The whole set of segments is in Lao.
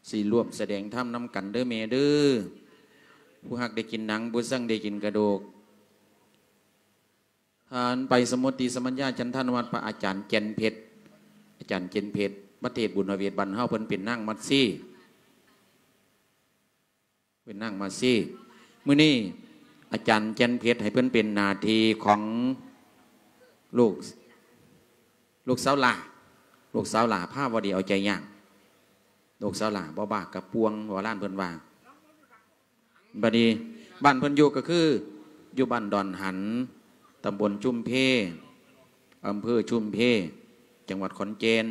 ຊິຮ່ວມສະແດງທຳນຳກັນເດີແມ່ເດີ. ຜູ້ຮັກໄດ້ກິນໜັງ, ຜູ້ຊັງໄດ້ກິນກະດູກ. ທ່ານໄປສະໝຸດຕິສະມັນຍາຈັນທານຸວັດ ພະອາຈານແກ່ນເພັດ, ອາຈານແກ່ນເພັດ ມາເທດບຸນພະເວດບ້ານເຮົາ, ເພິ່ນເປັນນາງມັດຊີ. ເປັນນາງມາຊີ. ມື້ນີ້ອາຈານແກ່ນເພັດໃຫ້ເພິ່ນເປັນໜ້າທີ່ຂອງລູກ, ລູກສາວຫຼ້າ, ລູກສາວຫຼ້າພາວະດີເອົາໃຈຍາກ, ລູກສາວຫຼ້າບໍ່ບ້າກະປ່ວງ ໂບລານເພິ່ນວ່າ. ບັດນີ້ບ້ານເພິ່ນຢູ່ກໍຄືຢູ່ບ້ານດອນຫັນ, ຕຳບົນຊຸມເພ, ອຳເພີຊຸມເພ, ຈັງຫວັດຂອນແກ່ນ.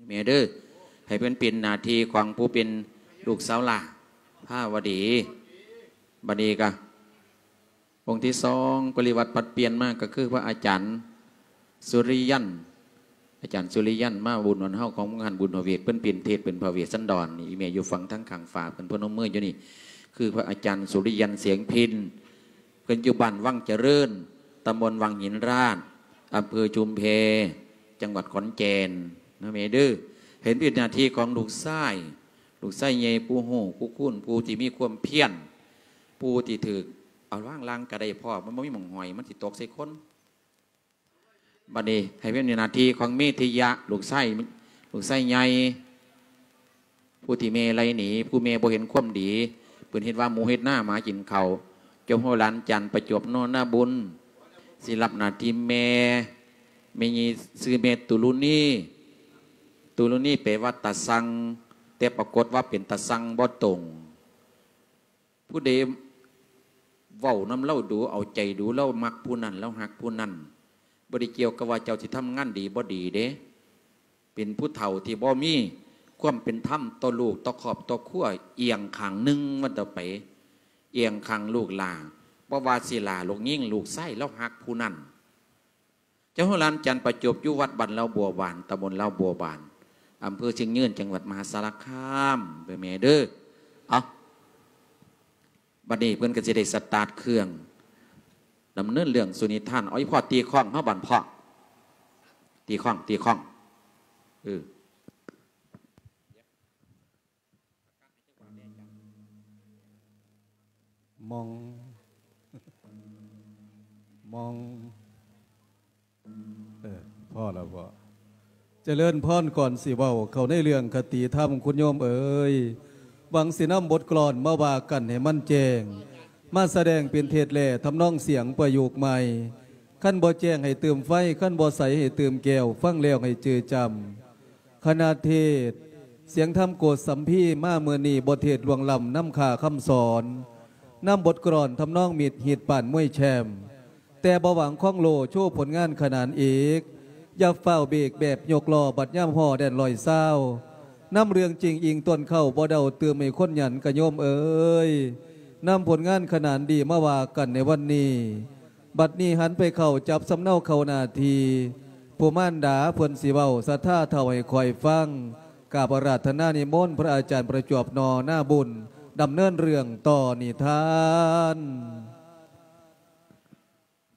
ແມ່ເດີ, ໃຫ້ເພິ່ນເປັນໜ້າທີ່ຂອງຜູ້ເປັນລູກສາວຫຼ້າພາວະດີ. ບັດນີ້ກະອົງທີສອງປະລິວັດປັດປ່ຽນມາ ກໍຄືພະອາຈານສຸລິຍັນ, ອາຈານສຸລິຍັນມາບຸນວັນເຮົາຂອງງານບຸນພະເວດ, ເພິ່ນເປັນເທດເປັນພະເວດສັນດອນ. ອີ່ແມ່ຢູ່ຝັ່ງທາງຂ້າງຝາເພິ່ນ ພະນົມມືຢູ່ນີ້, ຄືພະອາຈານສຸລິຍັນ ສຽງພິນ. ເພິ່ນຢູ່ບ້ານວັງຈະເລີນ, ຕຳບົນວັງຫີນລາດ, ອຳເພີຊຸມແພ, ຈັງຫວັດຂອນແກ່ນນະແມ່ເດີ. ເຫັນເປັນໜ້າທີ່ຂອງລູກຊາຍ, ລູກຊາຍໃຫຍ່ ຜູ້ຮູ້ຜູ້ຄູນ, ຜູ້ທີ່ມີຄວາມພຽນ, ຜູ້ທີ່ຖືກເອົາວາງລ່າງກະໄດ້ພໍ່, ມັນບໍ່ມີໝ່ອງຫ້ອຍ, ມັນຊິຕົກໃສ່ຄົນ. ບັດນີ້ໃຫ້ເປັນໜ້າທີ່ຂອງເມທິຍະ, ລູກຊາຍ, ລູກຊາຍໃຫຍ່. ຜູ້ທີ່ແມ່ໄລ່ໜີ, ຜູ້ແມ່ບໍ່ເຫັນຄວາມດີ, ເພິ່ນເຮັດວ່າໝູເຮັດນາ ໝາກິນເຂົ້າ. ເຈົ້າໂຫລານຈັນປະຈົບ ນໍ ນາບຸນ ຊິຮັບໜ້າທີ່ແມ່. ແມ່ນີ້ຊື່ແມ່ຕຸລຸນີ, ຕຸລຸນີແປວ່າຕາຊັ່ງ, ແຕ່ປາກົດວ່າເປັນຕາຊັ່ງບໍ່ຕົງ. ຜູ້ໃດເວົ້ານຳລາວດູ, ເອົາໃຈດູ, ລາວມັກຜູ້ນັ້ນ, ລາວຮັກຜູ້ນັ້ນ, ບໍ່ໄດ້ກ່ຽວກັບວ່າເຈົ້າຊິທຳງານດີບໍ່ດີເດ້. ເປັນຜູ້ເຖົ້າທີ່ບໍ່ມີຄວາມເປັນທຳຕໍ່ລູກ, ຕໍ່ຄອບຕໍ່ຄົວ, ອຽງຂ້າງໜຶ່ງວ່າຕໍ່ໄປ, ອຽງຂ້າງລູກຫຼ້າ, ບໍ່ວ່າຊິຫຼ້າລູກຍິງລູກຊາຍ, ລາວຮັກຜູ້ນັ້ນ. ເຈົ້າໂຫລານຈັນປະຈົບ ຢູ່ວັດບ້ານລາວບົວບານ, ຕຳບົນລາວບົວບານ, ອຳເພີຊຽງຍືນ, ຈັງຫວັດມະຫາສາລະຄາມ ເດີແມ່ເດີ. ເອົາ, ບັດນີ້ເພິ່ນກໍຊິໄດ້ສະຕາດເຄື່ອງ ດຳເນີນເລື່ອງສູ່ນິທານ. ເອົາ ອີ່ພໍ່ຕີຄ້ອງເຮົາບັດພໍ່, ຕີຄ້ອງ, ຕີຄ້ອງ. ເອີ. ມອງ ມອງ ເອີ ພໍແລ້ວພໍ່. ຈະເລີນພອນ. ກ່ອນຊິເວົ້າເຂົ້າໃນເລື່ອງຄະຕິທຳ, ຄຸນໂຍມເອີຍ, ຫວັງຊິນຳບົດກລອນມາວ່າກັນໃຫ້ມັນແຈ້ງ, ມາສະແດງເປັນເທດແລະທຳນອງສຽງປະໂຫຍກໃໝ່. ຄັນບໍ່ແຈ້ງໃຫ້ຕື່ມໄຟ, ຄັນບໍ່ໃສໃຫ້ຕື່ມແກ້ວ, ຟັງແລ້ວໃຫ້ຈື່ຈຳ. ຄະນະເທດສຽງທຳໂກດສຳພີ ມາມື້ນີ້ ບົດເທດຫຼວງລ້ຳນຳຄ່າຄຳສອນ, ນຳບົດກລອນທຳນອງມິດຮີດປານມວຍແຊມ, ແຕ່ບໍ່ຫວັງຄອງໂລ ໂຊຜົນງານຂະໜານເອກ, ຢ່າຟ້າວເບກແບບຍົກລໍ້ ບັດຍາມຫໍ້ແດນຮ້ອຍຊາວ, ນຳເລື່ອງຈິງອີງຕົ້ນເຄົ້າ ບໍ່ເດົາຕື່ມໃຫ້ຄົນຫຍັນກະໂຍມເອີຍ, ນຳຜົນງານຂະໜານດີມາວ່າກັນໃນວັນນີ້. ບັດນີ້ຫັນໄປເຂົ້າຈັບສຳເນົາເຂົ້າໜ້າທີ່, ຜູ້ມານດາເພິ່ນຊິເວົ້າ ສັດທາເຖົ້າໃຫ້ຄອຍຟັງ. ກາບອາລາທະນານິມົນພະອາຈານປະຈວບ ນໍ ນາບຸນ ດຳເນີນເລື່ອງຕໍ່ນິທານ.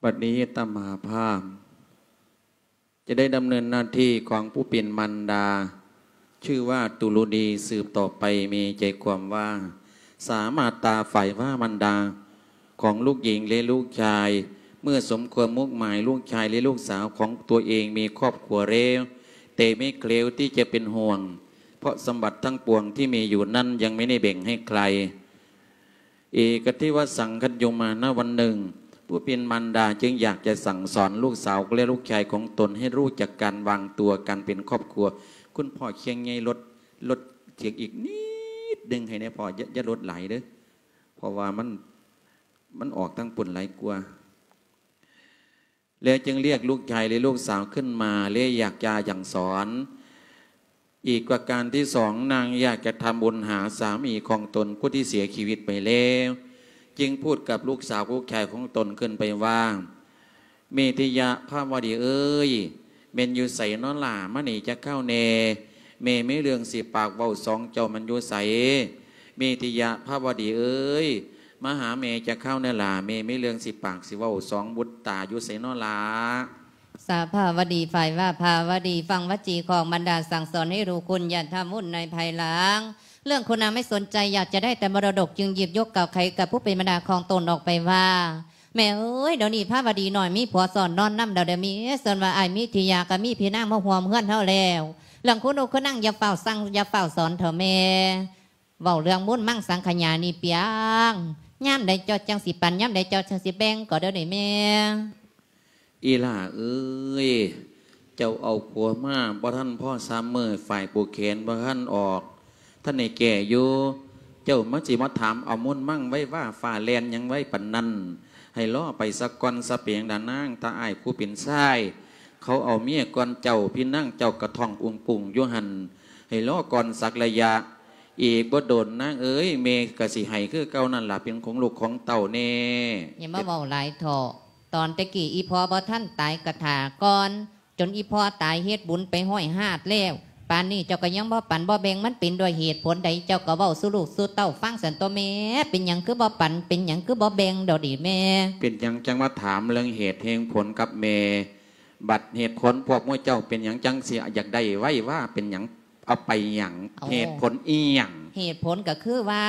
ບັດນີ້ອາດຕະມາພາບ ຈະໄດ້ດຳເນີນໜ້າທີ່ຂອງຜູ້ເປັນມານດາ ຊື່ວ່າຕຸລຸນີ ສືບຕໍ່ໄປ. ມີໃຈຄວາມວ່າ ສາມາດຕາຝ່າຍວ່າມານດາຂອງລູກຍິງ ແລະ ລູກຊາຍ ເມື່ອສົມຄວາມມຸ່ງໝາຍ ລູກຊາຍ ແລະ ລູກສາວຂອງຕົວເອງມີຄອບຄົວແລ້ວ, ແຕ່ມີເຄລວທີ່ຈະເປັນຫ່ວງ ເພາະສຳບັດທັງປວງທີ່ມີຢູ່ນັ້ນຍັງໄມ່ໄດ້ແບ່ງໃຫ້ໃຄ. ເອກະເທວະສັງຄັນໂຍມາ ນະວັນໜຶ່ງ ຜູ້ເປັນມານດາຈຶ່ງຢາກຈະສັ່ງສອນລູກສາວ ແລະ ລູກຊາຍຂອງຕົນໃຫ້ຮູ້ຈັກການວາງຕົວ ການເປັນຄອບຄົວ. ຄຸນພໍ່ຄຽງໃຫຍ່ ລົດ ລົດສຽງອີກນິດໜຶ່ງໃຫ້ແດ່ພໍ່, ຢ່າ ຢ່າລົດຫຼາຍເດີ້ ເພາະວ່າມັນ ມັນອອກທາງພຸ້ນຫຼາຍກວ່າ. ແລ້ວຈຶ່ງລຽກລູກຊາຍ ແລະ ລູກສາວຂຶ້ນມາ ແລະ ຢາກຈະສັ່ງສອນ. ອີກປະການທີສອງ ນາງຢາກຈະທຳບຸນຫາສາມີຂອງຕົນຜູ້ທີ່ເສຍຊີວິດໄປແລ້ວ, ຈຶ່ງພູດກັບລູກສາວລູກຊາຍຂອງຕົນຂຶ້ນໄປວ່າ ເມທິຍະພາວະດີເອີຍ, ແມ່ນຢູ່ໃສນໍຫຼ້າ? ມານີ້ຈັກຄາວແດ່, ແມ່ມີເລື່ອງຊິປາກເວົ້າສອງເຈົ້າ. ແມ່ນຢູ່ໃສ? ເມທິຍະພາວະດີເອີຍ, ມາຫາແມ່ຈັກຄາວແດ່ຫຼ້າ, ແມ່ມີເລື່ອງຊິປາກຊິເວົ້າສອງ. ບຸດຕາ ຢູ່ໃສນໍຫຼ້າ? ສາພາວະດີ ຝ່າຍວາພາວະດີ ຟັງວະຈີຂອງບັນດາສັ່ງສອນໃຫ້ຮູ້ຄຸນ ຢ່າທຳບຸນໃນພາຍຫຼັງ. ເລື່ອງຄຸນນາງໄມ່ສົນໃຈ ຢາກຈະໄດ້ແຕ່ມໍລະດົກ ຈຶ່ງຫຍິບຍົກກ່າວໄຂກັບຜູ້ເປັນບັນດາຂອງຕົນອອກໄປວ່າ ແມ່ເອີຍ ດຽວນີ້ພາວະດີນ້ອຍມີຜົວຊ້ອນນອນນຳແລ້ວເດີແມ່. ສ່ວນວ່າອ້າຍມີທິຍາກໍມີພີ່ນາງມາຮ່ວມເຮືອນເຮົາແລ້ວ. ເລື່ອງຄຸນນາງ ຄືນາງຢ່າຟ້າວສັ່ງ ຢ່າຟ້າວສອນເຖົ້າແມ່. ເວົ້າເລື່ອງມູນມັງສັງຂະຍານີ້ປຽງ ຍາມໃດເຈົ້າຈັ່ງຊິປັນ ຍາມໃດເຈົ້າຈັ່ງຊິແບ່ງກໍເດີນີ້ແມ່. ອີ່ຫຼ້າເອີຍ ເຈົ້າເອົາຜົວມາບໍ່ທັນພໍສາມມື້ ຝ້າຍຜູກແຂນບໍ່ທັນອອກ ທັນໄດ້ແກ້ຢູ່ ເຈົ້າມາຊິມາຖາມເອົາມູນມັງໄວວາຟ້າແລ່ນຫຍັງໄວປານນັ້ນ ໃຫ້ລໍໄປສາກ່ອນສາ ເປັນຫຍັງດານາງ ຖ້າອ້າຍຜູ້ເປັນຊາຍ ເຂົາເອົາເມຍກ່ອນເຈົ້າ ພີ່ນາງເຈົ້າກະທ້ອງອຸງປຸງຢູ່ຫັ້ນ ໃຫ້ລໍກ່ອນສັກໄລຍະ ອີກບໍ່ດົນນາງເອີຍ ແມ່ກໍຊິໃຫ້ຄືເກົ່ານັ້ນລະ ເປັນຂອງລູກຂອງເຕົ້າແນ່. ຢ່າມາເວົ້າຫຼາຍເຖາະ ຕອນແຕ່ກີ້ອີ່ພໍ່ບໍ່ທັນຕາຍກະຖ້າກ່ອນ ຈົນອີ່ພໍ່ຕາຍເຮັດບຸນໄປຮ້ອຍຮາດແລ້ວ ປານນີ້ເຈົ້າກໍຍັງບໍ່ປັນບໍ່ແບ່ງ ມັນເປັນດ້ວຍເຫດຜົນໃດ ເຈົ້າກໍເວົ້າສູ່ລູກສູ່ເຕົ້າຟັງຊັ້ນຕົວະແມ່. ເປັນຫຍັງຄືບໍ່ປັນ ເປັນຫຍັງຄືບໍ່ແບ່ງດອກນີ້ແມ່? ເປັນຫຍັງຈັ່ງມາຖາມເລື່ອງເຫດແຫ່ງຜົນກັບແມ່? ບັດເຫດຜົນພວກໝູ່ເຈົ້າເປັນຫຍັງຈັ່ງຊິຢາກໄດ້ໄວວາ ເປັນຫຍັງ ເອົາໄປຫຍັງ? ເອົາ ເຫດຜົນອີ່ຫຍັງ? ເຫດຜົນກໍຄືວ່າ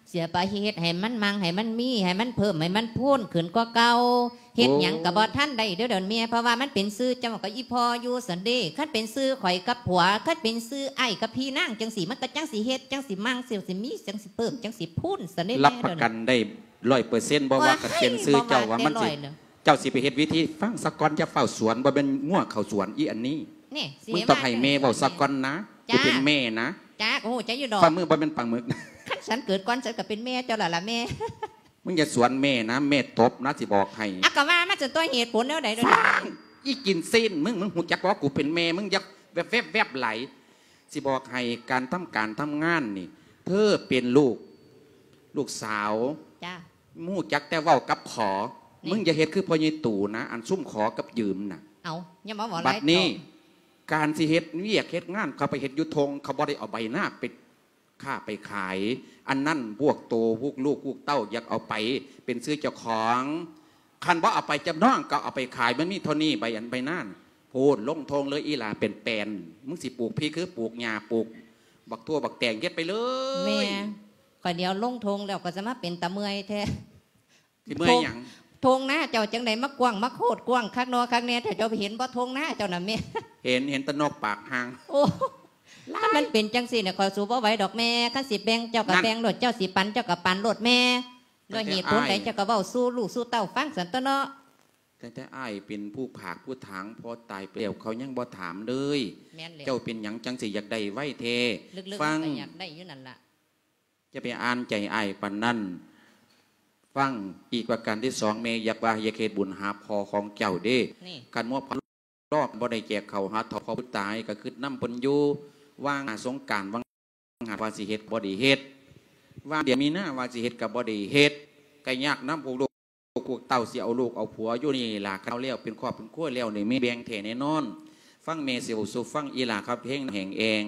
ເສຍໄປເຮັດໃຫ້ມັນມັ່ງ ໃຫ້ມັນມີ ໃຫ້ມັນເພີ່ມ ໃຫ້ມັນພູນຂຶ້ນກວ່າເກົ່າ ເຮັດຫຍັງກໍບໍ່ທັນໄດ້ເດີດອນແມ່ ເພາະວ່າມັນເປັນຊື່ເຈົ້າກັບອີ່ພໍ່ຢູ່ຊັ້ນເດ້. ຄັນເປັນຊື່ຂ້ອຍກັບຜົວ ຄັນເປັນຊື່ອ້າຍກັບພີ່ນາງຈັ່ງຊີ້ ມັນກໍຈັ່ງຊິເຮັດ ຈັ່ງຊິມັ່ງ ຊິມີ ຈັ່ງຊິເພີ່ມ ຈັ່ງຊິພູນຊັ້ນເດ້ແມ່. ຮັບປະກັນໄດ້ຮ້ອຍເປີເຊັນບໍ່ວ່າ ຄັນເປັນຊື່ເຈົ້າວ່າມັນຊິ ເຈົ້າຊິໄປເຮັດວິທີ ຟັງສາກ່ອນ ຢ່າຟ້າວສວນ ບໍ່ແມ່ນງົວເຂົ້າສວນ ອີ່ອັນນີ້ ນີ້ ມຶງຕ້ອງໃຫ້ແມ່ເວົ້າສາກ່ອນນະ ກູເປັນແມ່ນະ. ຈ້າ ໂອ້ ໃຈຢູ່ດອກ ປາໝຶກບໍ່ແມ່ນປາໝຶກ. ຄັນສັນເກີດກ່ອນ ສັນກໍເປັນແມ່ເຈົ້າລະລະແມ່. ມຶງຢ່າສວນແມ່ນະ ແມ່ຕົບນະ ຊິບອກໃຫ້. ອາ ກໍວ່າມາ ສັນຕົວະ ເຫດຜົນແນວໃດເດີ? ສ້າງ ອີ່ກິນຊີ້ນ ມຶງ ມຶງຮູ້ຈັກບໍ່ ກູເປັນແມ່ ມຶງຢ່າແວບໆໆຫຼາຍ. ຊິບອກໃຫ້ ການທຳການທຳງານນີ້ ເທີເປັນລູກ ລູກສາວ ຈ້າ ຮູ້ຈັກແຕ່ເວົ້າກັບຂໍ ນີ້ ມຶງຢ່າເຮັດຄືພໍ່ໃຫຍ່ຕູນະ ອັນຊຸມຂໍກັບຢືມນະ. ເອົາ ຢ່າມາເວົ້າຫຼາຍ ບັດນີ້ ເຖາະ ການຊິເຮັດວຽກເຮັດງານ ເຂົາໄປເຮັດຢູ່ທົ່ງ ເຂົາບໍ່ໄດ້ເອົາໃບນາໄປຄ້າໄປຂາຍ ອັນນັ້ນພວກໂຕ ພວກລູກ ພວກເຕົ້າ ຢາກເອົາໄປເປັນຊື່ເຈົ້າຂອງ. ຄັນບໍ່ເອົາໄປຈຳນອງ ກໍເອົາໄປຂາຍ ມັນມີເທົ່ານີ້ ໃບອັນໃບນັ້ນ. ໂພດ ລົງທົ່ງເລີຍ ອີ່ຫຼ້າເປັນແປນ ມຶງຊິປູກພີຄືປູກຫຍ້າ ປູກບັກຖົ່ວບັກແຕງ ເຮັດໄປເລີຍ. ແມ່ ຂ້ອຍດຽວລົງທົ່ງແລ້ວ ກໍຈະມາເປັນຕາເມື່ອຍແທ້. ຊິເມື່ອຍຫຍັງ? ທົ່ງນາເຈົ້າຈັ່ງໃດມາກວ້າງ ມາໂຄດກວ້າງຄັກນໍຄັກແນ່ແທ້ ເຈົ້າເຫັນບໍ່ທົ່ງນາເຈົ້ານະແມ່? ເຫັນ ເຫັນແຕ່ນົກປາກຫ່າງ. ໂອ້ ມັນເປັນຈັ່ງຊີ້ນະ ຂ້ອຍສູ້ບໍ່ໄຫວດອກແມ່. ຄັນຊິແບ່ງເຈົ້າກໍແບ່ງໂລດ ເຈົ້າຊິປັນເຈົ້າກໍປັນໂລດແມ່. ດ້ວຍເຫດຜົນໃດເຈົ້າກໍເວົ້າສູ່ລູກສູ່ເຕົ້າຟັງຊັ້ນຕົ໋ວະເນາະ. ຕັ້ງແຕ່ອ້າຍເປັນຜູ້ຜາກຜູ້ຖາງ ພໍ່ຕາຍໄປແລ້ວ ເຂົາຍັງບໍ່ຖາມເລີຍ. ແມ່ນແລ້ວ ເຈົ້າເປັນຫຍັງຈັ່ງຊິຢາກໄດ້ໄວແທ້? ລຶກໆ ຟັງ ມັນກໍຢາກໄດ້ຢູ່ນັ້ນລະ. ຢ່າໄປອ່ານໃຈອ້າຍປານນັ້ນ. ຟັງ ອີກປະການທີສອງ ແມ່ຢາກວ່າຢາກເຮັດບຸນຫາພໍ່ຂອງເຈົ້າເດ້. ນີ້ ຄັນໝົດ ລອກບໍ່ໄດ້ແຈກເຂົ້າຫາເຖົ້າພໍ່ຜູ້ຕາຍ ກໍຄິດນຳເພິ່ນຢູ່. ວ່າງສົງການ ວ່າງຫາ ວ່າຊິເຮັດ ບໍ່ໄດ້ເຮັດ. ວ່າງເດືອນມີນາ ວ່າຊິເຮັດ ກໍບໍ່ໄດ້ເຮັດ. ກໍຍາກນຳພວກລູກພວກເຕົ້າ ຊິເອົາລູກເອົາຜົວຢູ່ນີ້ລະ. ຄັນເອົາແລ້ວເປັນຄອບເປັນຄົວແລ້ວນີ້ ມີແບ່ງແທ້ແນ່ນອນ. ຟັງແມ່ຊິເວົ້າສູ່ຟັງ ອີ່ຫຼ້າຄັບເພງແຮງແອງ.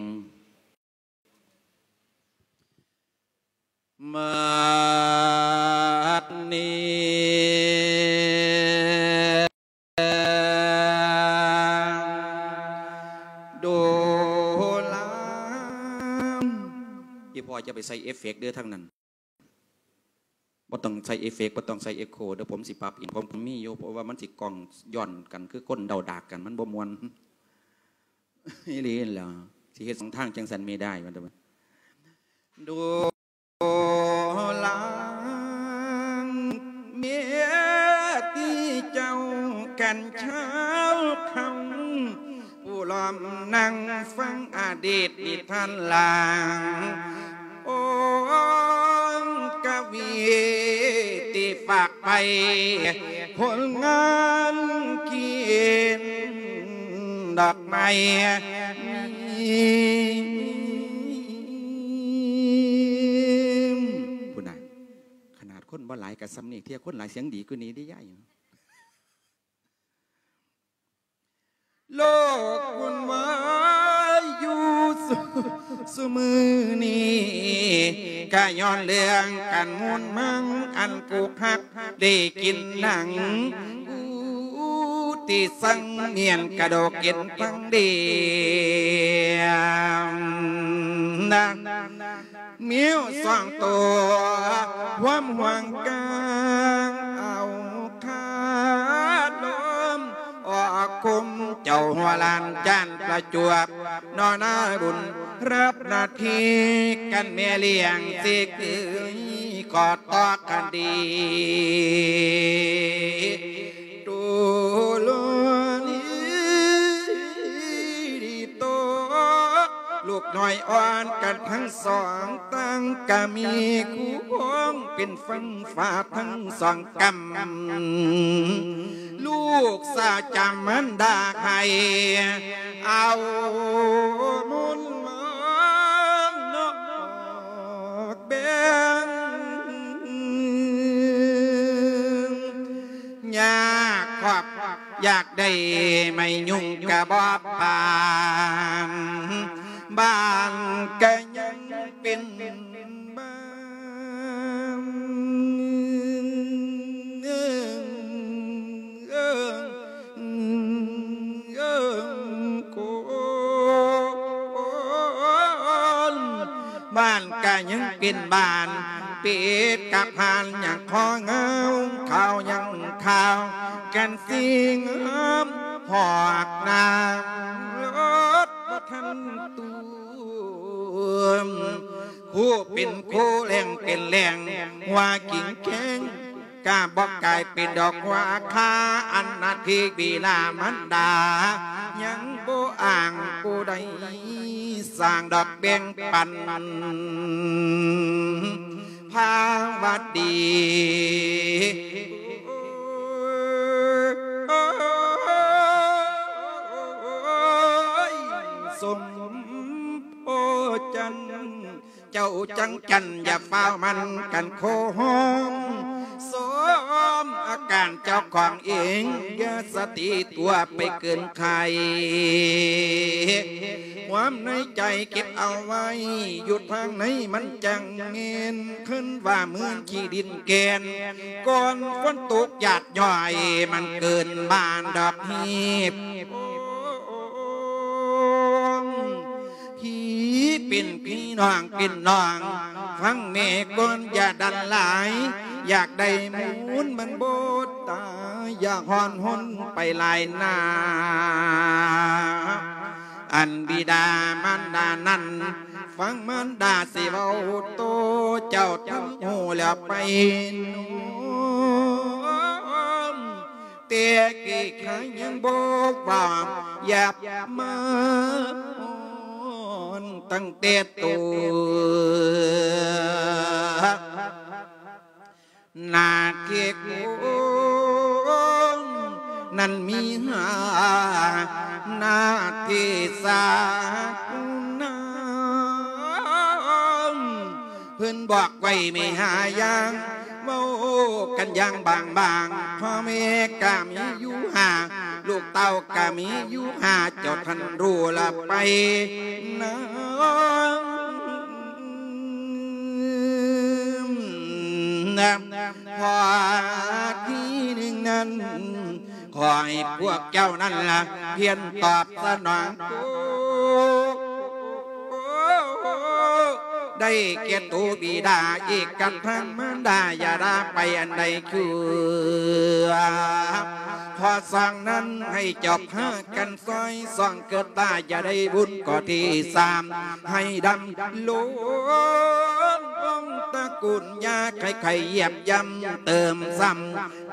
ມາດນີ້ ໂດລາ ອີ່ພໍ່ຈະໄປໃສ່ເອຟເຟັກເດີທາງນັ້ນ. ບໍ່ຕ້ອງໃສ່ເອຟເຟັກ ບໍ່ຕ້ອງໃສ່ເອັກໂຄເດີ ຜົມຊິປັບເອງ. ຜົມມີຢູ່ ເພາະວ່າມັນຊິກ້ອງຍ້ອນກັນຄືຄົນເດົາດາກກັນ ມັນບໍ່ມ່ວນ. ອີ່ຫຼີຫັ້ນແຫຼະ ຊິເຮັດສອງທາງຈັ່ງຊັ້ນແມ່ໄດ້ ວ່າແຕ່ວ່າ ໂດລາ ເມຍທີ່ເຈົ້າກັນເຊົ້າຄ່ຳ ຜູ້ລ້ອມນັ່ງຟັງອະດີດນິທານລາງ ໂອ້ ກະວີທີ່ຝາກໄປ ຜົນງານຂຽນດອກໄມ້ ພຸ້ນນະ ຂະໜາດຄົນບໍ່ຫຼາຍກະສ່ຳນີ້ ເທື່ອຄົນຫຼາຍສຽງດີກວ່ານີ້ເດ້ຍາຍ. ໂລກວຸ່ນວາຍຢູ່ຊຸ ຊຸມື້ນີ້ ກະຍ້ອນເລື່ອງການມູນມັງ ອັນຜູ້ຮັກໄດ້ກິນໜັງ ອູດ ຕິສັງ ມ້ຽນກະດອກເກັນທັງເດນນະ ແມວສອງໂຕຮ່ວມຫ່ວງກາງ ເອົາຄາລົມອອກຄົມ ເຈົ້າຫົວຫຼານຈານປະຈວບ ນໍນາບຸນ ຮັບໜ້າທີ່ກັນແມ່ລ້ຽງ ຊິຄືຂໍຕໍ່ກັນດີ ໂຕໂລລີດີໂຕ ລູກນ້ອຍອ່ອນກັນທັງສອງ ຕັ້ງກະມີຄູ່ຄອງເປັນຝັ່ງຟ້າທັງສອງກຳ ລູກສາວຈຳມັນດາໃຫ້ ເອົາມົນມານອກແບ່ງ ຍາກຄອບຢາກໄດ້ໄມ້ຍຸງກະບໍ່ປານ ບ້ານກະຍັງເປັນບ້ານ ເອີງ ເອີງ ເອີງ ໂກນ ບ້ານກະຍັງເປັນບ້ານ ເປັດກັບຫ່ານຍັງຂໍງາວ ເຂົ້າຍັງເຂົ້າກັນຊິງຫາມ ຫອກນ້ຳລົດບໍ່ທັນຕົວມ ຄູເປັນຄູແຫຼງເປັນແຫຼງ ຫົວກິງແຂງ ກະບໍ່ກາຍເປັນດອກຫົວຄາ ອັນໜ້າທີ່ບິດາມານດາ ຍັງບໍ່ອ້າງຜູ້ໃດ ສ້າງດອກແບ່ງປັນ ພາວັດດີ ສົມໂພຈັນ ເຈົ້າຈັງຈັນ ຢ່າຟ້າວໝັ້ນກັນໂຄໂຮມ ສອມອາການເຈົ້າຂອງເອງ ຢ່າສະຕິຕົວໄປເກີນໄຂ ຄວາມໃນໃຈເກັບເອົາໄວ້ ຢູ່ທາງໃນມັນຈັ່ງແມ່ນ ຄືນວ່າເໝືອນຂີ້ດິນແກ່ນ ກ່ອນຝົນຕົກຢາດຍ້ອຍ ມັນເກີນບ້ານດອກຮີບ ພີ່ເປັນພີ່ ນ້ອງເປັນນ້ອງ ຟັງແມ່ກ່ອນຢ່າດັນຫຼາຍ ຢາກໄດ້ມູນມັນບໍ່ຕາຍ ຢ່າຮ້ອນຮົນໄປຫຼາຍໜ້າ ອັນບິດາມານດານັ້ນ ຟັງມານດາຊິເວົ້າໂຕ ເຈົ້າທັງຮູ້ແລ້ວໄປໂນ້ມ ແຕ່ກີ້ຄາຍັງບໍ່ເວົ້າ ຢ່າມາຮ້ອນຕັ້ງແຕ່ໂຕ ໜ້າທີ່ຄົນນັ້ນມີຫ້າ ໜ້າທີ່ສາກຸນາ ເພິ່ນບອກໄວ້ມີຫ້າຢ່າງ ເວົ້າກັນຢ່າງບາງໆ ພໍ່ແມ່ກະມີຢູ່ຫ້າ ລູກເຕົ້າກະມີຢູ່ຫ້າ ເຈົ້າທ່ານຮູ້ລະໄປນຳ ຂໍ້ທີໜຶ່ງນັ້ນ ຂໍໃຫ້ພວກເຈົ້ານັ້ນລະ ພຽນຕອບສະໜອງໂຕ ໄດ້ແກ່ໂຕບິດາ ອີກກັບທາງມານດາ ຢ່າລາໄປອັນໃດຄື ຂໍ້ສອງນັ້ນ ໃຫ້ເຈົ້າພາກັນຊ່ອຍສ່ອງເກີດຕາ ຢ່າໄດ້ບຸນ ຂໍ້ທີສາມ ໃຫ້ດຳລົງວົງຕະກຸນ ຢ່າໃຫ້ໃຜຢຽບຢ່ຳເຕີມຊ້ຳ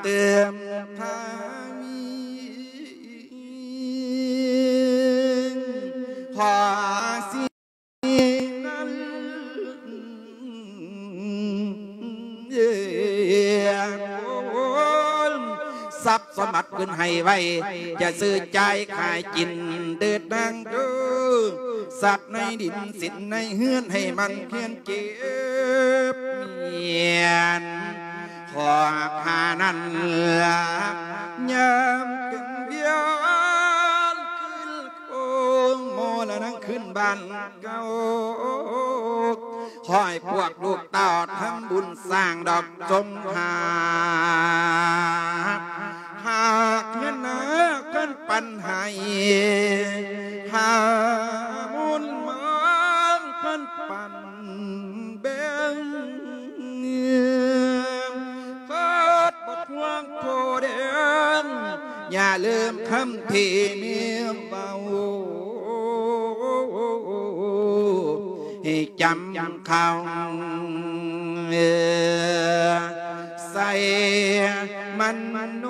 ເຕີມທະວີ ຂໍສິ່ງນັ້ນ ຊັບສົມບັດຂຶ້ນໃຫ້ໄວ ຢ່າຊື້ຈ່າຍຂາຍກິນເດີນາງເດີ ຊັບໃນດິນສິນໃນເຮືອນ ໃຫ້ໝັ່ນພຽນເກັບມ້ຽນ ຂໍພານັ້ນລະ ຍາມຂຶ້ນວຽນ ຄືນໂອງມໍລະນັງຄືນບ້ານເກົ່າ ຂໍໃຫ້ພວກລູກເຕົ້າທຳບຸນສ້າງດອກສົມຫາ ຫາກເຮືອນນາ ນໃຫ້ ຫາມຸນມາງພັນປັນແບ່ງ ເກີດບໍ່ທວງໂພແດງ ຢ່າລືມຄຳທີ່ແມ່ເວົ້າ ໃຫ້ຈຳ ເຂົ້າໃສ່ມັນໂນ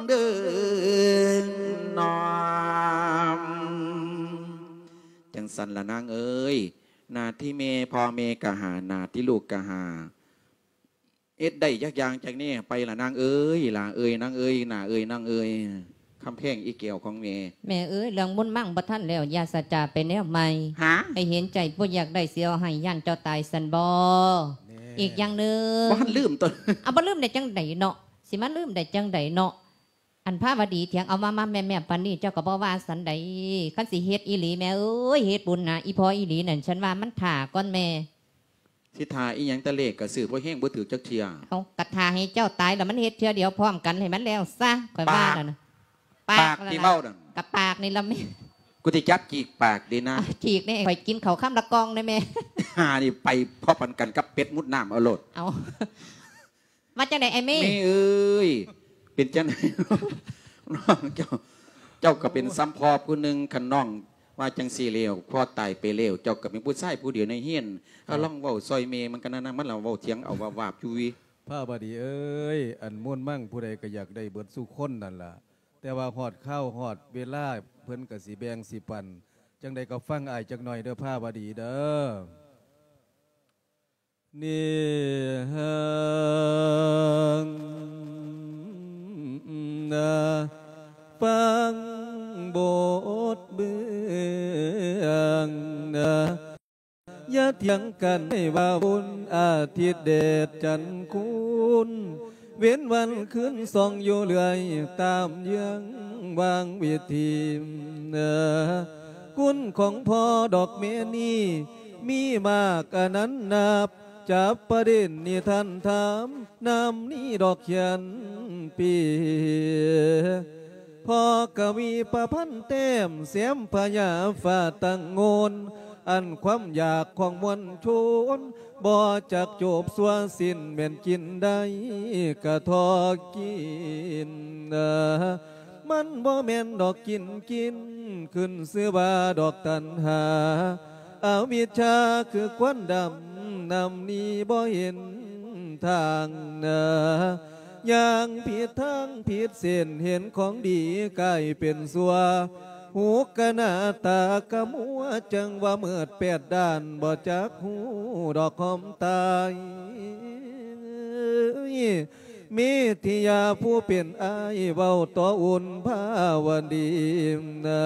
ເດີ ນ້ອງ ຈັ່ງຊັ້ນລະນາງເອີຍ ໜ້າທີ່ແມ່ ພໍ່ແມ່ກະຫາ ໜ້າທີ່ລູກກະຫາ ເຮັດໄດ້ຈັກຢ່າງຈັກແນວໄປລະນາງເອີຍ ຫຼ້າເອີຍ ນາງເອີຍ ໜ້າເອີຍ ນ້ອງເອີຍ ຄຳແພງອີ່ແກ້ວຂອງແມ່. ແມ່ເອີຍ ເລື່ອງບຸນມັງບໍ່ທັນແລ້ວ ຢ່າສະຈາໄປແນວໃໝ່ ຫາ ໃຫ້ເຫັນໃຈຜູ້ຢາກໄດ້ ຊິເອົາໃຫ້ ຢ້ານເຈົ້າຕາຍຊັ້ນບໍ່? ແມ່ ອີກຢ່າງໜຶ່ງ ບໍ່ທັນລືມຕົວ ເອົາ ບໍ່ລືມໄດ້ຈັ່ງໃດເນາະ ຊິມາລືມໄດ້ຈັ່ງໃດເນາະ? ອັນພາວະດີຖຽງເອົາມາ ມາແມ່ໆ ປານນີ້ເຈົ້າກໍບໍ່ວ່າສັນໃດ ຄັນຊິເຮັດອີ່ຫຼີແມ່ເອີຍ ເຮັດບຸນໜາອີ່ພໍ່ອີ່ຫຼີນັ້ນ ສັນວ່າມັນຖ້າກ່ອນແມ່. ຊິຖ້າອີ່ຫຍັງ ແຕ່ເລກກໍຊື້ບໍ່ແຮງບໍ່ຖືກຈັກເທື່ອ. ເອົາ ກໍຖ້າໃຫ້ເຈົ້າຕາຍແລ້ວມັນເຮັດເທື່ອດຽວພ້ອມກັນໃຫ້ມັນແລ້ວຊະ ຂ້ອຍວ່ານັ້ນນະ. ປາກ ປາກທີ່ເວົ້ານັ້ນ ກໍປາກນີ້ລະແມ່. ກູຊິຈັບຈີກປາກເດ້ນາ. ອ່ະ ຈີກນີ້ ຂ້ອຍກິນເຂົ້າຄຳລະກ່ອງເດ້ແມ່. ຫານີ້ໄປພໍ້ປັນກັນກັບເປັດມຸດນ້ຳເອົາໂລດ. ເອົາ ວ່າຈັ່ງໃດອ້າຍເມ? ເມເອີຍ ເປັນຈັ່ງໃດ ນ້ອງເຈົ້າ ເຈົ້າກໍເປັນສ່ຳພໍ່ຜູ້ໜຶ່ງ ຄັນນ້ອງວ່າຈັ່ງຊີ້ແລ້ວ ພໍ່ຕາຍໄປແລ້ວ ເຈົ້າກໍເປັນຜູ້ຊາຍຜູ້ດຽວໃນເຮືອນ ເອົາ ລອງເວົ້າຊ່ອຍແມ່ມັນກັນນະ ມັນລະເວົ້າຖຽງເອົາວາບໆຢູ່. ພາວະດີເອີຍ ອັນມູນມັງຜູ້ໃດກໍຢາກໄດ້ເບິດສູ່ຄົນນັ້ນລະ ແຕ່ວ່າຮອດຄາວຮອດເວລາ ເພິ່ນກໍຊິແບ່ງຊິປັນ ຈັ່ງໃດກໍຟັງອ້າຍຈັກໜ້ອຍເດີ ພາວະດີເດີ. ນີ້ຫາງນາ ຟັງບົດເບື້ອງນາ ຢ່າຖຽງກັນໃຫ້ວ່າບຸນ ອາທິດແດດຈັນຄູນ ເວັນວັນຄືນສ່ອງຢູ່ເລື້ອຍ ຕາມເຍືອງວາງວິທີ ຄຸນຂອງພໍ່ດອກແມ່ນີ້ ມີມາກອະນັນນັບ ຈັບປະເດັນນິທານຖາມ ນຳນີ້ດອກຂຽນປີ ພໍ່ກະວີປະພັນແຕ້ມ ແຊມພະຍາຟ້າຕັ້ງໂງນ ອັນຄວາມຢາກຂອງມວນຊົນ ບໍ່ຈັກຈົບຊົ່ວສິ້ນ ແມ່ນກິນໄດ້ກະທໍ່ກິນ ມັນບໍ່ແມ່ນດອກກິນກິນ ຂຶ້ນຊື່ວ່າດອກຕັນຫາ ອະວິດຊາຄືຄວັນດຳ ນຳໜີບໍ່ເຫັນທາງນາ ຍ່າງຜິດທາງຜິດເສັ້ນ ເຫັນຂອງດີກາຍເປັນຊົ່ວ ຫູກະໜ້າຕາກະມົວ ຈັ່ງວ່າມືດແປດດ້ານ ບໍ່ຈັກຮູ້ດອກຄວາມຕາຍ. ເມທິຍາຜູ້ເປັນອ້າຍເວົ້າຕໍ່ອຸ່ນພາວະດີນາ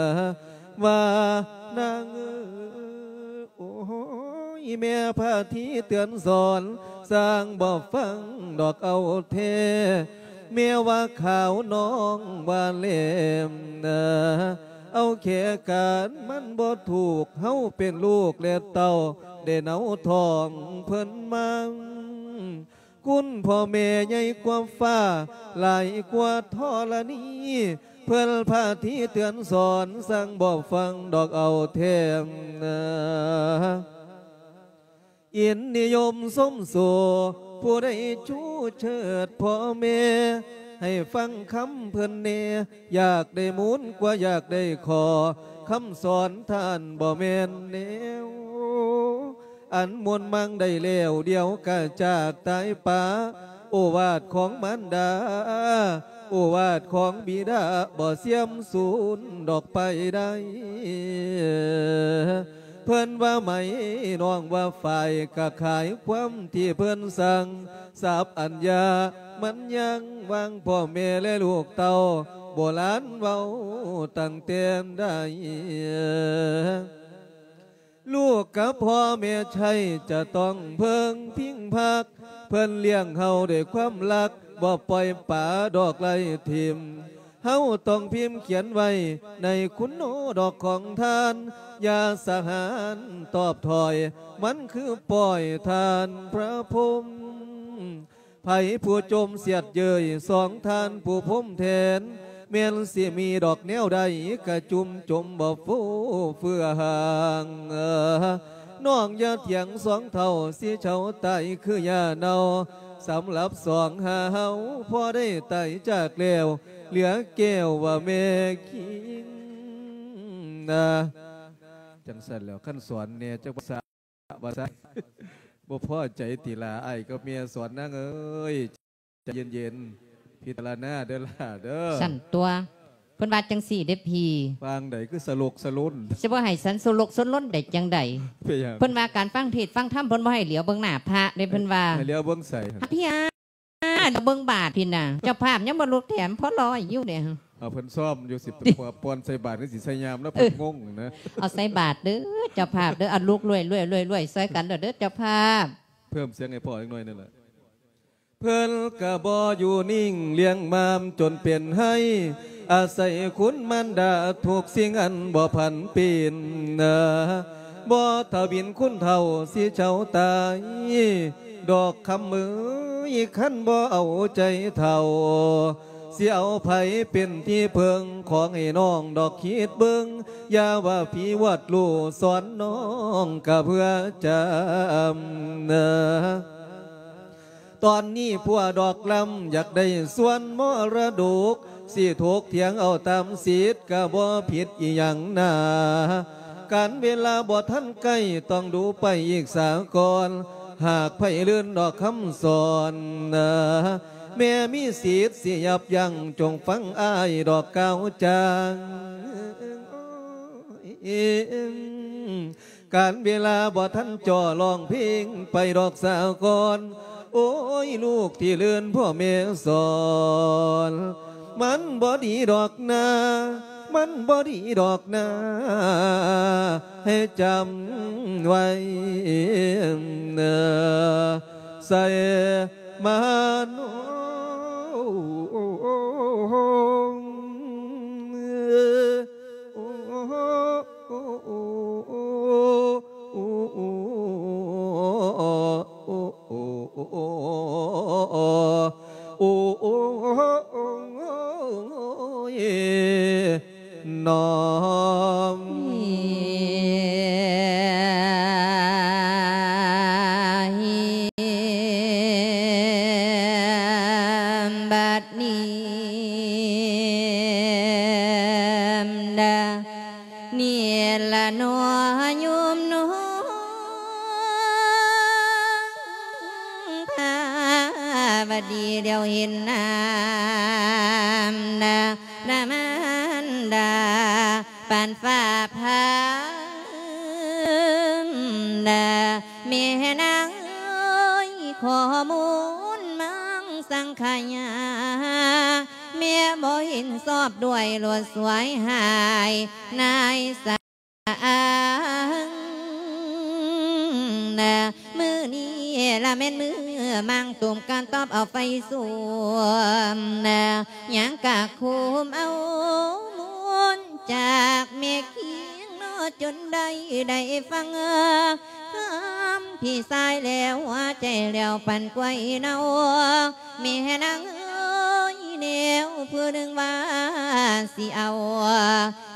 ວ່ານາງເອີຍ ໂອ້ຍ ແມ່ພາທີເຕືອນສອນ ຊ່າງບໍ່ຟັງດອກເອົາແທ້ ແມ່ວ່າຂາວນ້ອງວ່າແຫຼມນາ ເອົາແຂການມັນບໍ່ຖືກ ເຮົາເປັນລູກແລະເຕົ້າ ໄດ້ເນົາທ້ອງເພິ່ນມາ ຄຸນພໍ່ແມ່ໃຫຍ່ກວ່າຟ້າ ຫຼາຍກວ່າທໍລະນີ ເພິ່ນພາທີເຕືອນສອນ ຊ່າງບໍ່ຟັງດອກເອົາແທ້ນາ ອິນນິຍົມຊົມຊູ ຜູ້ໃດຊູເຊີດພໍ່ແມ່ ໃຫ້ຟັງຄຳເພິ່ນແດ່ ຢາກໄດ້ມູນກວ່າຢາກໄດ້ຂໍ້ ຄຳສອນທ່ານບໍ່ແມ່ນແນວ ອັນມ່ວນມັງໄດ້ແລ້ວ ດຽວກະຈາກຕາຍປາ ໂອວາດຂອງມານດາ ໂອວາດຂອງບິດາ ບໍ່ເສື່ອມສູນດອກໄປໄດ້ ເພິ່ນວ່າໄໝ ນ້ອງວ່າຝ້າຍ ກະຂາຍຄວາມທີ່ເພິ່ນສັ່ງ ສັບອັນຍາ ມັນຍັງວາງພໍ່ແມ່ແລະລູກເຕົ້າ ໂບລານເວົ້າຕັ້ງແຕ່ໃດ ລູກກັບພໍ່ແມ່ໃຊ້ ຈະຕ້ອງເພິ່ງພິງພັກ ເພິ່ນລ້ຽງເຮົາດ້ວຍຄວາມຮັກ ບໍ່ປ່ອຍປາດອກໄລ່ຖິ້ມ ເຮົາຕ້ອງພິມຂຽນໄວ້ໃນຄຸນໂນດອກຂອງທ່ານ ຢ່າສະຫານຕອບຖອຍ ມັນຄືປ່ອຍທ່ານພະພົມ. ໃຜຜູ້ຈົ່ມສຽດເຍີ້ຍສອງທ່ານຜູ້ພົມແທນ ແມ່ນຊິມີດອກແນວໃດ ກະຈຸ່ມຈົມບໍ່ຟູເຟືອຫາງ. ນ້ອງຢ່າຖຽງສອງເຖົ້າ ຊິເຖົ້າຕາຍຄືຫຍ້າເນົ່າ. ສຳລັບສອງຫາເຮົາ ພໍໄດ້ຕາຍຈາກແລ້ວ ເຫຼືອແກ້ວວ່າແມ່ຄິງນາ. ຈັ່ງຊັ້ນແລ້ວ ຄັນສອນແດ່ຈັກພາສາ ວ່າຊັ້ນ ບໍ່ພໍໃຈຕິລາ ອ້າຍກັບແມ່ສອນນາງເອີຍ ໃຈເຢັນໆ ພິຈາລະນາເດີຫຼ້າເດີ. ຊັ້ນຕົວະ ເພິ່ນວ່າຈັ່ງຊີ້ເດ້ພີ່. ປາງໃດຄືສະຫຼົກສະຫຼົນ ຊິບໍ່ໃຫ້ສັນສະຫຼົກສະຫຼົນໄດ້ຈັ່ງໃດ? ເປັນຫຍັງ? ເພິ່ນວ່າການຟັງເທດຟັງທຳ ເພິ່ນບໍ່ໃຫ້ຫຼຽວເບິ່ງໜ້າພະເດ້ ເພິ່ນວ່າ. ໃຫ້ຫຼຽວເບິ່ງໃສ? ພະພິອາ ຫຼຽວເບິ່ງບາດພີ້ນນະ. ເຈົ້າພາບຍັງບໍ່ລຸກແຖມ ພໍລອຍຢູ່ເດ້. ເອົາ ເພິ່ນຊ້ອມຢູ່ ຊິປ່ອນໃສ່ບາດ ຫຼື ຊິໃສ່ຍາມນະ ເອີ ເພິ່ນງົງນະ. ເອົາໃສ່ບາດເດີເຈົ້າພາບເດີ. ເອົາລຸກລວຍໆໆໆ ຊ່ອຍກັນເດີເຈົ້າພາບ. ເພີ່ມສຽງໃຫ້ພໍ່ຈັກໜ້ອຍໜຶ່ງລະ. ເພິ່ນກະບໍ່ຢູ່ນິ່ງ ລ້ຽງມາມຈົນເປັນໄຮ ອາໄສຄຸນມານດາທຸກສິ່ງອັນບໍ່ຜັນປີນນາ. ບໍ່ທະວິນຄຸນເຖົ້າຊິເຊົາຕາຍ ດອກຄຳເອີຍ ຄັນບໍ່ເອົາໃຈເຖົ້າ ຊິເອົາໃຜເປັນທີ່ເພິ່ງ? ຂໍໃຫ້ນ້ອງດອກຄິດເບິ່ງ ຢ່າວ່າຜີວດລູກ ສອນນ້ອງກະເພື່ອຈຳນາ. ຕອນນີ້ຜົວດອກລຳ ຢາກໄດ້ສ່ວນມໍລະດົກ ຊິຖົກຖຽງເອົາຕາມສິດ ກະບໍ່ຜິດອີ່ຫຍັງນາ. ການເວລາບໍ່ທັນໃກ້ ຕ້ອງດູໄປອີກສາກ່ອນ ຫາກໃຜລື່ນດອກຄຳສອນນາ. ແມ່ມີສິດຊິຢັບຢັ້ງ ຈົ່ງຟັງອ້າຍດອກກ່າວຈາ. ການເວລາບໍ່ທັນຈໍ້ ຮ້ອງເພງໄປດອກສາກ່ອນ ໂອ້ຍ ລູກທີ່ເລີນພໍ່ແມ່ສອນ ມັນບໍ່ດີດອກນາ ມັນບໍ່ດີດອກນາ ໃຫ້ຈຳໄວ້ເນີ ໃສ່ມາໂນ. ບັດນີ້ນະ ນີ້ລະເນາະໂຍມນ້ອງພາວະດີ ດຽວເຫັນນາມນະ ນະມານດາ ປານຟ້າຜ່ານະ ແມ່ນາງເອີຍ ຂໍ້ມູນມັງສັງຂະຍາ ແມ່ບໍ່ເຫັນຊອບດ້ວຍ ໂລດສວຍຫາຍນາຍສາງນະ ມື້ນີ້ລະແມ່ນມື້ມັງຕຸມການຕອບເອົາໄຟສວມນະ ຍັງກະຄຸມເອົາມູນຈາກແມ່ຄີງເນາະ ຈົນໄດ້ ໄດ້ຟັງຄຳພີ່ຊາຍແລ້ວ ຫົວໃຈແລ້ວປັ່ນກວາຍເນົ່າ ແມ່ນາງເອີຍ ແນວຜູ້ໜຶ່ງວ່າຊິເອົາ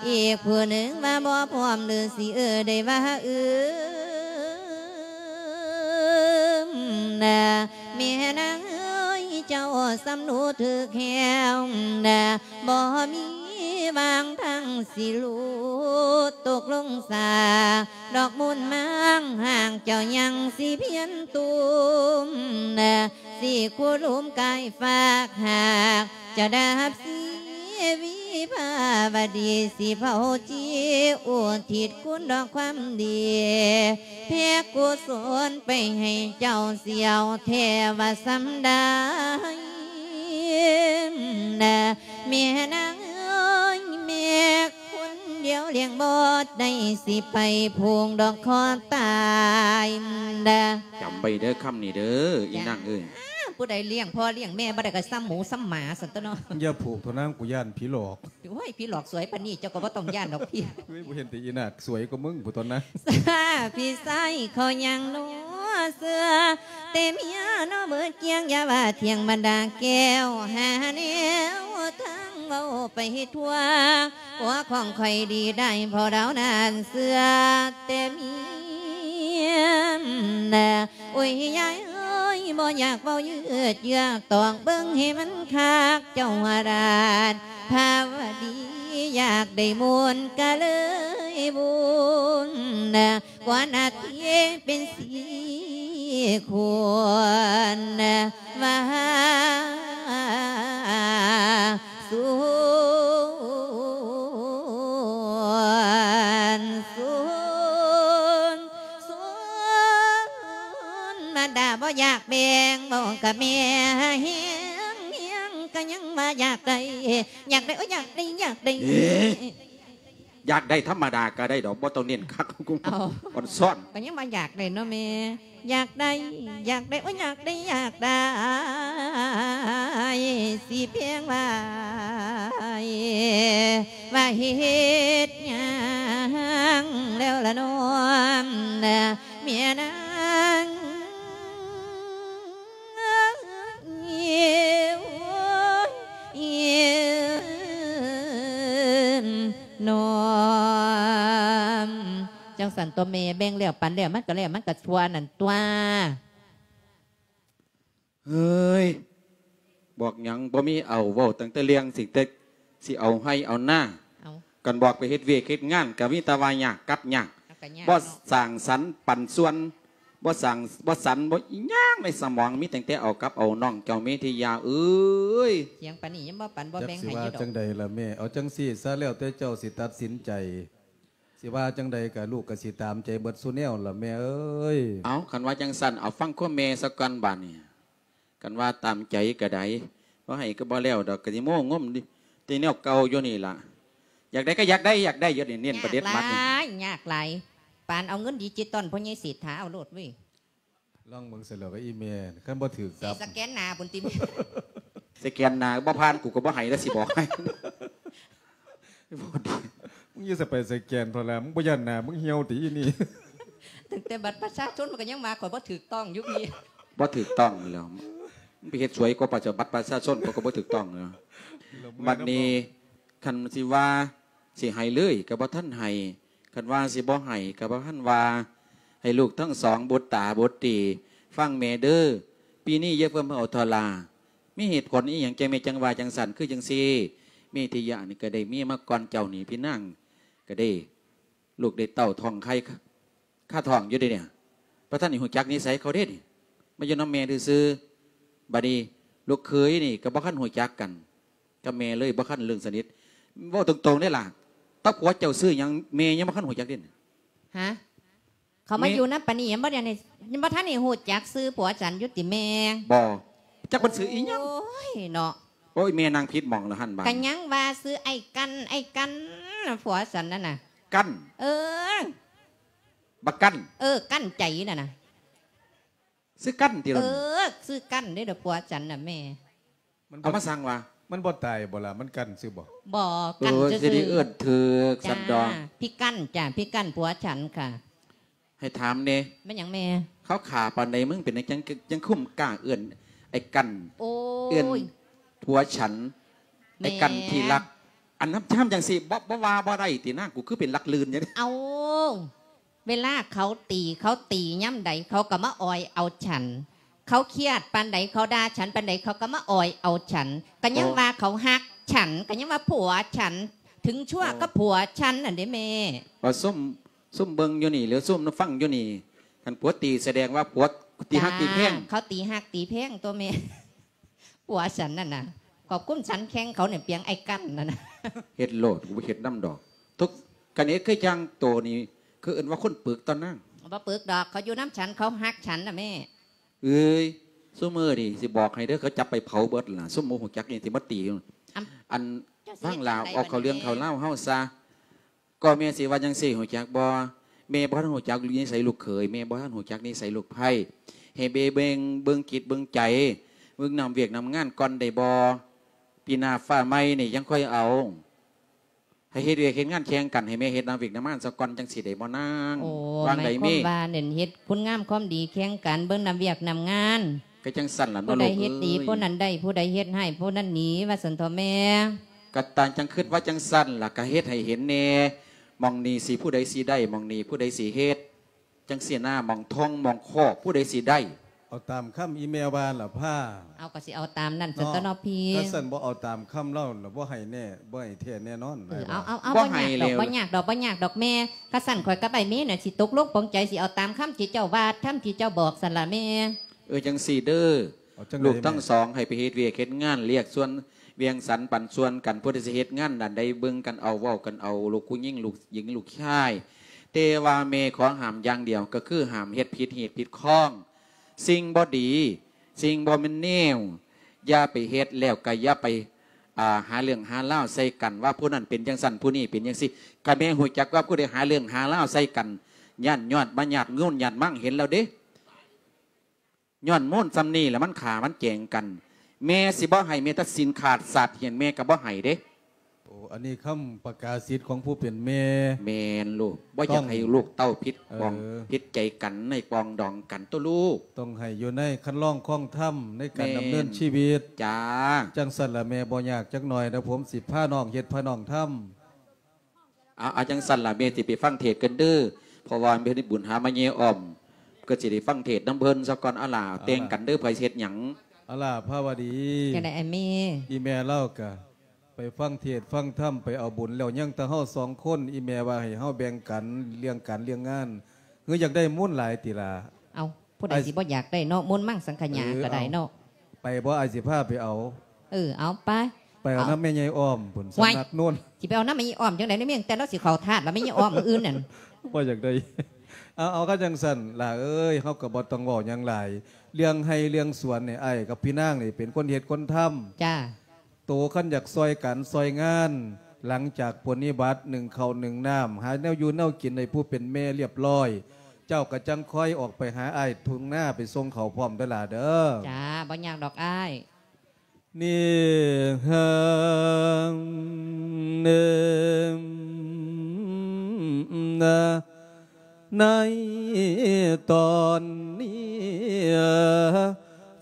ອີກຜູ້ໜຶ່ງວ່າບໍ່ພ້ອມ ຫຼືຊິເອີ ໄດ້ວ່າອືມນະ ແມ່ນາງເອີຍ ເຈົ້າສຳຮູ້ຖືກແລ້ວນະ ບໍ່ມີຫວ່າງທາງຊິຫຼຸດຕົກລົງສາ ດອກມູນມັງຫາກເຈົ້າຍັງຊິພຽນຕຸ່ມນະ ຊິຄູລຸມກາຍຝາກຫາກ ຈະດັບຊີວິພາວະດີ ຊິເຜົາຈີອຸທິດຄຸນດອກຄວາມດີ ແຜ່ກຸສົນໄປໃຫ້ເຈົ້າ ສຽວແທ້ວ່າສ່ຳໃດນະ ແມ່ນາງເອີຍ ແມ່ຄົນດຽວລ້ຽງບໍ່ໄດ້ ຊິໄປຜູກດອກຄໍຕາຍນະ. ຈຳໄວ້ເດີຄຳນີ້ເດີ ອີນາງເອີຍ. ຜູ້ໃດລ້ຽງພໍ່ລ້ຽງແມ່ບໍ່ໄດ້ກໍສ່ຳໝູສ່ຳໝາຊັ້ນຕົວະເນາະ. ຢ່າຜູກເຖາະນາງ ກູຢ້ານຜີຫຼອກ. ໂອ້ຍ ຜີຫຼອກສວຍປານນີ້ ເຈົ້າກໍບໍ່ຕ້ອງຢ້ານດອກພີ່. ເຮີ້ຍ ບໍ່ເຫັນແຕ່ອີນາກສວຍກວ່າມຶງພຸ້ນຕົວະນະ. ພີ່ຊາຍເຂົາຍັງລໍເຊື່ອ ແຕ່ເມຍເນາະເບີດກ້ຽງ ຢ່າວ່າທ່ຽງບັນດາແກ້ວ ຫາແນວທາງເວົ້າໄປທົ່ວ ຜົວຂອງຂ້ອຍດີໄດ້ ເພາະລາວນັ້ນເຊື່ອແຕ່ເມຍນະ. ໂອ້ຍ ຍາຍເອີຍ ບໍ່ຢາກເວົ້າຍືດເຍືອກ ຕອກເບິ່ງໃຫ້ມັນຄັກ ເຈົ້າວ່າລາດພາວະດີ ຢາກໄດ້ມູນກະເລີຍວຸ່ນນະ ກວ່ານາທີເປັນສີ່ຄົນນະ ວ່າ ສວນ ສວນ ສວນ ມາດາບໍ່ຢາກແບ່ງ ເວົ້າກັບແມ່ແຮງ ແຮງກໍຍັງວ່າຢາກໄດ້ ຢາກໄດ້ ໂອ້ຍ ຢາກໄດ້ ຢາກໄດ້. ເອີ ຢາກໄດ້ທຳມະດາກໍໄດ້ດອກ ບໍ່ຕ້ອງເນັ້ນຄັກ ເອົ້າ ອ່ອນຊ້ອນ ກໍຍັງວ່າຢາກໄດ້ເນາະແມ່. ຢາກໄດ້ ຢາກໄດ້ ໂອ້ຍ ຢາກໄດ້ ຢາກໄດ້ ຊິພຽງວ່າ ວ່າເຮັດຫຍັງແລ້ວລະນ້ອງ ເມຍນາງ ໂອ້ຍ ນ້ອງ ຈັ່ງຊັ້ນຕົວະແມ່ ແບ່ງແລ້ວປັນແລ້ວ ມັນກໍແລ້ວ ມັນກໍທົ່ວນັ້ນຕົວະ. ເຮີ້ຍ ບອກຫຍັງບໍ່ມີເອົາ ເວົ້າຕັ້ງແຕ່ເລື່ອງຊິ ແຕ່ຊິເອົາໄຮ່ເອົານາ ເອົ້າ ຄັນບອກໄປເຮັດວຽກເຮັດງານ ກໍມີແຕ່ວ່າຍາກກັບຍາກ ເອົາ ກໍຍາກ ບໍ່ ເນາະ ສ້າງສັນປັນສ່ວນ ບໍ່ສ້າງ ບໍ່ສັນ ບໍ່ອີຫຍັງໃນສະໝອງ ມີຕັ້ງແຕ່ເອົາກັບເອົາ ນ້ອງເຈົ້າເມທິຍາເອີຍ. ສຽງປານນີ້ຍັງບໍ່ປັນບໍ່ແບ່ງໃຫ້ຢູ່ດອກ. ຈັກຊິວ່າຈັ່ງໃດລະແມ່ ເອົາຈັ່ງຊີ້ຊະ ແລ້ວແຕ່ເຈົ້າຊິຕັດສິນໃຈ. ຊິວ່າຈັ່ງໃດກະລູກກະຊິຕາມໃຈເບິດສູ່ແນວລະແມ່ເອີຍ. ເອົ້າ ຄັນວ່າຈັ່ງຊັ້ນ ເອົາຟັງຄວາມແມ່ສາກ່ອນບາດນີ້. ຄັນວ່າຕາມໃຈກະໄດ້ ບໍ່ໃຫ້ກະບໍ່ແລ້ວດອກ ກະຊິໂມ້ງົມແຕ່ແນວເກົ່າຢູ່ນີ້ລະ. ຢາກໄດ້ກະຢາກໄດ້ ຢາກໄດ້ຢູ່ນີ້ ເນັ້ນປະເດັດມັດນີ້. ຍາກຫຼາຍ ຍາກຫຼາຍ ປານເອົາເງິນດິຈິຕອນພໍ່ໃຫຍ່ເສດຖາເອົາໂລດເວີຍ. ລອງເບິ່ງຊັ້ນແລ້ວກະອີ່ແມ່ ຄັນບໍ່ຖືກຕັບ ສະແກນໜ້າພຸ້ນຕິແມ່. ສະແກນໜ້າບໍ່ຜ່ານ ກູກໍບໍ່ໃຫ້ລະ ຊິບອກໃຫ້. ບໍ່ດີ ມຶງຢ່າສະໄປສະແກນເພາະລະ ມຶງບໍ່ຢ້ານໜ້າມຶງຫ່ຽວຕິອີ່ນີ້. ຕັ້ງແຕ່ບັດປະຊາຊົນມັນກໍຍັງວ່າຂ້ອຍບໍ່ຖືກຕ້ອງຢູ່ພີ້. ບໍ່ຖືກຕ້ອງແລ້ວ ມຶງໄປເຮັດສວຍກວ່າບັດປະຊາຊົນ ເຂົາກໍບໍ່ຖືກຕ້ອງແລ້ວ. ບັດນີ້ ຄັນຊິວ່າຊິໃຫ້ເລີຍກໍບໍ່ທັນໃຫ້ ຄັນວ່າຊິບໍ່ໃຫ້ກໍບໍ່ທັນວ່າ. ໃຫ້ລູກທັງສອງບຸດຕາບຸດຕີ ຟັງແມ່ເດີ ປີນີ້ຢ່າເພີ່ມເອົາທໍລາ. ມີເຫດຜົນອີ່ຫຍັງຈັ່ງແມ່ຈັ່ງວ່າຈັ່ງຊັ້ນ ຄືຈັ່ງຊີ້ ເມທິຍະນີ້ກໍໄດ້ເມຍມາກ່ອນເຈົ້ານີ້ ພີ່ນາງກໍໄດ້ລູກໄດ້ເຕົ້າທ້ອງໄຂ່ ຄາທ້ອງຢູ່ເດ້ນີ້ ບໍ່ທັນໄດ້ຮູ້ຈັກນິໄສເຂົາເດ້ນີ້ ມາຢູ່ນຳແມ່ຊື່ໆ. ບັດນີ້ລູກເຂີຍນີ້ກໍບໍ່ທັນຮູ້ຈັກກັນກັບແມ່ເລີຍ ບໍ່ທັນເລື່ອງສະໜິດ. ເວົ້າຕົງໆເດ້ລະ ຕາຜົວເຈົ້າຊື່ຫຍັງ ແມ່ຍັງບໍ່ທັນຮູ້ຈັກເດ້ນີ້. ຮະ? ເຂົາມາຢູ່ນຳປານນີ້ຍັງບໍ່ໄດ້ ຍັງບໍ່ທັນໄດ້ຮູ້ຈັກຊື່ຜົວສັນຢູ່ຕິແມ່? ບໍ່ ຈັກເພິ່ນຊື່ອີ່ຫຍັງ. ໂອ້ຍເນາະ ໂອ້ຍ ແມ່ນັ່ງຜິດໝ່ອງລະຫັ້ນບາດ ກະຍັງວ່າຊື່ໄອ້ກັນ ໄອ້ກັນ ຜົວສັນນັ້ນນະ. ກັນ? ເອີ ບັກກັນ? ເອີ ກັ້ນໃຈນັ້ນນະ. ຊື່ກັນຕິລະ? ເອີ ຊື່ກັນເດ້ລະ ຜົວສັນນະແມ່. ມັນ ເອົາມາສັ່ງວ່າ ມັນບໍ່ຕາຍບໍ່ລະ ມັນກັ້ນຊື່ບໍ່? ບໍ່ ກັ້ນຊື່ໆ. ເອີ ຊິໄດ້ເອີ້ນຖືກຊັ້ນດອກ. ພີ່ກັ້ນຈ້າ ພີ່ກັ້ນຜົວສັນຄ່ະ. ໃຫ້ຖາມແດ່ ແມ່ນຫຍັງແມ່? ເຂົາຂ້າປານໃດ ມຶງເປັນຫຍັງຈັ່ງ ຈັ່ງຄຸມກ້າເອີ້ນໄອ້ກັນ? ໂອ້ຍ ເອີ້ນຜົວສັນ ໄອ້ກັນທີ່ລັກ ອັນນຳຈາມຈັ່ງຊີ້ ບໍ່ ບໍ່ວ່າບໍ່ໄດ້ຕິນາງ ກູຄືເປັນຫຼັກລື່ນຫຍັງ. ເອົ້າ ເວລາເຂົາຕີ ເຂົາຕີຍາມໃດ ເຂົາກໍມາອອຍເອົາສັນ. ເຂົາຄຽດປານໃດ ເຂົາດ່າສັນປານໃດ ເຂົາກໍມາອອຍເອົາສັນ. ກໍຍັງວ່າເຂົາຮັກສັນ ກໍຍັງວ່າຜົວສັນ ເຖິງຊົ່ວກໍຜົວສັນນັ້ນເດ້ແມ່. ວ່າຊຸມ ຊຸມເບິ່ງຢູ່ນີ້ ຫຼື ຊຸມຟັງຢູ່ນີ້ ຄັນຜົວຕີສະແດງວ່າຜົວຕີຮັກຕີແພງ. ເຂົາຕີຮັກຕີແພງຕົວະແມ່. ຜົວສັນນັ້ນນະ ຂອບຄຸນສັນແຂ່ງເຂົານີ້ ປຽງໄອ້ກັນນັ້ນນະ. ເຮັດໂລດ ກູບໍ່ເຮັດນຳດອກ. ທຸກ ຄັນເຮັດຄືຈັ່ງໂຕນີ້ ຄືເອີ້ນວ່າຄົນປຶກຕົວະນາງ. ບໍ່ປຶກດອກ ເຂົາຢູ່ນຳສັນ ເຂົາຮັກສັນນະແມ່. ເອີຍ ຊຸມມື້ນີ້ຊິບອກໃຫ້ເດີ ເຂົາຈັບໄປເຜົາເບິດລະ ຊຸມບໍ່ຮູ້ຈັກນີ້ຊິມາຕີ. ອັນ ຟັງລາວ ເອົາເຂົ້າເລື່ອງເຂົ້າລາວເຮົາຊະ. ກໍແມ່ຊິວ່າຈັ່ງຊີ້ ຮູ້ຈັກບໍ່? ແມ່ບໍ່ທັນຮູ້ຈັກນິໄສລູກເຂີຍ ແມ່ບໍ່ທັນຮູ້ຈັກນິໄສລູກໃພ້. ໃຫ້ແມ່ເບິ່ງ ເບິ່ງຈິດເບິ່ງໃຈ ເບິ່ງນຳວຽກນຳງານກ່ອນໄດ້ບໍ່? ປີໜ້າຟ້າໃໝ່ນີ້ຍັງຄ່ອຍເອົາ. ໃຫ້ເຮັດວຽກເຮັດງານແຂ່ງກັນ, ໃຫ້ແມ່ເຮັດນຳວຽກນຳງານຊະກ່ອນ ຈັ່ງຊິໄດ້ບໍ່ນາງ? ໂອ້ ວ່າງໃດແມ່? ໝາຍຄວາມວ່ານັ້ນ ເຮັດຄຸນງາມຄວາມດີແຂ່ງກັນ ເບິ່ງນຳວຽກນຳງານ. ກໍຈັ່ງຊັ້ນລະເນາະ ຜູ້ໃດເຮັດດີ ລູກເອີຍ ຜູ້ນັ້ນໄດ້, ຜູ້ໃດເຮັດຮ້າຍ ຜູ້ນັ້ນໜີ ວ່າຊັ້ນເຖາະແມ່. ກໍຕ່າງຈັ່ງຄິດວ່າຈັ່ງຊັ້ນລະ, ກໍເຮັດໃຫ້ເຫັນແດ່ ໝ່ອງນີ້ຊິ ຜູ້ໃດຊິໄດ້, ໝ່ອງນີ້ຜູ້ໃດຊິເຮັດ. ຈັ່ງຊີ້ນະ ໝ່ອງທ່ອງໝ່ອງຄອກ ຜູ້ໃດຊິໄດ້? ເອົາຕາມຄຳອີແມ່ວ່າລະພາ. ເອົາ ກໍຊິເອົາຕາມນັ້ນຊັ້ນຕົວເນາະພີ່. ຄັນຊັ້ນບໍ່ເອົາຕາມຄຳລາວລະ ບໍ່ໃຫ້ແນ່ ບໍ່ໃຫ້ແທ້ແນ່ນອນ. ເອີ ເອົາ ເອົາ ເອົາ ບໍ່ຍາກດອກ ບໍ່ຍາກດອກ ບໍ່ຍາກດອກແມ່. ຄັນຊັ້ນຂ້ອຍກັບອ້າຍເມນະ ຊິຕົກລົງປອງໃຈ ຊິເອົາຕາມຄຳທີ່ເຈົ້າວ່າ ຄຳທີ່ເຈົ້າບອກຊັ້ນລະແມ່. ເອີ ຈັ່ງຊີ້ເດີ ລູກທັງສອງໃຫ້ໄປເຮັດວຽກເຮັດງານ ລຽກສ່ວນ ແບ່ງສັນປັນສ່ວນກັນ, ຜູ້ໃດຊິເຮັດງານດ້ານໃດເບິ່ງກັນເອົາ ເວົ້າກັນເອົາ ລູກຜູ້ຍິງ ລູກຍິງ ລູກຊາຍ. ແຕ່ວ່າແມ່ຂໍຫ້າມຢ່າງດຽວ ກໍຄືຫ້າມເຮັດຜິດຮີດຜິດຄອງ ສິ່ງບໍ່ດີ ສິ່ງບໍ່ແມ່ນແນວ. ຢ່າໄປເຮັດ ແລ້ວກໍຢ່າໄປ ອ່າ ຫາເລື່ອງຫາລາວໃສ່ກັນ ວ່າຜູ້ນັ້ນເປັນຈັ່ງຊັ້ນ ຜູ້ນີ້ເປັນຈັ່ງຊີ້. ຄັນແມ່ຮູ້ຈັກວ່າຜູ້ໃດຫາເລື່ອງຫາລາວໃສ່ກັນ ຢ້ານຍອດມາຍາດໂຍນຍາດມັງ ເຫັນແລ້ວເດ້. ຍ້ອນມູນສ່ຳນີ້ລະ ມັນຂ້າມັນແກງກັນ. ແມ່ຊິບໍ່ໃຫ້ແມ້ແຕ່ສິ້ນຂາດສາດຫຽນ ແມ່ກໍບໍ່ໃຫ້ເດ້. ໂອ້ ອັນນີ້ຄຳປະກາສິດຂອງຜູ້ເປັນແມ່. ແມ່ນລູກ, ບໍ່ຢາກໃຫ້ລູກເຕົ້າຜິດ ເອີ ປອງ ຜິດໃຈກັນໃນປອງດອງກັນຕົວະລູກ. ຕ້ອງໃຫ້ຢູ່ໃນຄັນລອງຄອງທຳ ໃນການ ແມ່ນ ດຳເນີນຊີວິດ. ຈ້າ. ຈັ່ງຊັ້ນລະແມ່ບໍ່ຍາກຈັກໜ້ອຍນະ, ຜົມຊິພານ້ອງເຮັດພານ້ອງທຳ. ເອົາ ເອົາ ຈັ່ງຊັ້ນລະ ແມ່ຊິໄປຟັງເທດກັນເດີ ເພາະວ່າແມ່ໄດ້ບຸນຫາມາເຍອ້ອມ ກໍຊິໄດ້ຟັງເທດນຳເພິ່ນຊະກ່ອນ. ເອົາລະ ເອົາລະ ແຕ່ງກັນເດີ ໃຜຊິເຮັດຫຍັງ? ເອົາລະ ພາວະດີ ຈັ່ງໃດອ້າຍແມ່? ອີ່ແມ່ລາວກະໄປຟັງເທດຟັງທຳ ໄປເອົາບຸນແລ້ວ ຍັງແຕ່ເຮົາສອງຄົນ. ອີ່ແມ່ວ່າໃຫ້ເຮົາແບ່ງກັນເລື່ອງການເລື່ອງງານ ຄືຢາກໄດ້ມູນຫຼາຍຕິລະ? ເອົາ ຜູ້ໃດ ອ້າຍ ຊິບໍ່ຢາກໄດ້ເນາະ ມູນມັງສັງຂະຫຍາ ເອີ ກໍໄດ້ເນາະ. ໄປບໍ່? ອ້າຍຊິພາໄປເອົາ. ເອີ ເອົາໄປ ໄປເອົານຳແມ່ໃຫຍ່ອ້ອມພຸ້ນ ສຳນັກໂນ້ນ. ຊິໄປເອົານຳແມ່ໃຫຍ່ອ້ອມຈັ່ງໃດ? ໃນເມືອງແຕ່ລາວຊິເຂົ້າທາດລະ ແມ່ໃຫຍ່ອ້ອມມື້ອື່ນນັ້ນ. ບໍ່ຢາກໄດ້. ເອົາ ເອົາ ຄັນຈັ່ງຊັ້ນຫຼ້າເອີຍ ເຮົາກໍບໍ່ຕ້ອງເວົ້າຫຍັງຫຼາຍ. ເລື່ອງໄຮ່ເລື່ອງສວນນີ້ ອ້າຍກັບພີ່ນາງນີ້ເປັນຄົນເຮັດຄົນທຳ. ຈ້າ. ໂຕຄັນຢາກຊ່ອຍການຊ່ອຍງານ ຫຼັງຈາກປົນນິບັດ ໜຶ້ງເຂົ້າໜຶ້ງນ້ຳ ຫາແນວຢູ່ແນວກິນໃຫ້ຜູ້ເປັນແມ່ລຽບລ້ອຍ ເຈົ້າກໍຈັ່ງຄ່ອຍອອກໄປຫາອ້າຍທົ່ງນາ ໄປສົ່ງເຂົ້າພ້ອມເດີຫຼ້າເດີ. ຈ້າ ບໍ່ຍາກດອກອ້າຍ. ນີ້ເຮີ ເອີ ນະ ໃນຕອນນີ້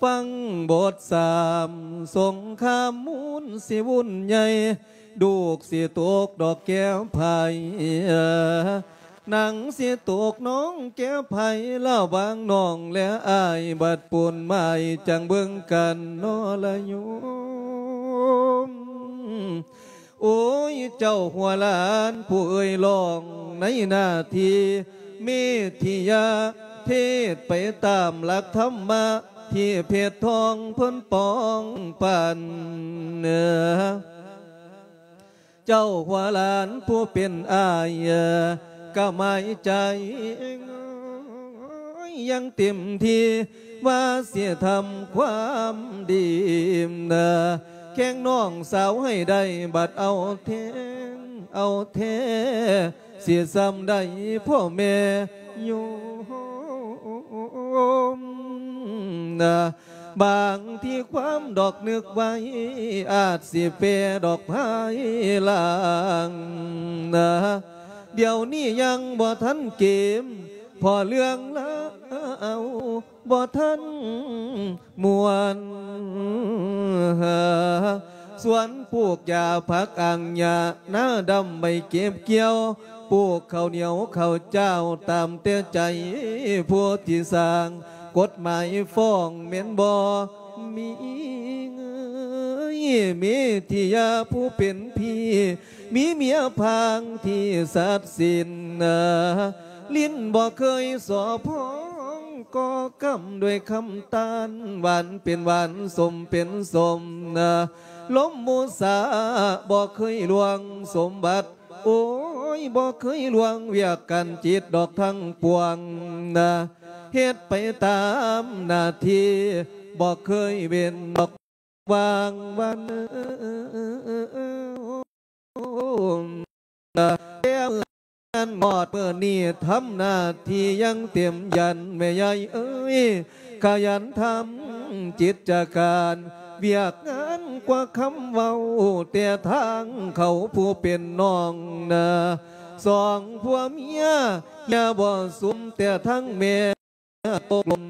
ຟັງບົດສາມສົງຄາມ ມູນຊິວຸ່ນໃຫຍ່ ລູກຊິຕົກດອກແກ້ວໄພ ໜັງຊິຕົກນ້ອງແກ້ວໄພ ລະຫວ່າງນ້ອງແລະອ້າຍ ບັດປູນໝາຍຈັ່ງເບິ່ງກັນນໍລະໂຍມ. ໂອ້ຍ ເຈົ້າຫົວຫຼານຜູ້ເອີ່ຍ ລອງໃນໜ້າທີ່ເມທິຍາ ເທດໄປຕາມຫຼັກທຳມະ ທີ່ເພັດທອງເພິ່ນປອງປັນ. ເຈົ້າຫົວຫຼານຜູ້ເປັນອ້າຍ ກະໝາຍໃຈ ຍັງເຕັມທີ່ວ່າຊິທຳຄວາມດີ ແຂ່ງນ້ອງສາວໃຫ້ໄດ້ ບັດເອົາແທ້ ເອົາແທ້ ຊິສ່ຳໃດພໍ່ແມ່ໂຍມ. ບາງທີຄວາມດອກນຶກໄວ້ ອາດຊິແປດອກພາຍຫຼັງ ດຽວນີ້ຍັງບໍ່ທັນເກມ ເພາະເລື່ອງລາວບໍ່ທັນມ່ວນ. ສວນປູກຢາຜັກອ່າງຫຍ້າ ນາດຳໄວ້ເກັບກ່ຽວ ປູກເຂົ້າໜຽວເຂົ້າຈ້າວ ຕາມແຕ່ໃຈຜູ້ທີ່ສ້າງ ກົດໝາຍຟ້ອງແມ່ນບໍ່ມີເອີຍ? ເມທິຍາຜູ້ເປັນພີ່ ມີເມຍພາງທີ່ສັດສິນ ລິ້ນບໍ່ເຄີຍສໍ້ພອງ ກໍກຳດ້ວຍຄຳຕານ ຫວານເປັນຫວານ ສົມເປັນສົມ ລົມມຸສາບໍ່ເຄີຍລ່ວງສົມບັດ ໂອ້ຍ ບໍ່ເຄີຍລ່ວງວຽກການຈິດດອກທັງປວງ ເຮັດໄປຕາມໜ້າທີ່ ບໍ່ເຄີຍເວັ້ນດອກຫວ່າງວັນ. ແຕ່ງານຮອດມື້ນີ້ ທຳໜ້າທີ່ຢ່າງເຕັມຢັນ ແມ່ໃຫຍ່ເອີຍ ຂະຫຍັນທຳ ກິດຈະການວຽກງານກວ່າຄຳເວົ້າ ແຕ່ທາງເຂົາຜູ້ເປັນນ້ອງນາ ສອງຜົວເມຍຢ່າບໍ່ສຸມ ແຕ່ທາງແມ່ຕົກລົງ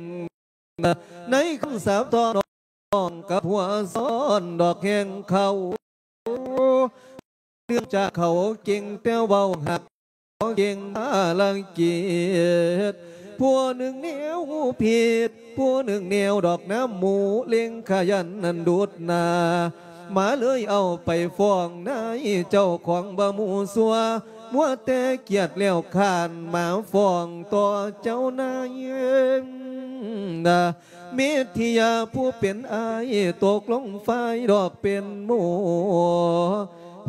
ນາ ໃນຄຳສາບຕໍ່ນ້ອງກັບຫົວຊ້ອນດອກແຮງເຂົາ ເນື່ອງຈາກເຂົາເກັ່ງແຕ່ເວົ້າຮັກ ເກັ່ງພາລະກິດ ຜູ້ໜຶ່ງແນວຜິດ ຜູ້ໜຶ່ງແນວດອກນ້ຳໝູ່ ເລັ່ງຂະຫຍັນນັ້ນດຸດໜ້າ ມາເລີຍເອົາໄປຟ້ອງນາຍເຈົ້າຂອງບໍ່ໝູ່ຊົ່ວ ມົວແຕ່ກຽດແລ້ວຄ້ານ ມາຟ້ອງຕໍ່ເຈົ້ານາຍນາ ເມດທິຍາຜູ້ເປັນອ້າຍ ຕົກລົງຝ່າຍດອກເປັນໝູ່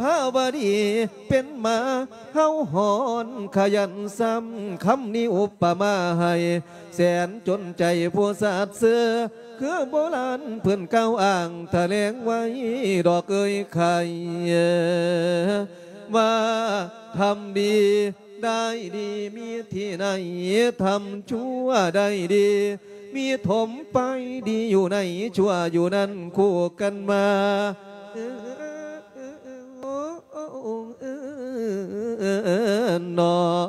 ພາວະດີເປັນໝາເຫົ່າຫອນຂະຫຍັນຊ້ຳ ຄຳນີ້ອຸປະມາໃຫ້ແສນຈົນໃຈຜູ້ສາດເຊື່ອ ຄືໂບລານເພິ່ນກ່າວອ້າງຖະແຫຼງໄວ້ດອກເອີຍໄຂ່ ວ່າທຳດີ ໄດ້ດີມີທີ່ໃນ ທຳຊົ່ວໄດ້ດີມີຖົມໄປ ດີຢູ່ໃນຊົ່ວຢູ່ນັ້ນຄູ່ກັນມາ ເນາະ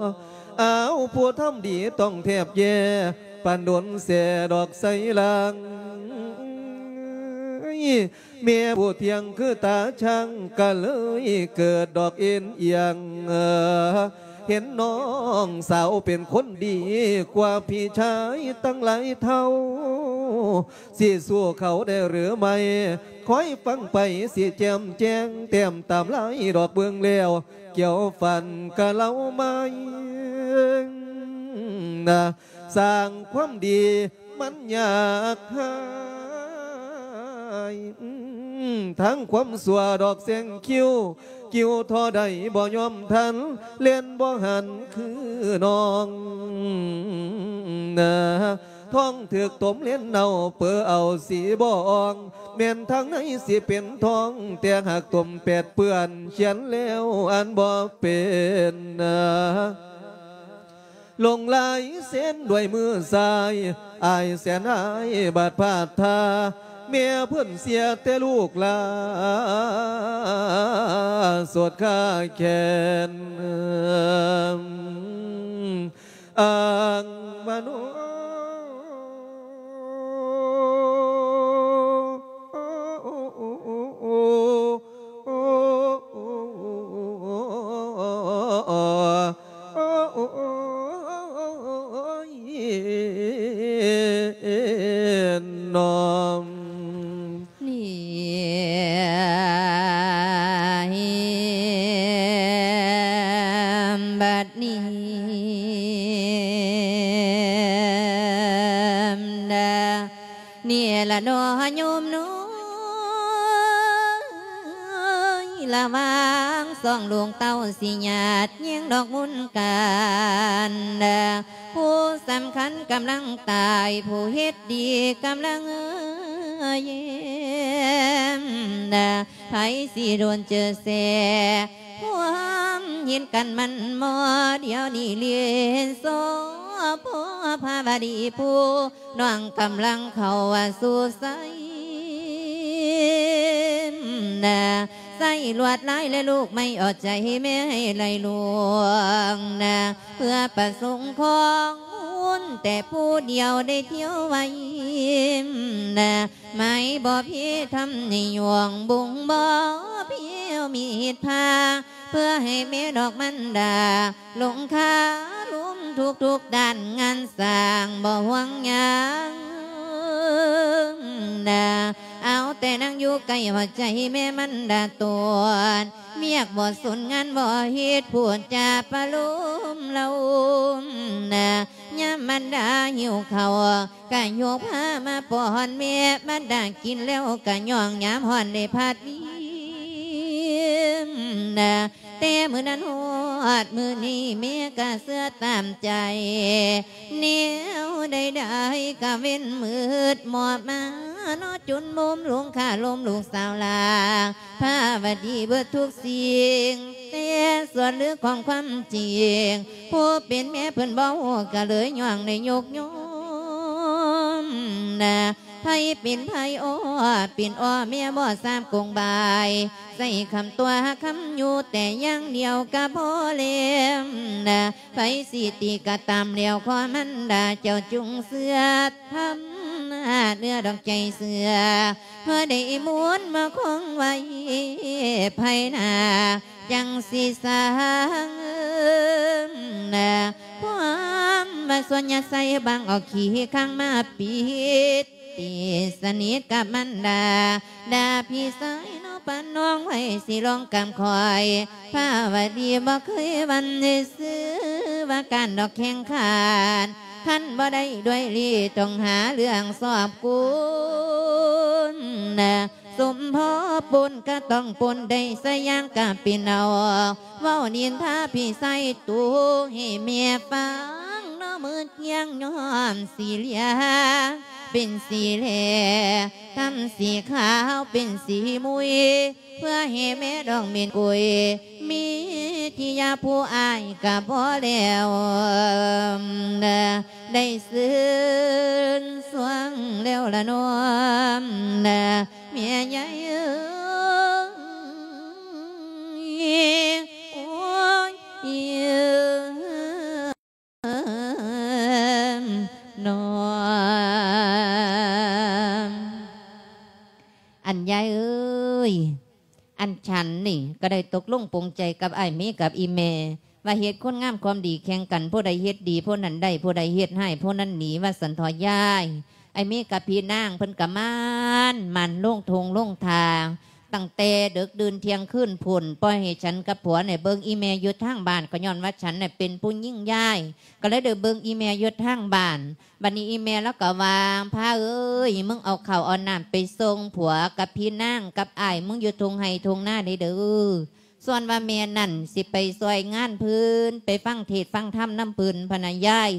ອ້າວ ຜູ້ທຳດີຕ້ອງແທບແຍ່ ປານດົນແສດອກໄຊລາງ ແມ່ຜູ້ທ່ຽງຄືຕາຊ່າງ ກະເລີຍເກີດດອກເອັນອຽງ ເຫັນນ້ອງສາວເປັນຄົນດີກວ່າພີ່ຊາຍຕັ້ງຫຼາຍເທົ່າ ຊິສູ້ເຂົາໄດ້ຫຼືໄມ່ ຄອຍຟັງໄປ ຊິແຈ່ມແຈ້ງແຕ້ມຕາມລາຍດອກເບິ່ງແລ້ວ ກ່ຽວຟັນກະເລົ່າໄມ້ນະ ສ້າງຄວາມດີມັນຍາກຫາຍ ທັງຄວາມຊົ່ວດອກແຊງຄິວ ກິວທໍ່ໃດບໍ່ຍອມທັນ ເລ່ນບໍ່ຫັນຄືນ້ອງນາ ທ້ອງຖືກຕົມເຫຼັ້ນເນົ່າເປີເອົາສີບໍ່ອ່ອງ ແມ່ນທາງໃນຊິເປັນທອງ ແຕ່ຫາກຕົມແປດເປື້ອນ ຂຽນແລ້ວອ່ານບໍ່ເປັນນາ ລົງລາຍເຊັນດ້ວຍມືຊ້າຍ ອາຍແສນອາຍບາດພາດທ່າ ແມ່ເພິ່ນເສຍແຕ່ລູກຫຼານ ໂສດຄາແຂນ ອ້າງວ່າໂນ ນ້ອງ ນີ້ ບັດນີ້ ນີ້ລະເນາະໂຍມນ້ອຍ ລະຫວ່າງສອງລູກເຕົ້າ ຊິຍາດແຍ່ງດອກບຸນກັນ ຜູ້ສຳຄັນກຳລັງຕາຍ ຜູ້ເຮັດດີກຳລັງແຍ້ມ ໃຜຊິໂດນເຈີແຊ ຄວາມເຫັນກັນມັນໝໍ ດຽວນີ້ເລນຊໍພໍ່ພາວະດີ ຜູ້ນ້ອງກຳລັງເຂົ້າສູ່ໃສ ໃສ່ລວດລາຍ ແລະລູກໄມ້ເອົາໃຈແມ່ໃຫ້ໄຫຼຫຼວງ ເພື່ອປະສົງຂອງບຸນ ແຕ່ຜູ້ດຽວໄດ້ທ່ຽວໄວ ໄມ້ບໍ່ເພທຳໃຫ້ຍວງ ບຸງບໍ່ເພວມີເຮັດພາ ເພື່ອໃຫ້ແມ່ດອກມັນດາ ລົງຄາລົມທຸກໆດ້ານ ງານສ້າງບໍ່ຫ່ວງຫຍັງນາ ເອົາແຕ່ນັ່ງຢູ່ໃກ້ຫົວໃຈແມ່ມັນດາໂຕນ ວຽກບໍ່ສົນງານບໍ່ເຮັດ ພູດຈາປະໂລມເລົ່ານາ ຍາມມັນດາຫິວເຂົ້າ ກະຍົກພາມາປ້ອນແມ່ ບັດດາກິນແລ້ວກະຍ່ອງ ຍາມຮ້ອນໄດ້ພັດວິນນະ ແຕ່ມື້ນັ້ນຮອດມື້ນີ້ ແມ່ກະເຊື່ອຕາມໃຈ ແນວໃດໆກະເວັ້ນມືດ ມອບມາເນາະ ຈົນມຸມລົງຄາລົມລູກສາວຫຼາ ພາວະດີເບິດທຸກສິ່ງ ແຕ່ສ່ວນເລື່ອງຂອງຄວາມຈິງ ຜູ້ເປັນແມ່ເພິ່ນບໍ່ຮູ້ ກະເລີຍຍ່ອງໄດ້ຍົກໂຍມນະ ໃຜເປັນໃຜ ໂອ້ ເປັນ ອ້ອ ແມ່ບໍ່ຊາບກົງບາຍ ໃສ່ຄຳຕົວະຄຳຢູ່ແຕ່ຢ່າງດຽວກະພໍແລ້ວນະ ໃຜຊິຕິກະຕາມແລ້ວ ຂໍມັນດາເຈົ້າຈົ່ງເຊື່ອທຳນາເນື້ອດອກໃຈເຊື່ອ ເພື່ອໄດ້ໝູນມາຄົງໄວ້ພາຍໜ້າ ຈັ່ງຊິສ້າງນະ ຄວາມວ່າສ່ວນຍາໃສ່ບັງເອົາຂີ້ຄ້າງມາປິດ ຕີສະໜິດກັບມັນດາ ດາພີ່ຊາຍເນາະ ປະນ້ອງໄວ້ຊິລອງກຳຂ້ອຍ ພາວະດີບໍ່ເຄີຍວັ່ນຊື່ວ່າການດອກແຂ່ງຂັນ ຄັນບໍ່ໄດ້ດ້ວຍລີ້ ຕ້ອງຫາເລື່ອງຊອບກຸນ ສົມພໍປົນກະຕ້ອງປົນໄດ້ສະຢ່າງກະເປັນເອົາ ເວົ້ານິນທາພີ່ຊາຍຕູໃຫ້ແມ່ຟັງເນາະ ມື້ທ່ຽງຍ້ອນສີເຫຼືອ ເປັນສີແລ ທຳສີຂາວເປັນສີມຸຍ ເພື່ອໃຫ້ແມ່ດອງເມັນກຸຍ ມີທີ່ຢາຜູ້ອ້າຍກະພໍແລ້ວ ໄດ້ຊື່ນຊ່ວງແລ້ວລະນ້ອມ ແມ່ໃຫຍ່ເອີຍ ໂອ້ຍ ເອີ ນ້ອງ ອັນຍາຍເອີຍ ອັນສັນນີ້ກະໄດ້ຕົກລົງປົງໃຈກັບອ້າຍເມກັບອີ່ແມ່ ວ່າເຮັດຄຸນງາມຄວາມດີແຂ່ງກັນ ຜູ້ໃດເຮັດດີຜູ້ນັ້ນໄດ້ ຜູ້ໃດເຮັດຮ້າຍຜູ້ນັ້ນໜີ ວ່າຊັ້ນເທາະຍາຍ. ອ້າຍເມກັບພີ່ນາງເພິ່ນກະໝັ່ນ ໝັ່ນລົງທົ່ງລົງທ່າ ຕັ້ງແຕ່ເດິກດື່ນທ່ຽງຄືນພຸ້ນ ປ່ອຍໃຫ້ສັນກັບຜົວນີ້ເບິ່ງອີ່ແມ່ຢູ່ທາງບ້ານ ກໍຍ້ອນວ່າສັນນີ້ເປັນຜູ້ຍິງຍາຍ ກໍເລີຍໄດ້ເບິ່ງອີ່ແມ່ຢູ່ທາງບ້ານ. ບັດນີ້ອີ່ແມ່ລາວກໍວ່າ ພາເອີຍ ມຶງເອົາເຂົ້າເອົານ້ຳໄປສົ່ງຜົວກັບພີ່ນາງກັບອ້າຍມຶງຢູ່ທົ່ງໄຮ່ທົ່ງນາເດີ. ສ່ວນວ່າແມ່ນັ້ນຊິໄປຊ່ວຍງານເພິ່ນ ໄປຟັງເທດຟັງທຳນຳເພິ່ນພະນະຍາຍ.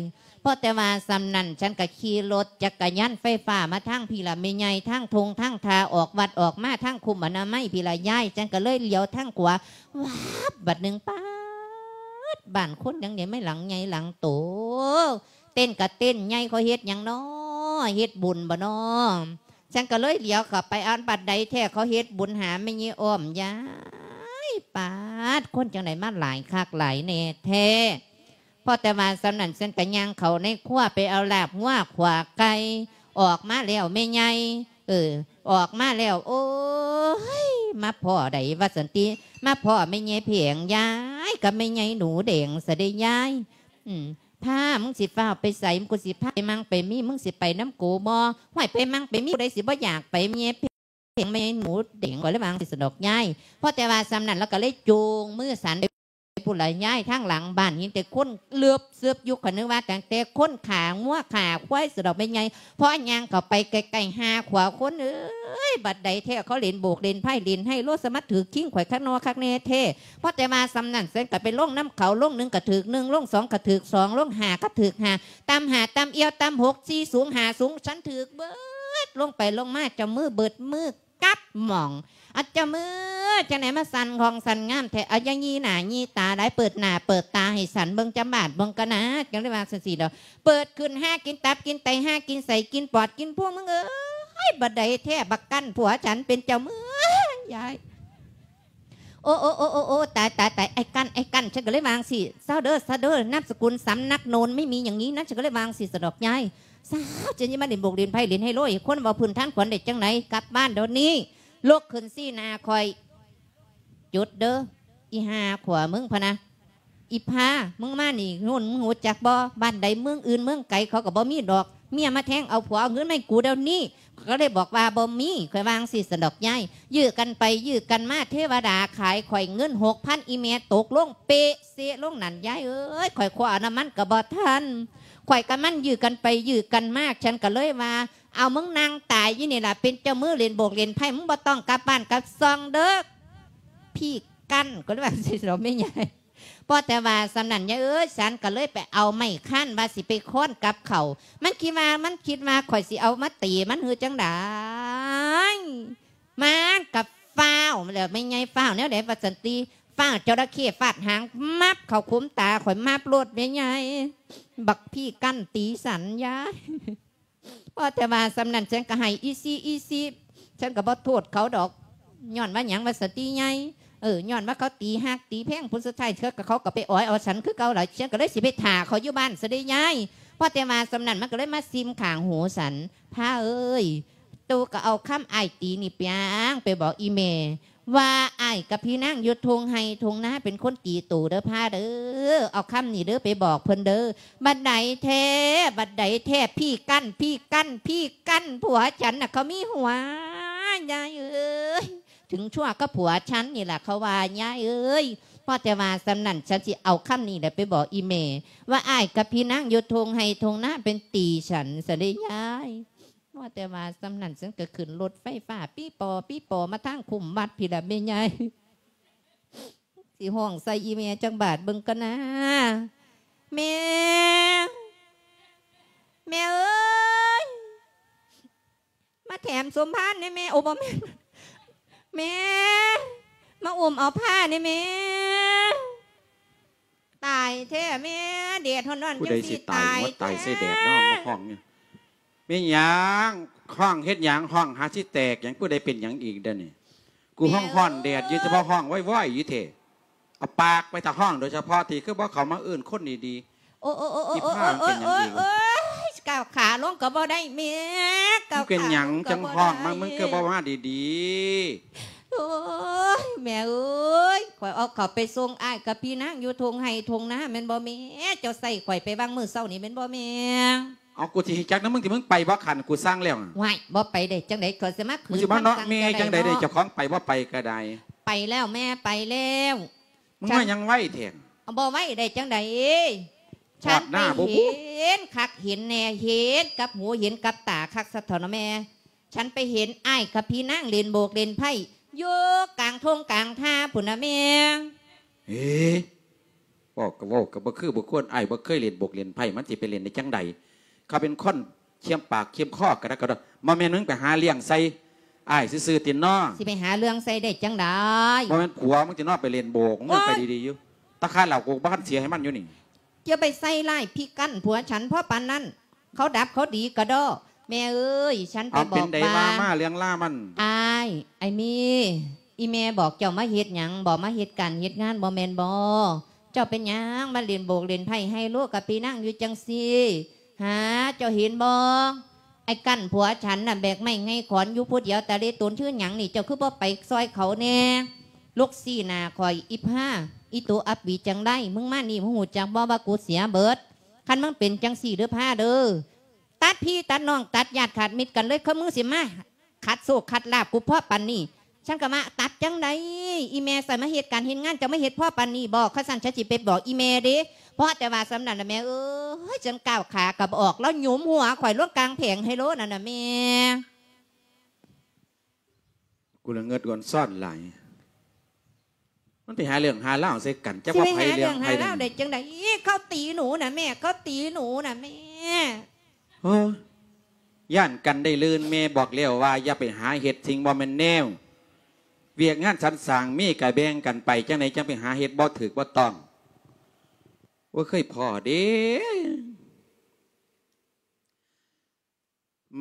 ພໍແຕ່ວ່າສ່ຳນັ້ນ ສັນກະຂີ່ລົດຈັກກະຍານໄຟຟ້າມາທາງພີ້ລະແມ່ໃຫຍ່ ທາງທົ່ງທາງທ່າ ອອກວັດອອກມາທາງຄຸ້ມອະນາໄມພີ້ລະຍາຍ. ສັນກະເລີຍຫຼຽວທາງຂວາ ວາບ ບັດໜຶ່ງ ປາດ ບ້ານຄົນຫຍັງໃຫຍ່ ໄມ້ຫຼັງໃຫຍ່ຫຼັງໂຕ ເຕັນກະເຕັນໃຫຍ່ ເຂົາເຮັດຫຍັງນໍ ເຮັດບຸນບໍນໍ? ສັນກະເລີຍຫຼຽວເຂົ້າໄປ ອັນ ບັດໃດແທ້ ເຂົາເຮັດບຸນຫາແມ່ໃຫຍ່ອ້ອມຍາຍ ປາດ ຄົນຈັ່ງໃດມາຫຼາຍຄັກຫຼາຍແນ່ແທ້. ພໍແຕ່ວ່າສ່ຳນັ້ນ ສັນກະຍ່າງເຂົ້າໃນຄົວໄປເອົາລາບງົວຂົ້ວໄກ່ ອອກມາແລ້ວແມ່ໃຫຍ່ ເອີ ອອກມາແລ້ວ ໂອ້ຍ ມາພໍ້ໃດວ່າຊັ້ນຕິ ມາພໍ້ແມ່ໃຫຍ່ແພງ ຍາຍ ກັບແມ່ໃຫຍ່ໜູແດງຊະເດ້ຍາຍ. ອືມ ພາ ມຶງຊິຟ້າວໄປໃສ? ກູຊິພາໄປໝັ່ງໄປມີ ມຶງຊິໄປນຳກູບໍ່? ຫ້ວຍ ໄປໝັ່ງໄປມີ ຜູ້ໃດຊິບໍ່ຢາກໄປ ແມ່ໃຫຍ່ແພງ ແມ່ໃຫຍ່ໜູແດງ ຂ້ອຍເລີຍວ່າຈັ່ງຊີ້ຊັ້ນດອກຍາຍ. ພໍແຕ່ວ່າສ່ຳນັ້ນ ລາວກໍເລີຍຈູງມືສັນໄປພຸ້ນລະຍາຍ ທາງຫຼັງບ້ານ ເຫັນແຕ່ຄົນເລິບເສິບຢູ່ ຂ້ອຍນຶກວ່າຕັ້ງແຕ່ຄົນຂ້າງົວຂ້າຄວາຍຊັ້ນດອກແມ່ໃຫຍ່. ພໍຍ່າງເຂົ້າໄປໃກ້ໆ ຫາຂວາຄົນເອີຍ ບັດໃດແທ້ ເຂົາຫຼິ້ນໂບກຫຼິ້ນໄພ້ຫຼິ້ນໄຮໂລ ສະມາຖືກຄີງຂ້ອຍຄັກໜໍ່ຄັກແນ່ແທ້. ພໍແຕ່ວ່າສ່ຳນັ້ນ ສັນກະໄປລົງນຳເຂົາ ລົງໜຶ່ງກະຖືກໜຶ່ງ ລົງສອງກະຖືກສອງ ລົງຫ້າກະຖືກຫ້າ ຕຳຫ້າຕຳອຽວ ຕຳຫົກສີ່ສູງຫ້າສູງ ສັນຖືກເບີດ ລົງໄປລົງມາ ເຈົ້າມືເບີດມືກັບໝ່ອງ. ອາ ເຈົ້າມື ຈັ່ງໃດມາສັ່ນຂອງສັ່ນງາມແທ້ ອາ ຢ່າຢີ່ໜ້າຢີ່ຕາຫຼາຍ ເປີດໜ້າເປີດຕາໃຫ້ສັນເບິ່ງຈຳບາດເບິ່ງກະນາ ຈັ່ງໄດ້ວ່າຊັ້ນຊີ້ດອກ. ເປີດຂຶ້ນຫາກິນຕັບກິນໄຕ ຫາກິນໄສ້ກິນປອດກິນພຸງ ມຶງເອີຍ ບັດໃດແທ້ ບັກກັນຜົວສັນເປັນເຈົ້າມື ຍາຍ. ໂອ້ ໂອ້ ໂອ້ ໂອ້ ຕາຍ ຕາຍ ຕາຍ ໄອ້ກັນ ໄອ້ກັນ ສັນກໍເລີຍວ່າຈັ່ງຊີ້ ຊາວເດີ ຊາວເດີ ນາມສະກຸນສຳນັກໂນນ ໄມ່ມີຢ່າງນີ້ນະ ສັນກໍເລີຍວ່າຈັ່ງຊີ້ຊັ້ນດອກຍາຍ. ຊາວ ຈັ່ງຊິມາຫຼິ້ນໂບກຫຼິ້ນໄພ້ຫຼິ້ນໄຮໂລ ຄົນເວົ້າພື້ນຖານຂວັນໄດ້ຈັ່ງໃດ ກັບບ້ານດຽວນີ້ ລຸກຂຶ້ນຊີ້ໜ້າຂ້ອຍ ຢຸດເດີ ອີ່ຫ່າຂວາມຶງ ພະນະ. ອີ່ພາ ມຶງມານີ້ ໂນນ ມຶງຮູ້ຈັກບໍ່? ບ້ານໃດເມືອງອື່ນເມືອງໄກ ເຂົາກໍບໍ່ມີດອກ ເມຍມາແທງເອົາຜົວ ເອົາເງິນມາໃຫ້ກູດຽວນີ້. ຂ້ອຍກໍເລີຍບອກວ່າ ບໍ່ມີ ຂ້ອຍວ່າຈັ່ງຊີ້ຊັ້ນດອກຍາຍ. ຢື້ກັນໄປຢື້ກັນມາ ເທວະດາຂາຍຂ້ອຍເງິນຫົກພັນ ອີ່ແມ່ຕົກລົງເປະເຊະລົງນັ້ນ ຍາຍເອີຍ. ຂ້ອຍຄວ້ານ້ຳມັນກໍບໍ່ທັນ ຂ້ອຍກັບມັນຢື້ກັນໄປຢື້ກັນມາ ສັນກໍເລີຍວ່າ ເອົາ ມຶງນັ່ງຕາຍຢູ່ນີ້ລະ ເປັນເຈົ້າມືຫຼິ້ນໂບກຫຼິ້ນໄພ້ ມຶງບໍ່ຕ້ອງກັບບ້ານກັບຊ່ອງເດີ ພີ່ກັນ. ກໍເລີຍວ່າຈັ່ງຊີ້ດອກແມ່ໃຫຍ່. ພໍແຕ່ວ່າສ່ຳນັ້ນ ຍາຍເອີຍ ສັນກໍເລີຍໄປເອົາໄມ້ຄ້ານວ່າຊິໄປຄ້ອນກັບເຂົາ ມັນຄິດວ່າ ມັນຄິດວ່າຂ້ອຍຊິເອົາມາຕີມັນ ຫຼື ຈັ່ງໃດ ມັນກໍຟ້າວແລ້ວ ແມ່ໃຫຍ່ຟ້າວແນວໃດວ່າຊັ້ນຕິ ຟ້າວຈໍລະເຂ້ຟາດຫາງ ມັບເຂົ້າຂຸມຕາຂ້ອຍ ມັບໂລດແມ່ໃຫຍ່. ບັກພີ່ກັນຕີສັນ ຍາຍ ພໍແຕ່ວ່າສ່ຳນັ້ນ ສັນກໍໃຫ້ອີ່ຊີອີ່ຊີ ສັນກໍບໍ່ໂທດເຂົາດອກ. ຍ້ອນວ່າຫຍັງວ່າສະຕິໃຫຍ່? ເອີ ຍ້ອນວ່າເຂົາຕີຮັກຕີແພງ ຜົນສຸດທ້າຍເທື່ອກໍເຂົາກໍໄປອອຍເອົາສັນຄືເກົ່າລະ. ສັນກໍເລີຍຊິໄປຖ້າເຂົາຢູ່ບ້ານຊະເດ້ຍາຍ. ພໍແຕ່ວ່າສ່ຳນັ້ນ ມັນກໍເລີຍມາຊິມຂ້າງຫູສັນ. ພາເອີຍ, ໂຕກໍເອົາຄຳອ້າຍຕີນີ້ໄປຫຍັງ ໄປບອກອີ່ແມ່ ວ່າອ້າຍກັບພີ່ນາງຢູ່ທົ່ງໄຮ່ທົ່ງນາເປັນຄົນຕີໂຕເດີພາເດີ. ເອົາຄຳນີ້ເດີໄປບອກເພິ່ນເດີ. ບັດໃດແທ້ ບັດໃດແທ້ ພີ່ກັ້ນ ພີ່ກັ້ນ ພີ່ກັ້ນ ຜົວສັນນະເຂົາມີຫົວ ຍາຍເອີຍ. ເຖິງຊົ່ວກັບຜົວສັນນີ້ລະເຂົາວ່າ ຍາຍເອີຍ. ພໍແຕ່ວ່າສ່ຳນັ້ນ ສັນຊິເອົາຄຳນີ້ແຫຼະໄປບອກອີ່ແມ່ ວ່າອ້າຍກັບພີ່ນາງຢູ່ທົ່ງໄຮ່ທົ່ງນາເປັນຕີສັນຊະເດ້ຍາຍ. ພໍແຕ່ວ່າສ່ຳນັ້ນ ສັນກໍຂຶ້ນລົດໄຟຟ້າ ປີ່ປໍ່ປີ່ປໍ່ ມາທາງຄຸ້ມວັດພີ້ລະແມ່ໃຫຍ່. ຊິຮ້ອງໃສ່ອີ່ແມ່ຈັກບາດເບິ່ງກ່ອນນາ. ແມ່ ແມ່ເອີຍ ມາແຖມສົມພານແດ່ແມ່. ໂອ້ ບໍ່ແມ່ນ ແມ່ ມາອຸ້ມເອົາພ້າແດ່ແມ່. ຕາຍແທ້ແມ່ ແດດຮ້ອນໆ ຜູ້ໃດ ຈັ່ງ ຊິ ຊິຕາຍ ຕາຍ ຫົວຕາຍໃສ່ແດດເນາະ ມາຮ້ອງນີ້. ແມ່ນຫຍັງ? ຮ້ອງເຮັດຫຍັງ? ຮ້ອງຫາຊິແຕກຫຍັງ? ຜູ້ໃດເປັນຫຍັງອີກເດນີ້? ກູຮ້ອງຮ້ອນແດດຢູ່ ສະເພາະຮ້ອງວອຍໆຢູ່ແທ້. ເອົາປາກໄປຖ້າຮ້ອງໂດຍສະເພາະ ທີ່ຄືບໍ່ເຂົ້າມາເອີ້ນຄົນດີໆ. ໂອ້ ໂອ້ ໂອ້ ໂອ້ ອີ່ພ້າ ໂອ້ ເປັນຫຍັງອີກ? ໂອ້ຍ ກ້າວຂາລົງກໍບໍ່ໄດ້ແມ່ ກ້າວຂາລົງກໍບໍ່ໄດ້. ມຶງເປັນຫຍັງຈັ່ງຮ້ອງມາ? ມຶງຄືບໍ່ມາດີໆ? ໂອ້ຍ ແມ່ເອີຍ ຂ້ອຍເອົາເຂົ້າໄປສົ່ງອ້າຍກັບພີ່ນາງຢູ່ທົ່ງໄຮ່ທົ່ງນາແມ່ນບໍ່ແມ່? ເຈົ້າໃສ່ຂ້ອຍໄປວາງມື້ເຊົ້ານີ້ແມ່ນບໍ່ແມ່? ເອົາ ກູຊິຮູ້ຈັກນຳມຶງຕິ ມຶງໄປບໍ່ຄັນ ກູສັ່ງແລ້ວ. ຫວ້າຍ ບໍ່ໄປໄດ້ຈັ່ງໃດ ຂ້ອຍຊິມາຂືນ ມຶງຊິມາເນາະແມ່ຈັ່ງໃດເດ ເຈົ້າຂອງໄປບໍ່ໄປກໍໄດ້. ໄປແລ້ວແມ່ ໄປແລ້ວ. ມຶງມາຫຍັງໄວແທ້? ເອົາ ບໍ່ໄວໄດ້ຈັ່ງໃດ? ຮອດໜ້າບໍ່ບຸ? ເຫັນຄັກເຫັນແນ່ ເຫັນກັບຫູເຫັນກັບຕາຄັກຊະເຖາະນະແມ່. ສັນໄປເຫັນອ້າຍກັບພີ່ນາງຫຼິ້ນໂບກຫຼິ້ນໄພ້ຢູ່ກາງທົ່ງກາງທ່າພຸ້ນນະແມ່. ເອີ ເວົ້າກໍເວົ້າກໍບໍ່ຄືບໍ່ຄວນ ອ້າຍບໍ່ເຄີຍຫຼິ້ນໂບກຫຼິ້ນໄພ້ ມັນຊິໄປຫຼິ້ນໄດ້ຈັ່ງໃດ? ເຂົາເປັນຄົນ ຄຽມປາກຄຽມຄໍກັນນະ ກໍບໍ່ແມ່ນມຶງໄປຫາເລື່ອງໃສ່ອ້າຍຊື່ໆຕິເນາະ. ຊິໄປຫາເລື່ອງໃສ່ໄດ້ຈັ່ງໃດ? ບໍ່ແມ່ນຜົວມຶງຕິເນາະ ໄປຫຼິ້ນໂບກ ມຶງໄປດີໆຢູ່ ຕາຄາເຫຼົ້າກູບໍ່ທັນເສຍໃຫ້ມັນຢູ່ນີ້. ຢ່າໄປໃສ່ຮ້າຍພິກກັນຜົວສັນພໍປານນັ້ນ ເຂົາດັບເຂົາດີກະດໍ້. ແມ່ເອີຍ ສັນໄປບອກວ່າ ເອົາ ເປັນໃດວ່າມາ ເລື່ອງລາວມັນ. ອ້າຍ ອ້າຍມີ ອີ່ແມ່ບອກເຈົ້າມາເຮັດຫຍັງບໍ? ມາເຮັດການເຮັດງານບໍແມ່ນບໍ? ເຈົ້າເປັນຫຍັງມາຫຼິ້ນໂບກຫຼິ້ນໄພ້ໄຮໂລກັບພີ່ນາງຢູ່ຈັ່ງຊີ້? ຫາ ເຈົ້າເຫັນບໍ່? ໄອ້ກັ້ນຜົວສັນນະ ແບກໄມ້ໄງຂອນຢູ່ຜູ້ດຽວ ຕາເລຕົນຄືຫຍັງນີ້ ເຈົ້າຄືບໍ່ໄປຊ່ອຍເຂົາແດ່? ລຸກຊີ້ໜ້າຂ້ອຍ ອີພາ ອີໂຕອັບປີຈັງໄດ ມຶງມານີ້ ມຶງຮູ້ຈັກບໍ່ວ່າກູເສຍເບິດ? ຄັນມຶງເປັນຈັ່ງຊີ້ເດີພາເດີ ຕັດພີ່ຕັດນ້ອງ ຕັດຍາດຂາດມິດກັນເລີຍ ຄືມຶງຊິມາ ຂັດໂຊກຂັດລາບກູພໍປານນີ້ ສັນກໍວ່າ ຕັດຈັ່ງໃດ? ອີແມ່ໃສ່ມາເຮັດການເຮັດງານ ເຈົ້າມາເຮັດພໍປານນີ້ບໍ? ຄັນຊັ້ນ ສັນຊິໄປບອກອີແມ່ເດ້. ພໍແຕ່ວ່າສ່ຳນັ້ນລະແມ່ເອີຍ ສັນກ້າວຂາກໍບໍ່ອອກ ລາວຫຍຸມຫົວຂ້ອຍລົງກາງແຜງໄຮໂລນັ້ນນະແມ່. ກູລະເງິດກອນຊ້ອນຫຼາຍ. ມັນໄປຫາເລື່ອງຫາລາວໃສ່ກັນ ຈັກວ່າໃຜເລື່ອງໃຜ. ຊິໄປຫາເລື່ອງຫາລາວໄດ້ຈັ່ງໃດ? ເຂົາຕີໜູນະແມ່ ເຂົາຕີໜູນະແມ່. ໂອ້ ຢ້ານກັນໄດ້ລື່ນ ແມ່ບອກແລ້ວວ່າຢ່າໄປຫາເຮັດສິ່ງບໍ່ແມ່ນແນວ. ວຽກງານສັນສ້າງມີກະແບ່ງກັນໄປ ຈັ່ງໃດຈັ່ງໄປຫາເຮັດບໍ່ຖືກບໍ່ຕ້ອງ. ໂອ້ຍ ເຄີຍພໍ້ເດ້.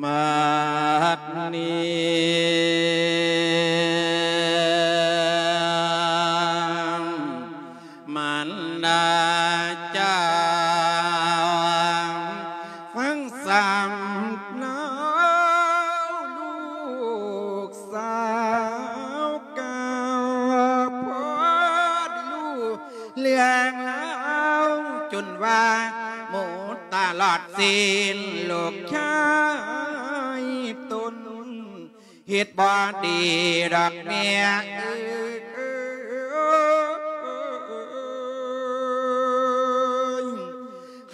ບັດນີ້ມານດາເຈົ້າ ຟັງສຳເນົາລູກສາວກ່າວ ພໍໄດ້ຮູ້ເລື່ອງລາວ ຈົນວ່າໝົດຕະຫຼອດ ສິ້ນລູກຊາຍຕົນ ເຮັດບໍ່ດີດອກແມ່ເອີຍ.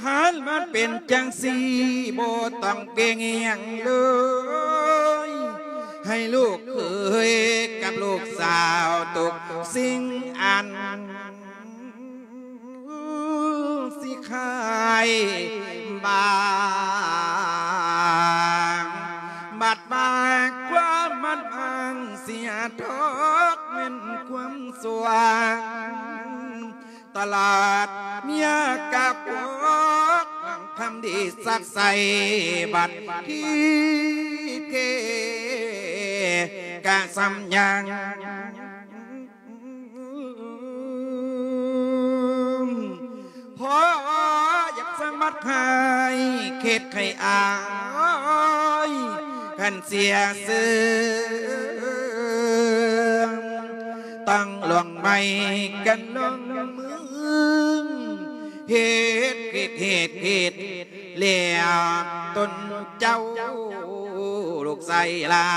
ຄັນມັນເປັນຈັ່ງຊີ້ ບໍ່ຕ້ອງເກັ່ງຫຍັງເລີຍ ໃຫ້ລູກເຂີຍກັບລູກສາວທຸກສິ່ງອັນ ຊິຂາຍບາງ ບັດວ່າຄວາມມັນບາງເສຍທອກ ແມ່ນຄວາມສວ່າງຕະຫຼອດເມຍກະພວກຄຳ ດີສັກໃສ່ບັດທີ່ເກກະສຳຍັງ ພໍຢາກສະໝັດໃຫ້ເຂດໄຂອາຍ ຄັນເສຍເຊື່ອງ ຕ້ອງລວງໄມ້ກັນລວງມື ເຮັດຜິດເຮັດຜິດ ແລ້ວຕົນເຈົ້າລູກຊາຍຫຼ້າ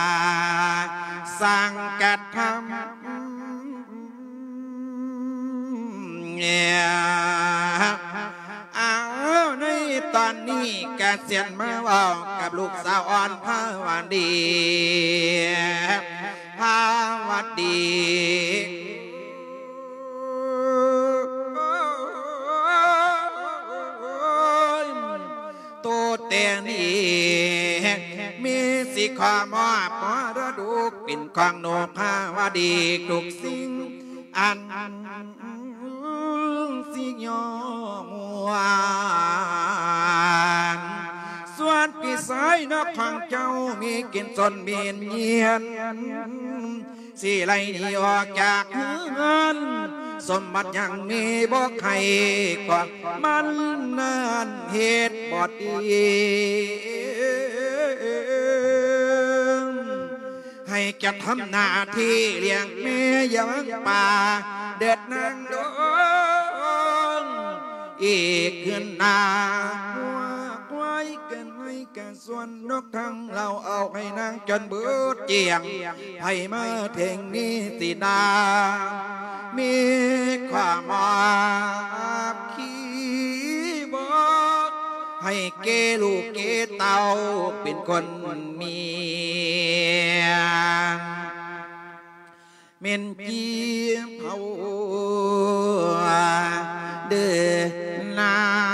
ສ້າງກະທຳ ເອົາ ໃນຕອນນີ້ກະສຽນມາເວົ້າກັບລູກສາວອ່ອນພາວະດີ ພາວະດີ ໂຕແຕ່ນີ້ ມີຊິຂໍມອບມໍລະດົກເປັນຂອງໜູພາວະດີທຸກສິ່ງອັນຊິຍໍມວນ ສ່ວນພີ່ຊາຍນອກຂອງເຈົ້າມີກິນຊົນມີນຍຽນ ຊິໄລ່ໜີອອກຈາກເຮືອນ ສົມບັດຍັງມີບໍ່ໃຫ້ຂອງມັນນັ້ນເຮັດບໍ່ດີ ໃຫ້ຈະທຳໜ້າທີ່ລ້ຽງແມ່ຢ່າຫວັງປາເດີດນາງດອງ ອີກຄືນໜ້າຫົວຄວາຍກັນໄວ້ກັນ ສ່ວນນົກທັງເຫຼົ່າເອົາໃຫ້ນາງຈົນເບິດກ້ຽງ ໃຜມາເຖິງນີ້ຊິນາ ມີຄວາມອາບຄີບອກ ໃຫ້ແກ່ລູກແກ່ເຕົ້າເປັນຄົນມີ ແມ່ນຈີເຜົາເດີນາງ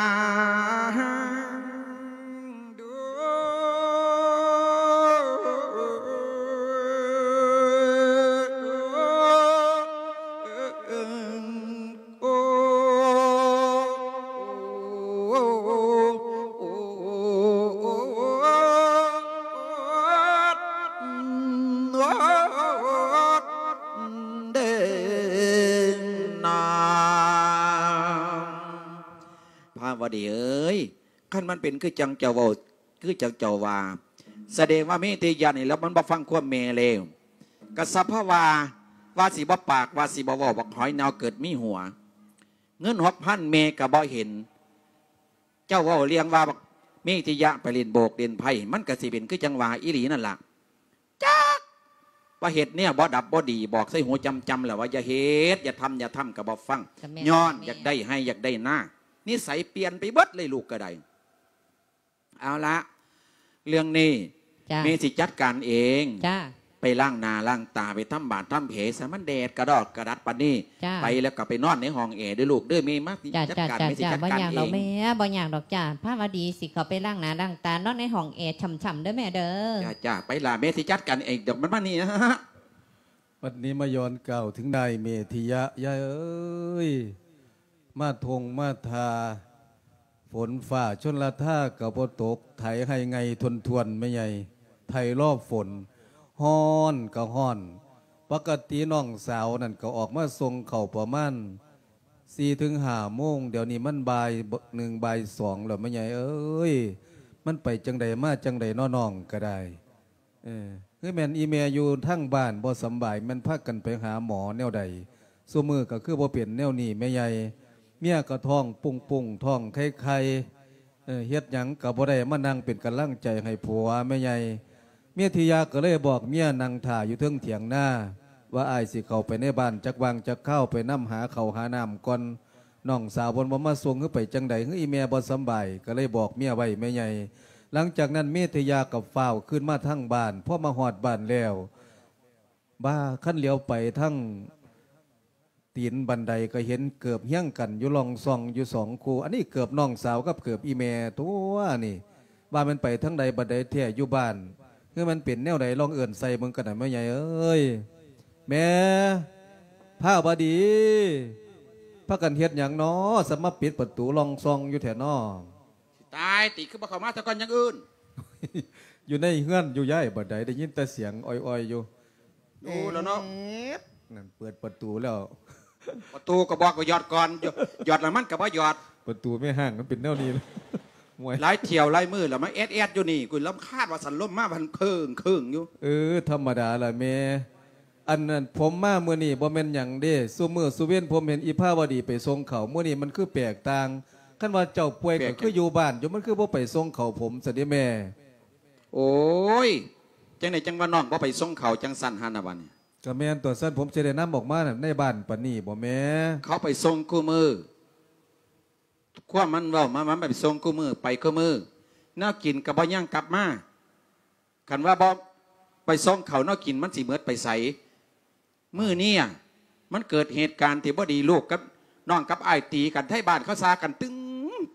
ດວງ ໂອ້ ເດີນາງ ພາວະດີເອີຍ ຄັນມັນເປັນຄືຈັ່ງເຈົ້າເວົ້າ ຄືຈັ່ງເຈົ້າວ່າ ສະແດງວ່າມີແຕ່ຢ້ານນີ້ແລ້ວ ມັນບໍ່ຟັງຄວາມແມ່ແລ້ວ ກະສະເພາະວ່າ ວ່າຊິບໍ່ປາກ ວ່າຊິບໍ່ເວົ້າ ບັກຫອຍເນົ່າເກີດມີຫົວ ເງິນຫົກພັນແມ່ກະບໍ່ເຫັນ ເຈົ້າເວົ້າເລື່ອງວ່າບັກເມທິຍະໄປຫຼິ້ນໂບກຫຼິ້ນໄພ້ ມັນກະຊິເປັນຄືຈັ່ງວ່າອີ່ຫຼີນັ້ນລະ ຈັກວ່າເຮັດແນວບໍ່ດັບບໍ່ດີ ບອກໃສ່ຫູຈຳໆ ແລ້ວວ່າຢ່າເຮັດ ຢ່າທຳ ຢ່າທຳ ກະບໍ່ຟັງ ກະແມ່ນ ຍ້ອນ ແມ່ນ ຢາກໄດ້ໄຮ່ຢາກໄດ້ນາ ນິໄສປ່ຽນໄປເບິດເລີຍ ລູກກະໄດ້ ເອົາລະ ເລື່ອງນີ້ ຈ້າ ແມ່ຊິຈັດການເອງ ຈ້າ ໄປລ້າງໜ້າລ້າງຕາ ໄປທຳບາດທຳແຜຊະ ມັນແດດກະດອກກະດັດປານນີ້ ຈ້າ ໄປແລ້ວກະໄປນອນໃນຫ້ອງແອເດີ້ລູກເດີ້ ແມ່ມາ ຈ້າ ຈັດການ ແມ່ຊິຈັດການເອງ ບໍ່ຍາກດອກແມ່ ບໍ່ຍາກດອກຈ້າ ພາວະດີຊິເຂົ້າໄປລ້າງໜ້າລ້າງຕາ ນອນໃນຫ້ອງແອຊ່ຳໆ ເດີ້ແມ່ເດີ້ ຈ້າ ຈ້າ ໄປລະ ແມ່ຊິຈັດການເອງດອກ ມັນມານີ້ ບັດນີ້ມາຍ້ອນກ່າວເຖິງນາຍເມທິຍະ ຍາຍເອີຍ ມາທົ່ງມາທ່າ ຝົນຟ້າຊົນລະທາກະບໍ່ຕົກ ໄຖໄຮ່ໄງທົ່ວນໆ ແມ່ໃຫຍ່ ໄຖລໍຝົນ ຮ້ອນກະຮ້ອນ ປົກກະຕິນ້ອງສາວນັ້ນກະອອກມາສົ່ງເຂົ້າປະມານສີ່ເຖິງຫ້າໂມງ ດຽວນີ້ມັນບ່າຍໜຶ່ງ ບ່າຍສອງແລ້ວ ແມ່ໃຫຍ່ເອີຍ ມັນໄປຈັ່ງໃດມາຈັ່ງໃດເນາະ ນ້ອງກະໄດ້. ເອີ ຄືແມ່ນອີ່ແມ່ຢູ່ທາງບ້ານບໍ່ສຳບາຍ ແມ່ນພາກັນໄປຫາໝໍແນວໃດ? ຊຸມື້ກະຄືບໍ່ເປັນແນວນີ້ແມ່ໃຫຍ່ ເມຍກະທ້ອງປຸ້ງໆ ທ້ອງໄຂ່ໆ ເອີ ເຮັດຫຍັງກະບໍ່ໄດ້ ມານັ່ງເປັນກຳລັງໃຈໃຫ້ຜົວແມ່ໃຫຍ່. ເມທິຍາກະເລີຍບອກເມຍນັ່ງຖ້າຢູ່ເທິງຖຽງນາ ວ່າອ້າຍຊິເຂົ້າໄປໃນບ້ານຈັກຫວ່າງຈັກຄາວ ໄປນຳຫາເຂົ້າຫານ້ຳກ່ອນ. ນ້ອງສາວເພິ່ນບໍ່ມາສົ່ງ ຫຼືໄປຈັ່ງໃດ ຫຼືອີ່ແມ່ບໍ່ສຳບາຍ ກະເລີຍບອກເມຍໄວ້ແມ່ໃຫຍ່. ຫຼັງຈາກນັ້ນເມທິຍາກໍຟ້າວຄືນມາທາງບ້ານ ພໍມາຮອດບ້ານແລ້ວ ບາ ຄັນຫຼຽວໄປທາງຕີນບັນໄດກໍເຫັນເກີບຮຽງກັນຢູ່ລ່ອງຊ່ອງຢູ່ສອງຄູ່ ອັນນີ້ເກີບນ້ອງສາວກັບເກີບອີ່ແມ່ຕົວະນີ້ ວ່າແມ່ນໄປທາງໃດບັນໄດແທ້ຢູ່ບ້ານ ຄືມັນເປັນແນວໃດ ລອງເອີ້ນໃສ່ເບິ່ງກັນນະແມ່ໃຫຍ່ເອີຍ. ແມ່ ພາວະດີ ພາກັນເຮັດຫຍັງນໍ ສະມາປິດປະຕູລ່ອງຊ່ອງຢູ່ແທ້ນໍ? ຊິ ຕາຍຕິ ຄືບໍ່ເຂົ້າມາຊະກ່ອນຈັ່ງອື່ນ. ຢູ່ໃນເຮືອນຢູ່ຍາຍ ບັດໃດໄດ້ຍິນແຕ່ສຽງອ້ອຍໆຢູ່. ໂອ້ ແລ້ວເນາະ ນັ້ນເປີດປະຕູແລ້ວ. ປະຕູກໍບອກວ່າຢອດກ່ອນ ຢອດ ຢອດແລ້ວມັນກໍບໍ່ຢອດ. ປະຕູແມ່ຮ້າງມັນເປັນແນວນີ້ ໂອ້ຍ ຫຼາຍຖ້ຽວຫຼາຍມື້ແລ້ວມາແອດໆຢູ່ນີ້ ກູລຳຄານວ່າສັນ ລົມມາພັນເຄີງໆຢູ່. ເອີ ທຳມະດາລະແມ່. ອັນນັ້ນ ຜົມມາມື້ນີ້ບໍ່ແມ່ນຫຍັງເດ້ ຊຸມື້ຊຸເວັນຜົມເຫັນອີພາວະດີໄປສົ່ງເຂົ້າ ມື້ນີ້ມັນຄືແປກຕ່າງ. ຄັນວ່າເຈົ້າປ່ວຍກໍຄືຢູ່ບ້ານຢູ່ ມັນຄືບໍ່ໄປສົ່ງເຂົ້າຜົມຊັ້ນເດ້ແມ່. ໂອ້ຍ ຈັ່ງໃດຈັ່ງວ່ານ້ອງບໍ່ໄປສົ່ງເຂົ້າຈັ່ງຊັ້ນຫັ້ນນະບັດນີ້? ກໍແມ່ນຕົວະ ຊັ້ນຜົມຊິໄດ້ນຳອອກມາໃນບ້ານປານນີ້ບໍ່ແມ່? ເຂົາໄປສົ່ງຄູ່ມື້ ຄວາມມັນເວົ້າມາ ມັນໄປສົ່ງຄູ່ມື້ ໄປຄູ່ມື້ ແນວກິນກໍບໍ່ຍັງກັບມາ. ຄັນວ່າບໍ່ໄປສົ່ງເຂົ້າ ແນວກິນມັນຊິໝົດໄປໃສ? ມື້ນີ້ມັນເກີດເຫດການທີ່ບໍ່ດີ ລູກກັບນ້ອງກັບອ້າຍຕີກັນ ໄທບ້ານເຂົາຊາກັນຕຶງ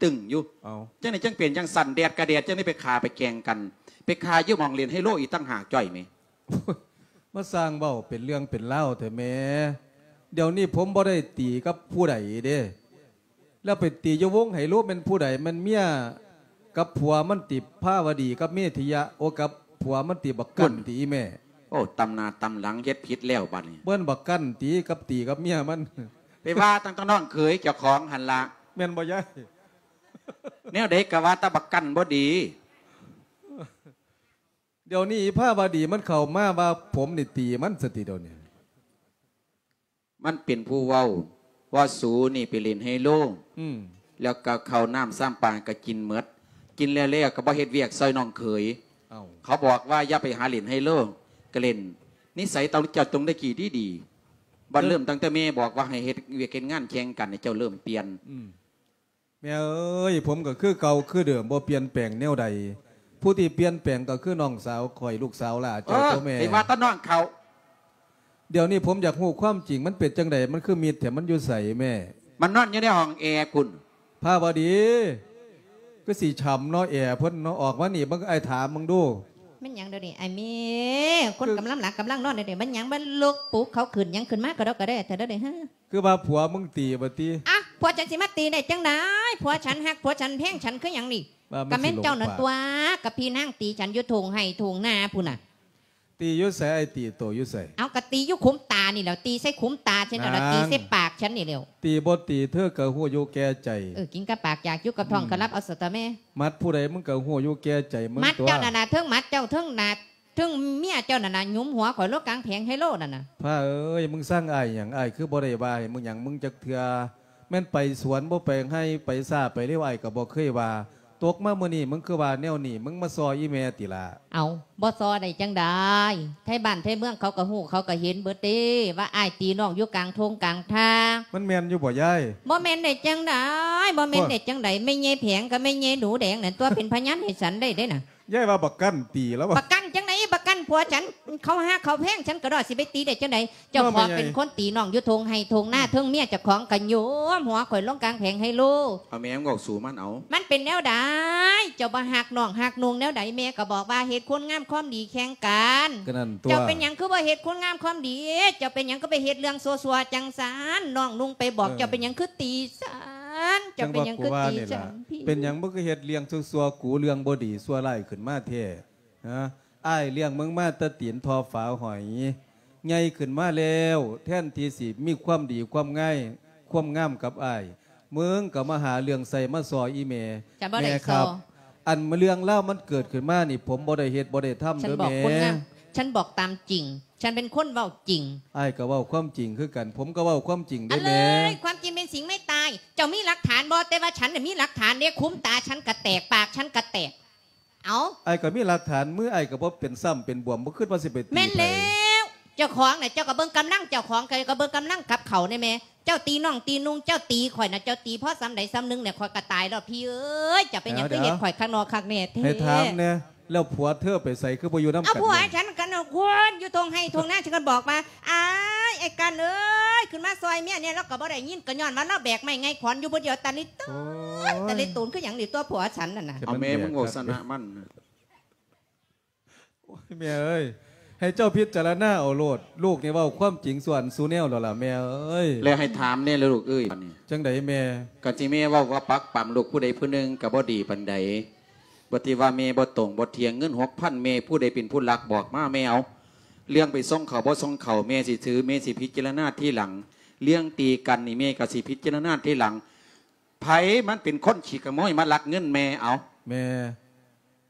ຕຶງຢູ່. ເອົ້າ ຈັ່ງໃດຈັ່ງເປັນຈັ່ງຊັ້ນ ແດດກະແດດ ຈັ່ງໄດ້ໄປຂ້າໄປແກ່ງກັນ ໄປຂ້າຢູ່ໝ່ອງຫຼິ້ນໄຮໂລອີກຕ່າງຫາກ ຈ້ອຍແມ່. ມາສ້າງເວົ້າເປັນເລື່ອງເປັນລາວແທ້ແມ່. ດຽວນີ້ຜົມບໍ່ໄດ້ຕີກັບຜູ້ໃດເດ້ ແລ້ວໄປຕີຢູ່ວົງໄຮໂລແມ່ນຜູ້ໃດ? ແມ່ນເມຍກັບຜົວມັນຕິ ພາວະດີກັບເມທິຍະ ໂອ ກັບຜົວມັນຕິ ບັກກັນຕິອີແມ່. ໂອ້ ຕຳໜ້າຕຳຫຼັງ ເຮັດຜິດແລ້ວບັດນີ້ ເບິ່ນບັກກັນຕິ ກັບຕີກັບເມຍມັນ. ໄປວ່າຕັ້ງແຕ່ນ້ອງເຂີຍເຈົ້າຂອງຫັ້ນລະ ແມ່ນບໍ່ຍາຍ? ແນວໃດກໍວ່າແຕ່ບັກກັນບໍ່ດີ. ດຽວນີ້ພາວະດີມັນເຂົ້າມາວ່າຜົມນີ້ຕີມັນຊະຕິດຽວນີ້. ມັນເປັນຜູ້ເວົ້າວ່າ ສູນີ້ໄປຫຼິ້ນໄຮໂລ ອືມ ແລ້ວກໍເຂົ້ານ້ຳຊາມປາກໍກິນໝົດ ກິນແລ້ວໆກໍບໍ່ເຮັດວຽກຊ່ອຍນ້ອງເຂີຍ. ເອົ້າ ເຂົາບອກວ່າຢ່າໄປຫາຫຼິ້ນໄຮໂລ ກໍຫຼິ້ນ ນິໄສເຈົ້າ ເຈົ້າຕ້ອງໄດ້ກີ້ດີໆ ບັດເລີ່ມຕັ້ງແຕ່ແມ່ບອກວ່າໃຫ້ເຮັດວຽກເຮັດງານແຂ່ງກັນ ໃຫ້ເຈົ້າເລີ່ມປ່ຽນ. ອືມ ແມ່ເອີຍ ຜົມກໍຄືເກົ່າຄືເດີມ ບໍ່ປ່ຽນແປງແນວໃດ. ຜູ້ທີ່ປ່ຽນແປງກໍຄືນ້ອງສາວຂ້ອຍ ລູກສາວຫຼ້າເຈົ້າຕົວະແມ່. ເອີ ໄປວ່າແຕ່ນ້ອງເຂົາ. ດຽວນີ້ຜົມຢາກຮູ້ຄວາມຈິງ ມັນເປັນຈັ່ງໃດ ມັນຄືມິດແທ້ ມັນຢູ່ໃສແມ່? ມັນນອນຢູ່ໃນຫ້ອງແອພຸ້ນ. ພາວະດີ ຄືຊິຊ່ຳເນາະ ແອເພິ່ນເນາະ. ອອກມານີ້ເບິ່ງ ອ້າຍຖາມເບິ່ງດູ. ແມ່ນຫຍັງດຽວນີ້ ອ້າຍແມ່? ຄົນກຳລັງຫຼັບກຳລັງນອນດຽວນີ້ ແມ່ນຫຍັງມາລຸກປຸກເຂົາຂຶ້ນຫຍັງ ຂຶ້ນມາກະດອກກະແດ່ແທ້ດຽວນີ້ ຮະ? ຄືວ່າຜົວມຶງຕີບໍ່ຕິ? ອະ ຜົວສັນຊິມາຕີໄດ້ຈັ່ງໃດ? ຜົວສັນຮັກ ຜົວສັນແພງສັນຄືຫຍັງນີ້? ກະແມ່ນເຈົ້ານັ້ນຕົວະ ກະພີ່ນາງຕີສັນຢູ່ທົ່ງໄຮ່ທົ່ງນາພຸ້ນນະ. ຕີຢູ່ໃສ? ອ້າຍຕີໂຕຢູ່ໃສ? ເອົາ ກະຕີຢູ່ຂຸມຕານີ້ແຫຼ້ວ ຕີໃສ່ຂຸມຕາສັນນັ້ນລະ ຕີໃສ່ປາກສັນນີ້ແຫຼ້ວ. ຕີບໍ່ຕີ ເທີກະຮູ້ຢູ່ແກ່ໃຈ. ເອີ ກິນກັບປາກ ຢາກຢູ່ກັບທ້ອງ ກະລັບເອົາສະຕະແມ່. ໝັດຜູ້ໃດ ມຶງກະຮູ້ຢູ່ແກ່ໃຈມຶງຕົວະ. ໝັດເຈົ້ານັ້ນນະ ເທິງໝັດເຈົ້າ ເທິງໜາດ ເທິງເມຍເຈົ້ານັ້ນນະ ຫຍຸມຫົວຂ້ອຍລົງກາງແຜງໄຮໂລນັ້ນນະ. ພາເອີຍ ມຶງຊັງອ້າຍຫຍັງ? ອ້າຍຄືບໍ່ໄດ້ວ່າໃຫ້ມຶງຫຍັງມຶງຈັກເທື່ອ. ແມ່ນໄປສວນບໍ່ໄປໄຮ່ ໄປຊ້າໄປເລັວ ອ້າຍກໍບໍ່ເຄີຍວ່າ. ຕົກມາມື້ນີ້ ມຶງຄືວ່າແນວນີ້ ມຶງມາຊໍ່ອີແມ່ຕິລະ. ເອົ້າ ບໍ່ຊໍ່ໄດ້ຈັ່ງໃດ? ໄທບ້ານໄທເມືອງເຂົາກໍຮູ້ ເຂົາກໍເຫັນເບິດເດ້ ວ່າອ້າຍຕີນ້ອງຢູ່ກາງທົ່ງກາງທ່າ. ມັນແມ່ນຢູ່ບໍ່ຍາຍ? ບໍ່ແມ່ນໄດ້ຈັ່ງໃດ? ບໍ່ແມ່ນໄດ້ຈັ່ງໃດ? ແມ່ໃຫຍ່ແຜງກັບແມ່ໃຫຍ່ໜູແດງນັ້ນຕົວະ ເປັນພະຍານໃຫ້ສັນໄດ້ເດ້ນະ. ຍາຍວ່າບັກກັນຕີລາວວ່າ. ບັກກັນຈັ່ງໃດ? ບັກກັນຜົວສັນ ເຂົາຮັກເຂົາແພງ ສັນກະດອກ ຊິໄປຕີໄດ້ຈັ່ງໃດ? ເຈົ້າຂອງເປັນຄົນຕີນ້ອງຢູ່ທົ່ງໄຮ່ທົ່ງນາ ເທິງເມຍເຈົ້າຂອງກະໂຍມຫົວຂ້ອຍລົງກາງແຜງໄຮໂລ. ເອົາແມ່ ເວົ້າສູ່ມັນເອົາ. ມັນເປັນແນວໃດ? ເຈົ້າບໍ່ຮັກນ້ອງຮັກນຸ່ງແນວໃດ? ແມ່ກໍບອກວ່າເຮັດຄຸນງາມຄວາມດີແຂ່ງກັນ. ກໍນັ້ນຕົວະ. ເຈົ້າເປັນຫຍັງຄືບໍ່ເຮັດຄຸນງາມຄວາມດີ? ເຈົ້າເປັນຫຍັງຄືໄປເຮັດເລື່ອງຊົ່ວໆຈັ່ງຊັ້ນ? ນ້ອງນຸ່ງໄປບອກ ເອີ ເຈົ້າເປັນຫຍັງຄືຕີສັນ? ເຈົ້າເປັນຫຍັງຄືຕີສັນ? ເປັນຫຍັງບໍ່ຄືເຮັດເລື່ອງຊົ່ວໆ ກູເລື່ອງບໍ່ດີຊົ່ວຮ້າຍຂຶ້ນມາແທ້? ຮະ? ອ້າຍລ້ຽງມຶງມາແຕ່ຕີນທໍ່ຝາຫອຍ ໃຫຍ່ຂຶ້ນມາແລ້ວ ແທນທີ່ຊິມີຄວາມດີຄວາມງາຍ ຄວາມງາມກັບອ້າຍ ມຶງກໍມາຫາເລື່ອງໃສ່ມາຊໍ່ອີແມ່. ຈະບໍ່ໄດ້ຊໍ່. ແມ່ຄັບ ອັນເລື່ອງລາວມັນເກີດຂຶ້ນມານີ້ ຜົມບໍ່ໄດ້ເຮັດບໍ່ໄດ້ທຳເດີແມ່. ສັນບອກຄວາມຈິງ ສັນເປັນຄົນເວົ້າຈິງ. ອ້າຍກໍເວົ້າຄວາມຈິງຄືກັນ ຜົມກໍເວົ້າຄວາມຈິງເດີແມ່. ຄວາມຈິງເປັນສິ່ງໄມ່ຕາຍ. ເຈົ້າມີຫຼັກຖານບໍ່? ແຕ່ວ່າສັນນະມີຫຼັກຖານເດ້ ຂຸມຕາສັນກະແຕກ ປາກສັນກະແຕກ. ເອົ້າ ອ້າຍກໍມີຫຼັກຖານ ມືອ້າຍກໍບໍ່ເປັນຊ້ຳເປັນບວມ ບໍ່ຄິດວ່າຊິໄປຕີໃຜ. ແມ່ນແລ້ວ ເຈົ້າຂອງນະ ເຈົ້າກໍເບິ່ງກຳລັງເຈົ້າຂອງ ຂ້ອຍກໍເບິ່ງກຳລັງກັບເຂົາແດ່ແມ່. ເຈົ້າຕີນ້ອງຕີນຸ່ງ ເຈົ້າຕີຂ້ອຍນະ ເຈົ້າຕີພໍສ່ຳໃດສ່ຳໜຶ່ງແຫຼະ ຂ້ອຍກໍຕາຍແລ້ວພີ່ເອີຍ. ເຈົ້າເປັນຫຍັງຄືເຮັດຂ້ອຍຄັກນໍຄັກແນ່ແທ້? ໃຫ້ຖາມແນ່ ແລ້ວຜົວເທີໄປໃສ ຄືບໍ່ຢູ່ນຳກັນ? ເອົາ ຜົວ ແມ່ນ ສັນກັນເນາະ ຄົນຢູ່ທົ່ງໄຮ່ທົ່ງນາ ສັນກໍບອກວ່າ ອ້າຍ ອ້າຍກັນເອີຍ ຂຶ້ນມາຊ່ອຍເມຍແນ່. ລາວກໍບໍ່ໄດ້ຍິນ ກໍຍ້ອນວ່າລາວແບກໄມ້ໄງຂອນຢູ່ຜູ້ດຽວ ຕາລິໂຕນ ໂອ້ຍ ຕາລິໂຕນຄືຫຍັງນີ້ ຕົວະຜົວສັນນັ້ນນະ. ເອົາແມ່ ມຶງເວົ້າຊະນະມັນ. ໂອ້ຍ ແມ່ເອີຍ ໃຫ້ເຈົ້າພິຈາລະນາເອົາໂລດ. ລູກນີ້ເວົ້າຄວາມຈິງສູ່ອັນສູ່ແນວແລ້ວລະແມ່ເອີຍ. ແລ້ວໃຫ້ຖາມແດ່ລະລູກເອີຍ ບັດນີ້ ຈັ່ງໃດແມ່? ກະຊິແມ່ເວົ້າວ່າປັກປຳລູກຜູ້ໃດຜູ້ໜຶ່ງກະບໍ່ດີປານໃດ. ບໍ່ທີ່ວ່າແມ່ບໍ່ຕົງບໍ່ທ່ຽງ ເງິນຫົກພັນແມ່ຜູ້ໃດເປັນຜູ້ລັກບອກມາແມ່ເອົາ. ເລື່ອງໄປສົ່ງເຂົາບໍ່ສົ່ງເຂົາແມ່ຊິຖື ແມ່ຊິພິຈາລະນາທີຫຼັງ. ເລື່ອງຕີກັນນີ້ແມ່ກະຊິພິຈາລະນາທີຫຼັງ. ໃຜມັນເປັນຄົນຂີ້ຂະໂມຍມາລັກເງິນແມ່ເອົາ? ແມ່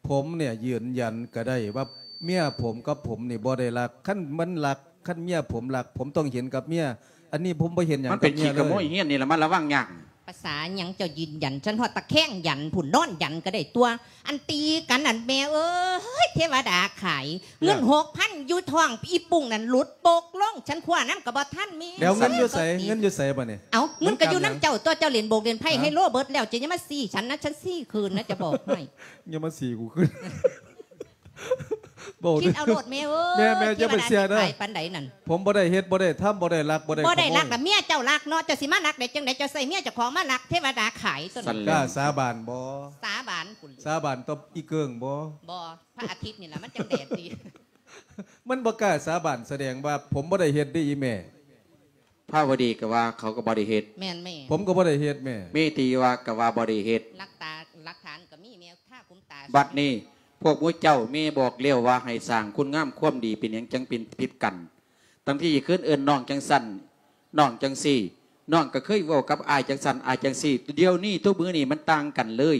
ຜົມເນ່ຍຢືນຢັນກະໄດ້ວ່າເມຍຜົມກັບຜົມນີ້ບໍ່ໄດ້ລັກ. ຄັນມັນລັກ ຄັນເມຍຜົມລັກ ຜົມຕ້ອງເຫັນກັບເມຍ. ອັນນີ້ຜົມບໍ່ເຫັນຫຍັງກັບເມຍເລີຍ. ມັນເປັນຂີ້ຂະໂມຍ ຮຽນນີ້ລະມາລະວັງຍາກ. ພາສາຫຍັງເຈົ້າຢືນຢັນ? ສັນຮອດຕະແຄງຢັນພຸ້ນ ນອນຢັນກະໄດ້ຕົວະ. ອັນຕີກັນນັ້ນແມ່ເອີຍ ເທວະດາຂາຍ. ເງິນຫົກພັນຢູ່ທ້ອງອີ່ປຸ້ງນັ້ນຫຼຸດປົກລົງ ສັນຄວ້ານຳກະບໍ່ທັນແມ່. ແລ້ວເງິນຢູ່ໃສ? ເງິນຢູ່ໃສບາດນີ້? ເອົ້າ ເງິນກະຢູ່ນຳເຈົ້າຕົວະ ເຈົ້າຫຼິ້ນໂບກຫຼິ້ນໄພ້ໄຮໂລເບິດແລ້ວ ເຈົ້າຢ່າມາຊີ້ສັນນະ ສັນຊີ້ຄືນນະ ຈະບອກໃຫ້. ຢ່າມາຊີ້ກູຂຶ້ນ. ຄິດເອົາໂລດແມ່ເອີຍ. ແມ່ ແມ່ຢ່າໄປເຊື່ອເດີ. ປານໃດນັ້ນ ຜົມບໍ່ໄດ້ເຮັດ ບໍ່ໄດ້ທຳ ບໍ່ໄດ້ລັກ ບໍ່ໄດ້ຂະໂມຍ. ບໍ່ໄດ້ລັກລະເມຍເຈົ້າລັກເນາະ ເຈົ້າຊິມາລັກໄດ້ຈັ່ງໃດ? ເຈົ້າໃສ່ເມຍເຈົ້າຂອງມາລັກ ເທວະດາຂາຍ. ຊັ້ນແຫຼະ ກ້າສາບານບໍ່? ສາບານພຸ້ນ. ສາບານຕໍ່ອີເກີງບໍ່? ບໍ່ ພະອາທິດນີ້ລະມັນຈັ່ງແດດດີ. ມັນບໍ່ກ້າສາບານ ສະແດງວ່າຜົມບໍ່ໄດ້ເຮັດເດ້ອີ່ແມ່. ພາວະດີກະວ່າເຂົາກະບໍ່ໄດ້ເຮັດ. ແມ່ນແມ່. ຜົມກະບໍ່ໄດ້ເຮັດແມ່. ມີຕີວ່າກະວ່າບໍ່ໄດ້ເຮັດ. ຫຼັກຕາ ຫຼັກຖານກະມີແມ່ ຄາຄຸມຕາ. ບັດນີ້ພວກໝູ່ເຈົ້າແມ່ບອກແລ້ວວ່າໃຫ້ສ້າງຄຸນງາມຄວາມດີ ເປັນຫຍັງຈັ່ງເປັນຜິດກັນ? ທັງທີ່ຄືນເອີ້ນນ້ອງຈັ່ງຊັ້ນ ນ້ອງຈັ່ງຊີ້ ນ້ອງກະເຄີຍເວົ້າກັບອ້າຍຈັ່ງຊັ້ນ ອ້າຍຈັ່ງຊີ້. ດຽວນີ້ທຸກມື້ນີ້ມັນຕ່າງກັນເລີຍ.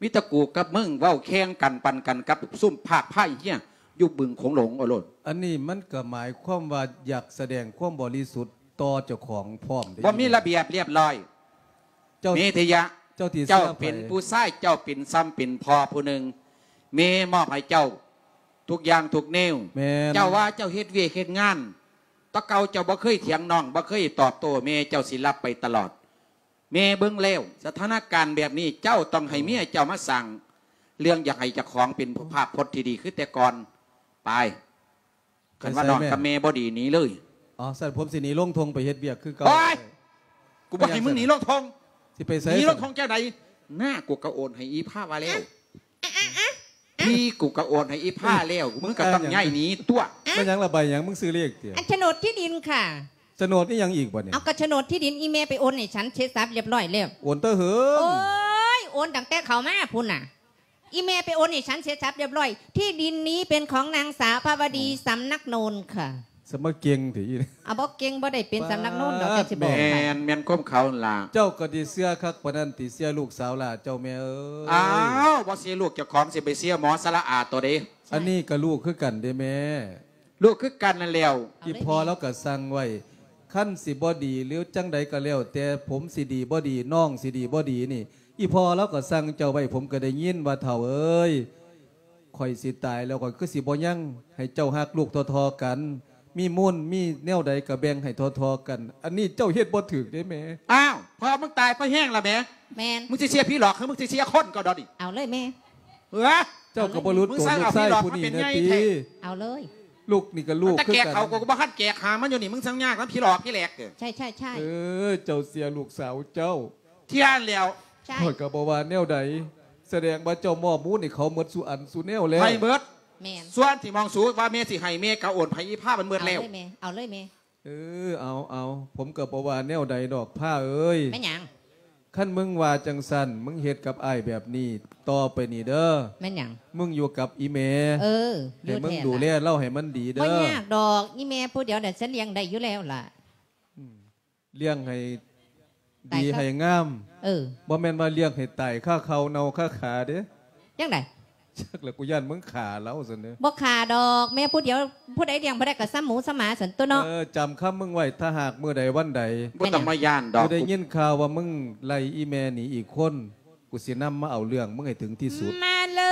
ມີແຕ່ກູກັບມຶງເວົ້າແຂ່ງກັນປັນກັນກັບຊຸມພາກພາຍເຮຍຢູ່ບຶງໂຂງຫຼົງເອົາໂລດ. ອັນນີ້ມັນກະໝາຍຄວາມວ່າຢາກສະແດງຄວາມບໍລິສຸດຕໍ່ເຈົ້າຂອງພ້ອມເດ້. ບໍ່ມີລະບຽບລຽບຮ້ອຍ. ເຈົ້າ ເມທະຍະ ເຈົ້າທີ່ເຊື່ອໃຜ? ເຈົ້າເປັນຜູ້ຊາຍ ເຈົ້າເປັນຊ່ຳເປັນພໍ່ຜູ້ໜຶ່ງ ແມ່ມອບໃຫ້ເຈົ້າທຸກຢ່າງທຸກແນວ. ແມ່ນ. ເຈົ້າວ່າເຈົ້າເຮັດວຽກເຮັດງານ ແຕ່ເກົ່າເຈົ້າບໍ່ເຄີຍຖຽງນ້ອງ ບໍ່ເຄີຍຕອບໂຕ້ແມ່ ເຈົ້າຊິຮັບໄປຕະຫຼອດ. ແມ່ເບິ່ງແລ້ວ ສະຖານະການແບບນີ້ ເຈົ້າຕ້ອງໃຫ້ເມຍເຈົ້າມາສ້າງເລື່ອງ ຢາກໃຫ້ເຈົ້າຂອງເປັນພາບພົດທີ່ດີຄືແຕ່ກ່ອນ. ໄປ ຄັນວ່ານ້ອງກັບແມ່ບໍ່ດີ ໜີເລີຍ. ອໍ ຊັ້ນຜົມຊິໜີລົງທົ່ງໄປເຮັດວຽກຄືເກົ່າ. ໂອ້ຍ ກູບໍ່ໃຫ້ມຶງໜີລົງທົ່ງ. ຊິໄປໃສ? ໜີລົງທົ່ງຈັ່ງໃດ? ໜ້າ ກູກະໂອນໃຫ້ອີ່ພາວ່າແລ້ວ. ທີ່ກູກະໂອນໃຫ້ອີ່ພາແລ້ວ ມຶງກະຕ້ອງຍ້າຍໜີຕົວະ. ແມ່ນຫຍັງລະ ໃບຫຍັງ? ມຶງຊື້ເລກຕິ? ອັນໂສນດທີ່ດິນຄ່ະ. ໂສນດອີ່ຫຍັງອີກບັດນີ້? ເອົາ ກະໂສນດທີ່ດິນ ອີ່ແມ່ໄປໂອນໃຫ້ສັນເສັດສັບຮຽບຮ້ອຍແລ້ວ. ໂອນແຕ່ເຫິງ? ໂອ້ຍ ໂອນຕັ້ງແຕ່ເຂົາມາພຸ້ນນະ. ອີ່ແມ່ໄປໂອນໃຫ້ສັນເສັດສັບຮຽບຮ້ອຍ. ທີ່ດິນນີ້ເປັນຂອງນາງສາວພາວະດີ ສຳນັກໂນນຄ່ະ. ສະມາເກັ່ງເຖະອີ່. ອາ ບໍ່ເກັ່ງ ບໍ່ໄດ້ເປັນສຳນັກໂນນດອກ ເຈົ້າຊິບອກໃຫ້. ແມ່ນ ແມ່ນຄວາມເຂົາຫັ້ນລະ. ເຈົ້າກະຊິເຊື່ອຄັກປານນັ້ນຕິ ເຊື່ອລູກສາວຫຼ້າເຈົ້າແມ່ເອີຍ. ອ້າວ ບໍ່ເຊື່ອລູກເຈົ້າຂອງ ຊິໄປເຊື່ອໝໍສະລະອາໂຕເດ. ອັນນີ້ກະລູກຄືກັນເດ້ແມ່. ລູກຄືກັນນັ້ນແລ້ວ. ອີ່ພໍ່ລາວກະສັ່ງໄວ້ ຄັນຊິບໍ່ດີ ຫຼື ຈັ່ງໃດກະແລ້ວແຕ່ ຜົມຊິດີບໍ່ດີ ນ້ອງຊິດີບໍ່ດີນີ້ ອີ່ພໍ່ລາວກະສັ່ງເຈົ້າໄວ້ ຜົມກະໄດ້ຍິນວ່າ ເຖົ້າເອີຍ ຂ້ອຍຊິຕາຍແລ້ວ ຂ້ອຍຄືຊິບໍ່ຍັງ ໃຫ້ເຈົ້າຮັກລູກທໍ່ໆກັນ ມີມູນມີແນວໃດກະແບ່ງໃຫ້ທໍ່ໆກັນ. ອັນນີ້ເຈົ້າເຮັດບໍ່ຖືກເດ້ແມ່. ອ້າວ ພໍ່ມຶງຕາຍພໍແຮງລະແມ່. ແມ່ນ. ມຶງຊິເຊື່ອຜີຫຼອກ ຫຼື ມຶງຊິເຊື່ອຄົນກໍດອກນີ້? ເອົາເລີຍແມ່. ເອີ ເຈົ້າກະບໍ່ຫຼຸດໂຕລູກຊາຍຜູ້ນີ້ແນ່ຕິ. ເອົາເລີຍ. ລູກນີ້ກະລູກຄືກັນ. ແຕ່ແກກເຂົາ ກູກະບໍ່ທັນແກກຫາມັນຢູ່ນີ້ ມຶງຊ່າງຍາກນຳຜີຫຼອກຜີແຫຼກເດີ. ໃຊ່ໆໆ. ເອີ ເຈົ້າເສຍລູກສາວເຈົ້າ. ທ່ຽນແລ້ວ. ຂ້ອຍກະບໍ່ວ່າແນວໃດ ສະແດງວ່າເຈົ້າມອບມູນໃຫ້ເຂົາໝົດສູ່ອັນສູ່ແນວແລ້ວ. ໃຫ້ໝົດ. ແມ່ນ. ສ່ວນທີ່ມອງສູວ່າແມ່ຊິໃຫ້ ແມ່ກະໂອນໃຫ້ອີ່ພາມັນໝົດແລ້ວ. ເອົາເລີຍແມ່ ເອົາເລີຍແມ່. ເອີ ເອົາ ເອົາ ຜົມກະບໍ່ວ່າແນວໃດດອກ ພາເອີຍ. ແມ່ນຫຍັງ? ຄັນມຶງວ່າຈັ່ງຊັ້ນ ມຶງເຮັດກັບອ້າຍແບບນີ້ຕໍ່ໄປນີ້ເດີ. ແມ່ນຫຍັງ? ມຶງຢູ່ກັບອີ່ແມ່. ເອີ ໃຫ້ມຶງດູແລລາວໃຫ້ມັນດີເດີ. ບໍ່ຍາກດອກ ອີ່ແມ່ຜູ້ດຽວນັ້ນ ສັນລ້ຽງໄດ້ຢູ່ແລ້ວລະ. ອືມ ລ້ຽງໃຫ້ດີໃຫ້ງາມ. ເອີ ບໍ່ແມ່ນວ່າລ້ຽງໃຫ້ຕາຍຄາເຂົ່າເນົ່າຄາຂາເດ້. ຈັ່ງໃດ? ຈັກລະ ກູຢ້ານມຶງຂ້າລາວຊັ້ນເດ້. ບໍ່ຂ້າດອກ ແມ່ຜູ້ດຽວ ຜູ້ໃດລ້ຽງບໍ່ໄດ້ກະສ່ຳໝູສ່ຳໝາຊັ້ນຕົວະເນາະ. ເອີ ຈຳຄຳມຶງໄວ້ ຖ້າຫາກມື້ໃດວັນໃດ ບໍ່ຕ້ອງມາຢ້ານດອກ. ກູໄດ້ຍິນຂ່າວວ່າມຶງໄລ່ອີ່ແມ່ໜີອີກຄົນ ກູຊິນຳມາເອົາເລື່ອງມຶງໃຫ້ເຖິງທີ່ສຸດ. ມາເລ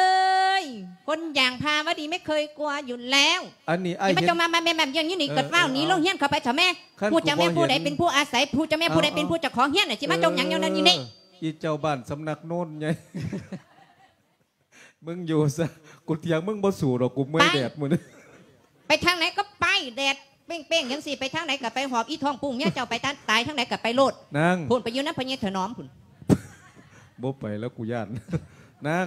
ີຍ ຄົນຢ່າງພາວະດີໄມ່ເຄີຍກົວຢູ່ແລ້ວ. ອັນນີ້ອ້າຍ ຢ່າມາຈົງມາແມ່ນແມ່ນຢູ່ນີ້ ເອີ ກະຟ້າວໜີ ເອີ ລົງຮຽນເຂົ້າໄປເຖາະແມ່. ຮູ້ຈັກແມ່ຜູ້ໃດເປັນຜູ້ອາໄສ ຮູ້ຈັກແມ່ຜູ້ໃດເປັນຜູ້ເຈົ້າຂອງຮຽນ ຊິມາຈົງຫຍັງຢູ່ນັ້ນຢູ່ນີ້. ອີ່ເຈົ້າບ້ານສຳນັກໂນນໃຫຍ່ ມຶງຢູ່ຊະ ກູຖຽງມຶງບໍ່ສູ້ດອກ ກູເມື່ອຍແດດມື້ນີ້. ໄປທາງໃດກະໄປ ແດດເປັ້ງໆຈັ່ງຊີ້ ໄປທາງໃດກະໄປ ຫອບອີ່ທ້ອງປຸ້ງເມຍເຈົ້າໄປ ຕາຍທາງໃດກະໄປໂລດ. ນາງ ພຸ້ນໄປຢູ່ນຳພໍ່ໃຫຍ່ຖະໜອມພຸ້ນ. ບໍ່ໄປແລ້ວ ກູຢ້ານ. ນາງ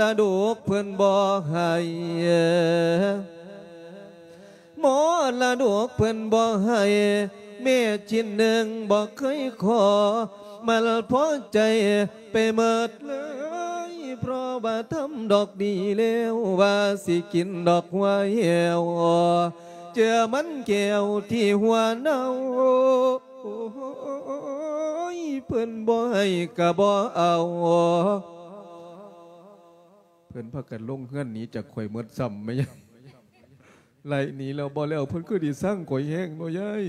ລະດົກເພິ່ນບໍ່ໃຫ້ ມໍລະດົກເພິ່ນບໍ່ໃຫ້ ແມ່ຊິ້ນໜຶ່ງບໍ່ເຄີຍຂໍ ມັນພໍໃຈໄປໝົດເລີຍ ເພາະວ່າທຳດອກດີແລ້ວ ວ່າຊິກິນດອກຫົວແຫ້ວ ເຈື່ອມັນແກ້ວທີ່ຫົວເນົ່າ ໂອ້ຍ ເພິ່ນບໍ່ໃຫ້ກະບໍ່ເອົາ ເພິ່ນພາກັນລົງເຮືອນໜີຈາກຂ້ອຍໝົດຊ້ຳ ແມ່ຍາຍ ໄລ່ໜີແລ້ວບໍ່ແລ້ວ ເພິ່ນຄືຊິຊັງຂ້ອຍແຮງເນາະຍາຍ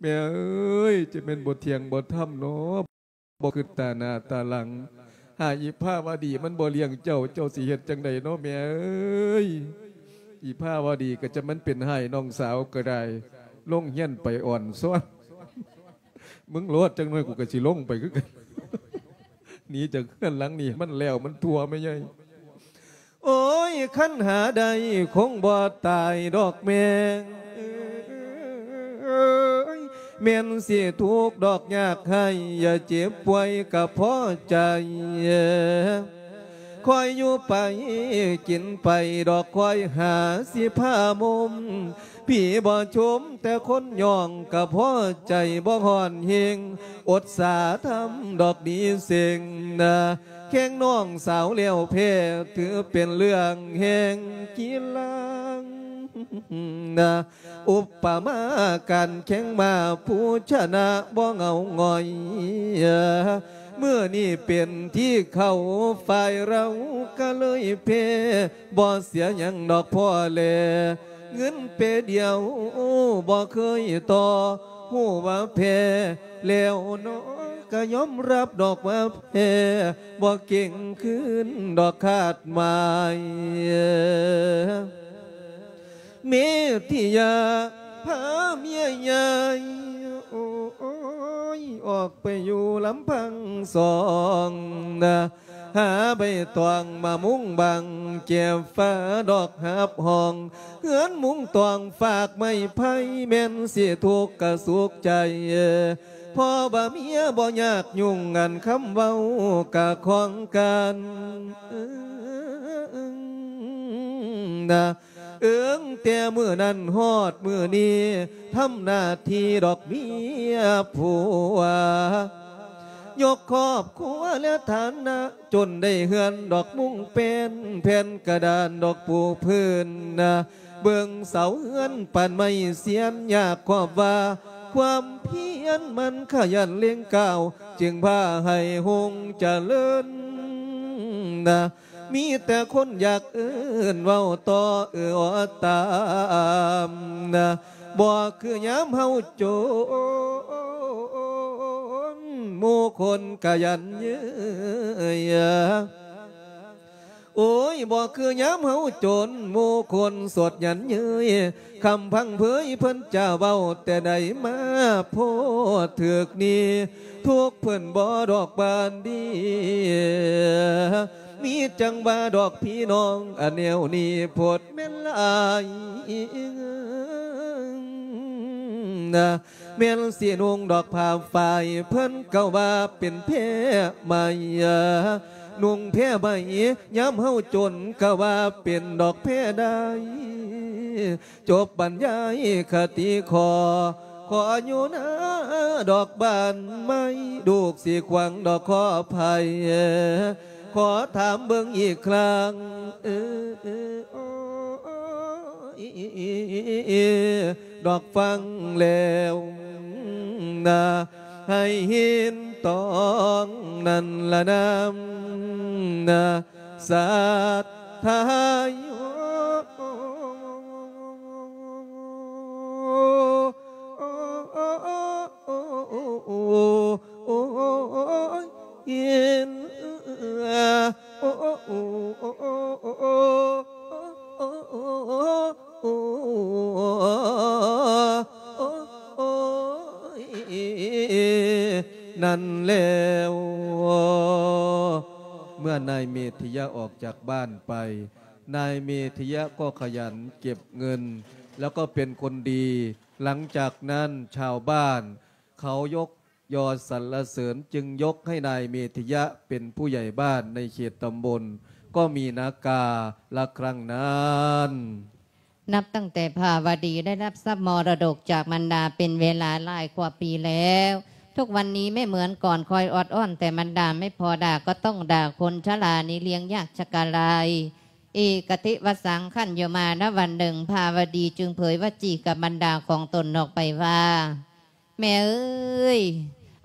ແມ່ເອີຍ ຈະແມ່ນບໍ່ທ່ຽງບໍ່ທຳເນາະ ບໍ່ຄິດຕາໜ້າຕາຫຼັງ ຫາອີພາວະດີມັນບໍ່ລ້ຽງເຈົ້າ ເຈົ້າຊິເຮັດຈັ່ງໃດເນາະແມ່ເອີຍ ອີພາວະດີກໍຈະມັນເປັນຮ້າຍນ້ອງສາວກໍໄດ້ ລົງຮຽນໄປອ່ອນຊອນ ມຶງໂລດ ຈັກໜ້ອຍກູກໍຊິລົງໄປຄືກັນ ໜີຈາກເຮືອນຫຼັງນີ້ໃຫ້ມັນແລ້ວມັນທົ່ວແມ່ໃຫຍ່ ໂອ້ຍ ຄັນຫາໄດ້ຄົງບໍ່ຕາຍດອກແມ່ເອີຍ ແມ່ນຊິທຸກດອກຍາກໄຮ້ ຢ່າເຈັບປ່ວຍກໍພໍໃຈ ຄ່ອຍຢູ່ໄປກິນໄປດອກ ຄ່ອຍຫາຊິພາມຸມ ຜີບໍ່ຊົມແຕ່ຄົນຍ້ອງ ກໍພໍໃຈບໍ່ຮ້ອນເຮັງ ອົດສາທຳດອກດີເສັງນະ ແຂ່ງນ້ອງສາວແລ້ວແພ້ ຖືເປັນເລື່ອງແຫ່ງກິລານະ ອຸປະມາການແຂ່ງມ້າ ຜູ້ຊະນະບໍ່ເຫງົາຫງອຍ ມື້ນີ້ເປັນທີ່ເຂົາ ຝ່າຍເຮົາກໍເລີຍແພ້ ບໍ່ເສຍຫຍັງດອກພໍ່ແລ ເງິນເປດຽວບໍ່ເຄີຍຕໍ່ ຮູ້ວ່າແພ້ແລ້ວເນາະ ກະຍອມຮັບດອກວ່າແພ້ ບໍ່ເກັ່ງຄືນດອກຄາດໝາຍ. ເມທິຍາພາເມຍໃຫຍ່ ໂອ້ຍ ອອກໄປຢູ່ລຳພັງສອງນະ ຫາໃບຕອງມາມຸງບັງ ແຈບຝາດອກຮັບຮອງ ເຮືອນມຸງຕອງຟາກໄມ້ໄຜ່ ແມ່ນຊິທຸກກະສຸກໃຈ ເພາະວ່າເມຍບໍ່ຍາກຫຍຸ້ງ ອັນຄຳເວົ້າກະຂອງກັນນະ. ເອີງແຕ່ມື້ນັ້ນຮອດມື້ນີ້ ທຳໜ້າທີ່ດອກເມຍຜົວ ຍົກຄອບຄົວແລະຖານະ ຈົນໄດ້ເຮືອນດອກມຸງແປ້ນ ແຜ່ນກະດານດອກປູພື້ນນະ ເບິ່ງເສົາເຮືອນປານໄມ້ຊຽນ ຍາກຄອບວ່າຄວາມພຽນ ໝັ່ນຂະຫຍັນເລັ່ງກ້າວ ຈຶ່ງພາໃຫ້ຮຸ່ງຈະເລີນນະ. ມີແຕ່ຄົນຢາກເອີ້ນເວົ້າຕໍ່ເອື້ອຕາມນະ ບໍ່ຄືຍາມເຮົາຈົນ ໝູ່ຄົນກະຢັນເຍີ້ຍ. ໂອ້ຍ ບໍ່ຄືຍາມເຮົາຈົນ ໝູ່ຄົນສົດຢັນເຍີ້ຍ ຄຳພັງເຜີຍເພິ່ນຈະເວົ້າແຕ່ໃດມາໂພດຖືກນີ້ ທຸກເພິ່ນບໍ່ດອກບານດີ ມີຈັ່ງວ່າດອກພີ່ນ້ອງ ອັນແນວນີ້ໂພດແມ່ນຫຼາຍນະ ແມ່ນຊິນຸ່ງດອກຜ້າຝ້າຍ ເພິ່ນກໍວ່າເປັນແພ້ໃໝ່ ນຸ່ງແພ້ໃໝ່ ຍາມເຮົາຈົນ ກໍວ່າເປັນດອກແພ້ໄດ້ ຈົບບັນຍາຍຄະຕິຂໍ ຂໍຢູ່ນາດອກບານໃໝ່ ລູກຊິຂວາງດອກຂໍໄພ ຂໍຖາມເບິ່ງອີກຄັ້ງ ເອີ ດອກຟັງແລ້ວນະ ໃຫ້ເຫັນຕອງນັ້ນລະນຳນະ ສັດທາໂຍ ນັ້ນແລ້ວ ເມື່ອນາຍເມທິຍະອອກຈາກບ້ານໄປ ນາຍເມທິຍະກໍຂະຫຍັນເກັບເງິນ ແລ້ວກໍເປັນຄົນດີ. ຫຼັງຈາກນັ້ນຊາວບ້ານເຂົາຍົກຍໍສັນລະເສີນ ຈຶ່ງຍົກໃຫ້ນາຍເມທິຍະເປັນຜູ້ໃຫຍ່ບ້ານໃນເຂດຕຳບົນ ກໍມີນາກາລະຄັ້ງນັ້ນ. ນັບຕັ້ງແຕ່ພາວະດີໄດ້ຮັບຊັບມໍລະດົກຈາກມັນດາເປັນເວລາຫຼາຍກວ່າປີແລ້ວ ທຸກວັນນີ້ແມ່ເໝືອນກ່ອນຄອຍອອດອ້ອນແຕ່ມັນດາ ແມ່ພໍ່ດາກໍຕ້ອງດ່າຄົນຊະລານີ້ລ້ຽງຍາກຊະກະລາຍ. ເອກະຕິວະສັງ ຄັນຢູ່ມານະວັນໜຶ່ງ ພາວະດີຈຶ່ງເຜີຍວະຈີກັບມັນດາຂອງຕົນອອກໄປວ່າ ແມ່ເອີຍ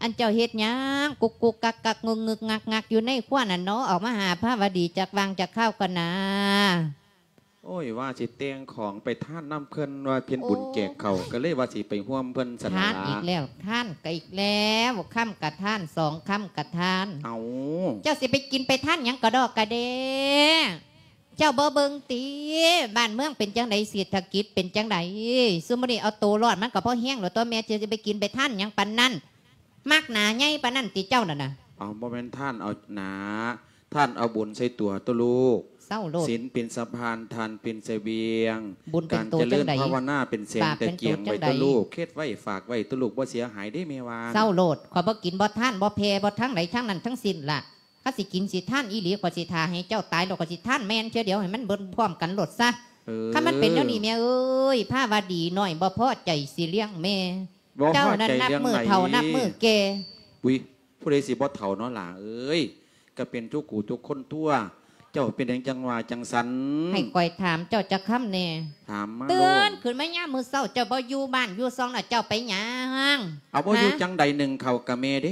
ອັນເຈົ້າເຮັດຫຍັງກຸກໆກັກໆ ງຶກໆງັກໆຢູ່ໃນຄົວນັ້ນເນາະ ອອກມາຫາພາວະດີຈັກຫວ່າງຈັກຄາວກ່ອນນາ. ໂອ້ຍ ວ່າຊິແຕ່ງຂອງໄປທານນຳເພິ່ນ ວ່າເຮັດບຸນແຈກເຂົ້າ ກໍເລີຍວ່າຊິໄປຮ່ວມເພິ່ນຊັ້ນລະ. ທານອີກແລ້ວ ທານກໍອີກແລ້ວ ຄຳກະທານ ສອງຄຳກະທານ. ເອົ້າ ເຈົ້າຊິໄປກິນໄປທານຫຍັງກະດອກກະແດ່? ເຈົ້າບໍ່ເບິ່ງຕິ ບ້ານເມືອງເປັນຈັ່ງໃດ ເສດຖະກິດເປັນຈັ່ງໃດ? ຊຸມມື້ນີ້ເອົາໂຕລອດມັນກໍພໍແຮງແລ້ວຕົວະ ແມ່ຈະໄປກິນໄປທານຫຍັງປານນັ້ນ? ມັກໜາໃຫຍ່ປານນັ້ນຕິເຈົ້ານັ້ນນະ? ເອົາ ບໍ່ແມ່ນທານເອົາໜາ ທານເອົາບຸນໃສ່ຕົວຕົວະລູກ. ເຊົາໂລດ ສິນເປັນສະພານ ທານເປັນສະບຽງ ບຸນເປັນໂຕຈັ່ງໃດ? ການຈະເລີນພາວະນາເປັນແສງ ບາບເປັນໂຕຈັ່ງໃດ? ແຕ່ກຽງໄວ້ຕົວະລູກ ເຮັດໄວ້ຝາກໄວ້ຕົວະລູກ ບໍ່ເສຍຫາຍເດ້ແມ່ວ່າ. ເຊົາໂລດ ຂ້ອຍບໍ່ກິນບໍ່ທານບໍ່ແຜ່ບໍ່ທາງໃດທາງນັ້ນທັງສິ້ນລະ. ຄັນຊິກິນຊິທານອີ່ຫຼີ ຂ້ອຍຊິຖ້າໃຫ້ເຈົ້າຕາຍແລ້ວ ຂ້ອຍຊິທານແມ່ນເທື່ອດຽວໃຫ້ມັນເບິດພ້ອມກັນໂລດຊະ. ເອີ ຄັນມັນເປັນແນວນີ້ແມ່ເອີຍ ພາວະດີນ້ອຍບໍ່ພໍໃຈຊິລ້ຽງແມ່. ເຈົ້ານັ້ນນັບມື້ເຖົ້ານັບມື້ແກ່. ອຸ້ຍ ຜູ້ໃດຊິບໍ່ເຖົ້າເນາະຫຼ້າເອີຍ ກໍເປັນທຸກຜູ້ທຸກຄົນຕົວະ. ເຈົ້າເປັນຫຍັງຈັ່ງວ່າຈັ່ງຊັ້ນ? ໃຫ້ຂ້ອຍຖາມເຈົ້າຈັກຄຳແດ່. ຖາມມາໂລດ. ຕື່ນຂຶ້ນມາຍາມມື້ເຊົ້າ ເຈົ້າບໍ່ຢູ່ບ້ານຢູ່ຊ່ອງລະ ເຈົ້າໄປຫຍັງ? ເອົາ ບໍ່ຢູ່ ຫາ ຈັ່ງໃດ ໜຶ້ງເຂົ້າກະແມ່ເດ້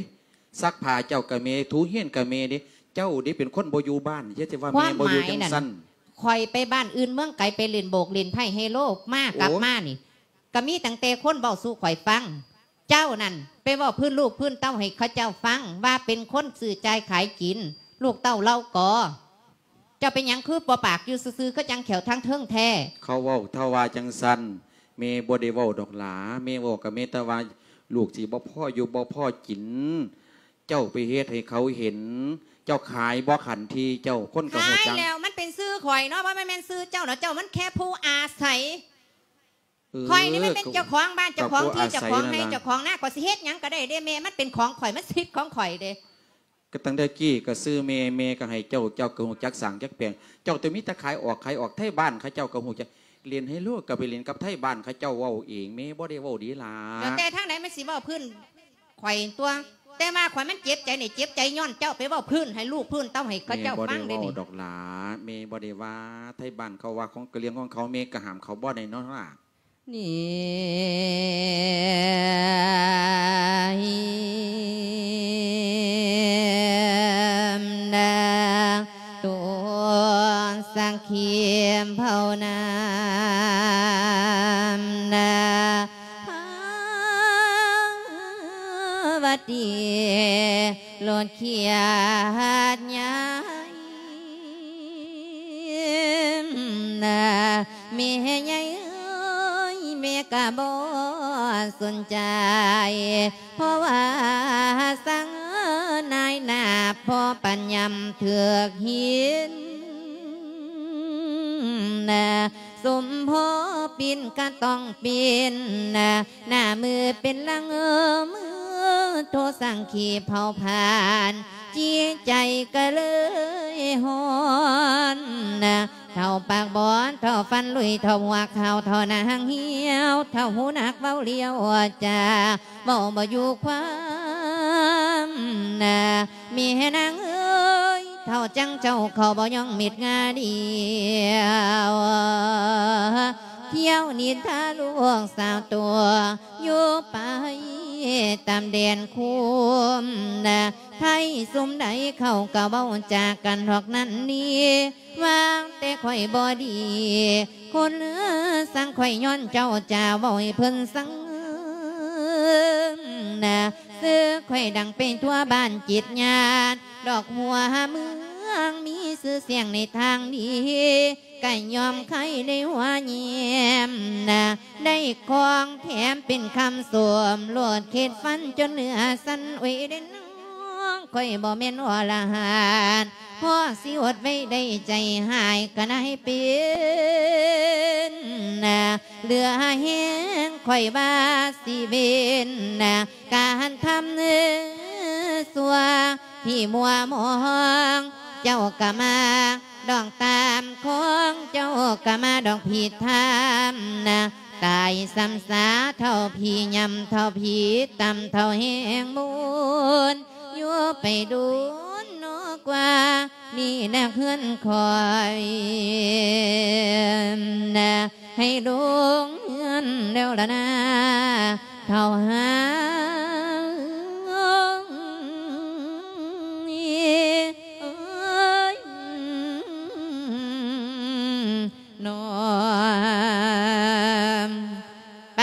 ຊັກຜ້າເຈົ້າກະແມ່ ຖູຮຽນກະແມ່ເດ້ ເຈົ້າເດ້ເປັນຄົນບໍ່ຢູ່ບ້ານ ຢ່າຊິວ່າແມ່ບໍ່ຢູ່ຈັ່ງຊັ້ນ. ຄວາມໝາຍນັ້ນ ຂ້ອຍໄປບ້ານອື່ນເມືອງໄກ ໄປຫຼິ້ນໂບກຫຼິ້ນໄພ້ເຮໂລ ມາ ໂອ້ ກັບມານີ້ ກະມີຕັ້ງແຕ່ຄົນເວົ້າສູ່ຂ້ອຍຟັງ ເຈົ້ານັ້ນໄປເວົ້າພື້ນລູກພື້ນເຕົ້າໃຫ້ເຂົາເຈົ້າຟັງ ວ່າເປັນຄົນຊື້ຈ່າຍຂາຍກິນ ລູກເຕົ້າເຫຼົ່າກໍ. ເຈົ້າເປັນຫຍັງຄືບໍ່ປາກຢູ່ຊື່ໆ ຄືຈັ່ງແຂ້ວທາງເທິງແທ້? ເຂົາເວົ້າເທົ່າວ່າຈັ່ງຊັ້ນ ແມ່ບໍ່ໄດ້ເວົ້າດອກຫຼາ. ແມ່ເວົ້າກໍແມ່ນແຕ່ວ່າລູກຊິບໍ່ພໍຢູ່ບໍ່ພໍກິນ. ເຈົ້າໄປເຮັດໃຫ້ເຂົາເຫັນ ເຈົ້າຂາຍບໍ່ຂັນທີ່ເຈົ້າ ຄົນກໍຮູ້ຈັກ. ຂາຍແລ້ວ ມັນເປັນຊື່ຂ້ອຍເນາະ ບໍ່ແມ່ນຊື່ເຈົ້າເນາະ. ເຈົ້າມັນແຄ່ຜູ້ອາໄສ. ເອີ ຂ້ອຍນີ້ມັນເປັນເຈົ້າຂອງບ້ານ ເຈົ້າຂອງທີ່ ເຈົ້າຂອງໄຮ່ ເຈົ້າຂອງນາ ຂ້ອຍຊິເຮັດຫຍັງກໍໄດ້ເດ້ແມ່ ມັນເປັນຂອງຂ້ອຍ ມັນສິດຂອງຂ້ອຍເດ້. ກໍຕັ້ງແຕ່ກີ້ກໍຊື່ແມ່ ແມ່ກໍໃຫ້ເຈົ້າ ເຈົ້າກໍຮູ້ຈັກສ້າງຈັກແປງ ເຈົ້າແຕ່ມີແຕ່ຂາຍອອກ ຂາຍອອກ ໄທບ້ານເຂົາເຈົ້າກໍຮູ້ຈັກ ຫຼິ້ນໄຮໂລກໍໄປຫຼິ້ນກັບໄທບ້ານເຂົາເຈົ້າເວົ້າເອງ ແມ່ບໍ່ໄດ້ເວົ້າເດ້ຫຼາ. ແລ້ວແຕ່ທາງໃດມັນຊິເວົ້າພື້ນ ຂ້ອຍຕົວະ ແຕ່ວ່າຂ້ອຍມັນເຈັບໃຈນີ້ ເຈັບໃຈຍ້ອນເຈົ້າໄປເວົ້າພື້ນໃຫ້ລູກພື້ນເຕົ້າໃຫ້ເຂົາເຈົ້າຟັງເດ້ນີ້. ແມ່ບໍ່ໄດ້ເວົ້າດອກຫຼາ ແມ່ບໍ່ໄດ້ວ່າ ໄທບ້ານເຂົາວ່າຂອງ ກໍເລື່ອງຂອງເຂົາ ແມ່ກໍຫ້າມເຂົາບໍ່ໄດ້ເນາະຫຼາ. ນີ້ນາ ຕົວສັກຂີພາວນາ ນາ ພາວະຕີ ໂລດຂຽດຍາຍ ນາ ແມ່ໃຫຍ່ເອີຍ ແມ່ກະບໍ່ສົນໃຈ ເພາະວ່າສັງນາຍໜາ ພໍປັນຍາມເຖືກຫີນ ນາ ສົມພໍປິ່ນກະຕ້ອງປິ່ນ ໜ້າມືເປັນຫຼັງມື ໂທສັກຂີເຜົາຜານ ຈິດໃຈກະເລີຍຮ້ອນ ເຖົ້າປາກບອດ ເຖົ້າຟັນລຸຍ ເຖົ້າຫົວຂາວ ເຖົ້າໜ້າຫາງຫ່ຽວ ເຖົ້າຫູໜັກເວົ້າຫຼຽວຈາ ເວົ້າບໍ່ຢູ່ຄວາມ ແມ່ນາງເອີຍ ເຖົ້າຈັ່ງເຈົ້າເຂົາບໍ່ຍອງມິດງາດຽວ ທ່ຽວນິນທາລູກສາວຕົວ ຢູ່ໄປຕາມແດນຄຸ້ມນາ ໄທຊຸມໃດເຂົາກໍເວົ້າຈາກັນຮອກນັ້ນນີ້ ວ່າແຕ່ຂ້ອຍບໍ່ດີ ຄົນຊັງຂ້ອຍຍ້ອນເຈົ້າຈາເວົ້າໃຫ້ເພິ່ນຊັງນາ ຊື່ຂ້ອຍດັງໄປທົ່ວບ້ານຈິດຍາດ ດອກຫົວເມືອງມີຊື່ສຽງໃນທາງດີ ກະຍອມໄຄໄດ້ຫົວແຍ້ມນະ ໄດ້ຂອງແຖມເປັນຄຳຊົມ ໂລດເຂດຝັນຈົນເໜືອຊັ້ນ ໂອ້ຍເດ້ນ້ອງ ຂ້ອຍບໍ່ແມ່ນອໍລະຫັນ ພໍຊິອົດໄວ້ໄດ້ໃຈຮ້າຍກະນາຍເປັນນະ ເຫຼືອແຮງຂ້ອຍວ່າຊິເວັນນະ ການທຳເນີຊົ່ວທີ່ມົວມອງ ເຈົ້າກະມາດອງຕາມຂອງ ເຈົ້າກະມາດອງຜິດທຳນະ ຕາຍຊ້ຳສາເທົ່າຜີ ຍ່ຳເທົ່າຜີ ຕຳເທົ່າແຮງມູນ ຢູ່ໄປດົນນອກວ່າ ນີ້ນະເຮືອນຂ້ອຍນະ ໃຫ້ລົງເຮືອນແລ້ວລະນາ ເຖົ້າຫາງເອີຍ ນ້ອງ ໄປ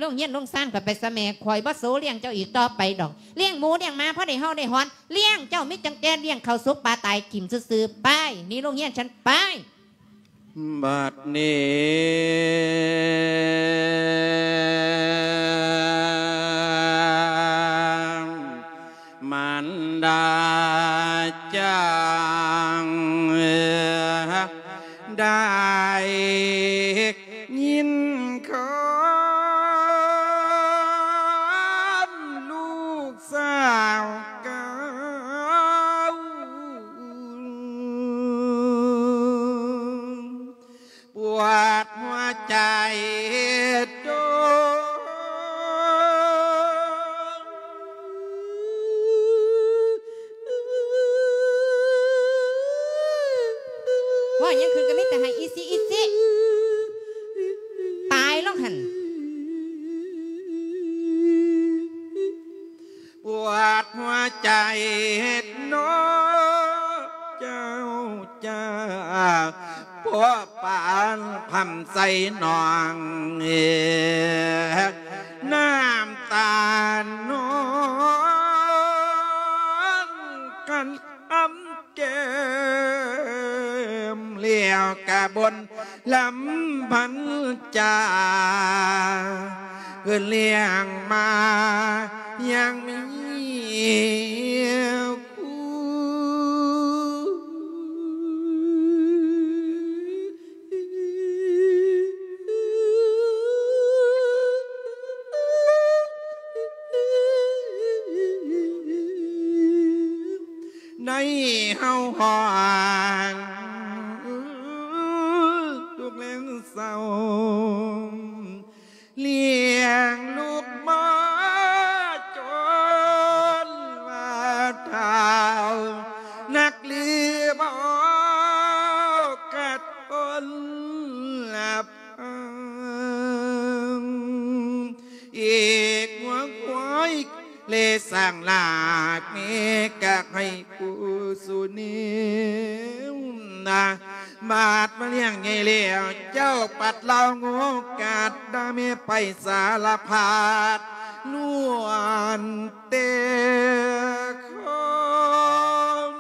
ລົງເຮືອນລົງຊານຂ້ອຍໄປຊະແມ່ ຂ້ອຍບໍ່ໂສລ້ຽງເຈົ້າອີກຕໍ່ໄປດອກ ລ້ຽງໝູລ້ຽງໝາ ພໍໄດ້ເຫົ່າໄດ້ຫອນ ລ້ຽງເຈົ້າມີຕັ້ງແຕ່ລ້ຽງເຂົ້າສຸກປາຕາຍຖິ້ມຊື່ໆ ໄປ ໜີລົງເຮືອນຊັ້ນ ໄປ. ບັດນີ້ ມານດາຈັ່ງໄດ້ຍິນຄຳລູກສາວເກົ່າ ປວດຫົວໃຈໂຕ ເວົ້າຫຍັງຂຶ້ນກໍມີແຕ່ໄຫ້ອີຊິອີຊິ ຕາຍລອງຫັ້ນ. ປວດຫົວໃຈເນາະເຈົ້າ ເຈົ້າ ເພາະປານຄຳໃສ່ນ້ອງ ນ້ຳ ນອນກັນອ້ຳແກ້ມ ແລ້ວກະບົນລຳພັນຈາ ເພິ່ນລ້ຽງມາຢ່າງມີຄຸນ. ໃນເຮົາຮອດທຸກແລງເສົ້າ ລ້ຽງລູກມາຈົນວ່າເຖົ້າ ນັກຫຼືບໍ່ກະທົນລະພັງ ເອກຫົວຄວາຍ ແລະ ສ້າງລາກແມ່ກະໃຫ້ຜູ້ສຸເນວນາ ບາດມາລ້ຽງໃຫຍ່ແລ້ວ ເຈົ້າປັດລາວໂງກາດ ດາແມ່ໄປສາລະພັດ ລ້ວນແຕ່ຄວາມ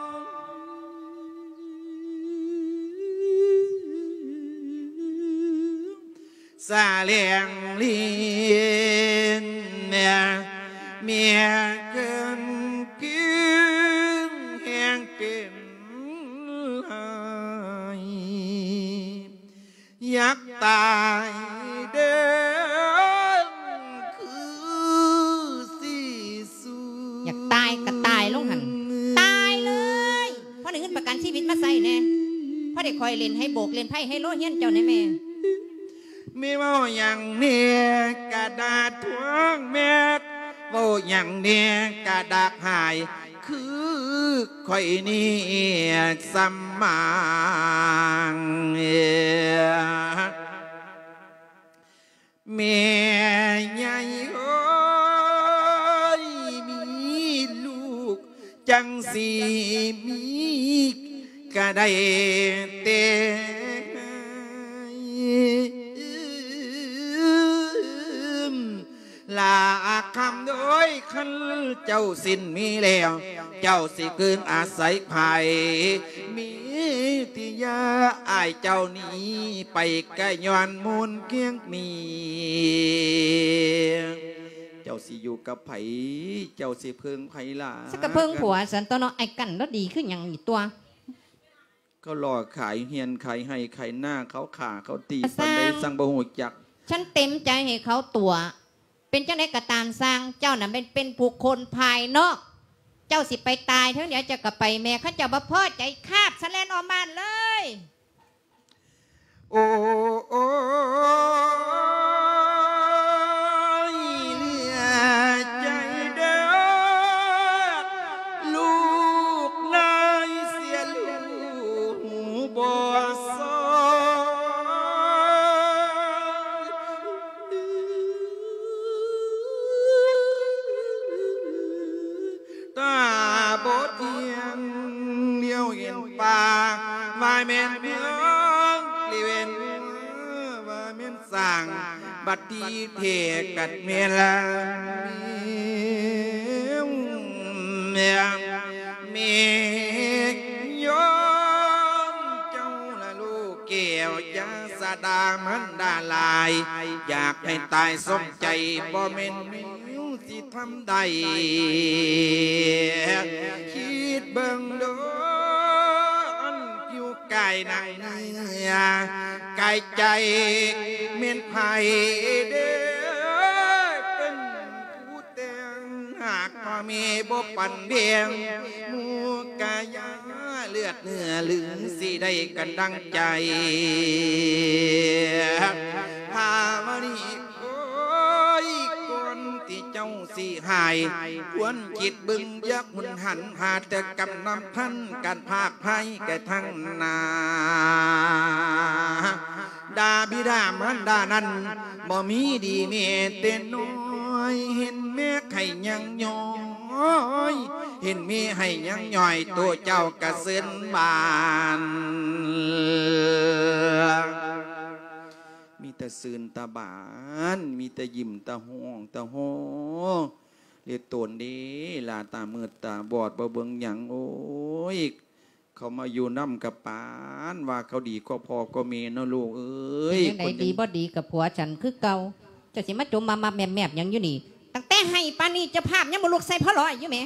ສະແຫຼງຫຼິ້ນ ເມຍເກີນກິນແຮງເປັນໄຫ້ ຢາກຕາຍເດີ ຄືຊິສູ້ ຢາກຕາຍກະຕາຍລົງຫັ້ນ ຕາຍເລີຍ ພໍໄດ້ເງິນປະກັນຊີວິດມາໃຊ້ແດ່ ພໍໄດ້ຂ້ອຍຫຼິ້ນໄຮໂບກ ຫຼິ້ນໄພ້ໄຮໂລຮຽນເຈົ້າແດ່ແມ່. ແມ່ເວົ້າຫຍັງແນ່ກະດ່າທວງແມ່ ເວົ້າຫຍັງແນ່ກະດາກຫາຍ ຄືຂ້ອຍນີ້ສຳມາງ ແມ່ໃຫຍ່ເອີຍ ມີລູກ ຈັ່ງຊິມີກະໄດ້ແຕ່ໃຫ້ ລາຄຳເອີຍ ຄັນເຈົ້າສິ້ນມີແລ້ວ ເຈົ້າຊິເກີງອາໄສໃຜ ມີທີ່ຢ່າອ້າຍເຈົ້າໜີໄປ ກະຍ້ອນມູນຄຽງມີ ເຈົ້າຊິຢູ່ກັບໃຜ ເຈົ້າຊິເພິ່ງໃຜລະ ຊິກະເພິ່ງຜົວຊັ້ນຕົວະເນາະ ອ້າຍກັນລະດີຄືຫຍັງນີ້ຕົວະ ເຂົາຫຼອກຂາຍເຮືອນຂາຍໄຮ່ຂາຍນາ ເຂົາຂ້າເຂົາຕີປານໃດ ຊ່າງ ຊ່າງບໍ່ຮູ້ຈັກ ສັນເຕັມໃຈໃຫ້ເຂົາຕົວະ ເປັນຈັ່ງໃດກະຕາມຊ່າງ ເຈົ້ານະແມ່ນເປັນບຸກຄົນພາຍນອກ ເຈົ້າຊິໄປຕາຍເທິງໃດ ເຈົ້າກະໄປແມ້ ຄັນເຈົ້າບໍ່ພໍໃຈຄາບສະແລ່ນອອກບ້ານເລີຍ. ໂອ້ຍ ເຫຼືອໃຈເດີ ລູກນາຍເສຍລູກບໍ່ຊອຍ ຕາບໍ່ທ່ຽງ ຫຼຽວເຫັນປ່າ ວ່າແມ່ນເມືອງ ຫຼຽວເຫັນວ່າແມ່ນຊ້າງ ບັດທີແທ້ກັດແມ່ນລະ ແມ່ ແມ່ຍອມເຈົ້າລະລູກແກ້ວ ຢ່າສະດາມັນດາຫຼາຍ ຢາກໃຫ້ຕາຍສົມໃຈ ບໍ່ແມ່ນ ຊິທຳໄດ້ ຄິດເບິ່ງເດີ ອັນຜິວກາຍໜັງເນື້ອ ກາຍໃຈແມ່ນໃຜເດີ ເປັນຜູ້ແຕ່ງ ຫາກພໍ່ແມ່ບໍ່ປັນແບ່ງ ໝູ່ກະຢາເລືອດເນື້ອ ຫຼືຊິໄດ້ກັນດັ່ງໃຈ ພາວະລີ ໂອ້ຍ ກ່ອນທີ່ເຈົ້າຊິຫາຍ ຄວນຄິດເບິ່ງຢ່າຮຸນຫັນ ຫາແຕ່ກຳນຳພັນ ການພາກໄພກະທັງໜ້າ ດາບິດາມານດານັ້ນ ບໍ່ມີດີແມ້ແຕ່ນ້ອຍ ເຫັນແມ່ໄຂ້ຍັງຍ້ອຍ ເຫັນແມ່ໄຫ້ຍັງຍ້ອຍ ໂຕເຈົ້າກະເຊີນບານ ມີແຕ່ຊື່ນຕາບານ ມີແຕ່ຍິ້ມຕາຮ້ອງຕາຮ້ອງ ເລໂຕນເດ້ ຫຼ້າຕາມືດຕາບອດ ບໍ່ເບິ່ງຫຍັງ ໂອ້ຍ ເຂົາມາຢູ່ນຳກະປານວ່າເຂົາດີກວ່າພໍ່ກວ່າແມ່ເນາະລູກເອີຍ. ຈັ່ງໃດ ຄົນ ດີບໍ່ດີກະຜົວສັນຄືເກົ່າ ເຈົ້າຊິມາຈົມມາມັບແມບຫຍັງຢູ່ນີ້? ຕັ້ງແຕ່ໃຫ້ປານນີ້ ເຈົ້າພາບຍັງບໍ່ລຸກໃສ່ພໍ່ຫຼ້ອຍຢູ່ແໝ.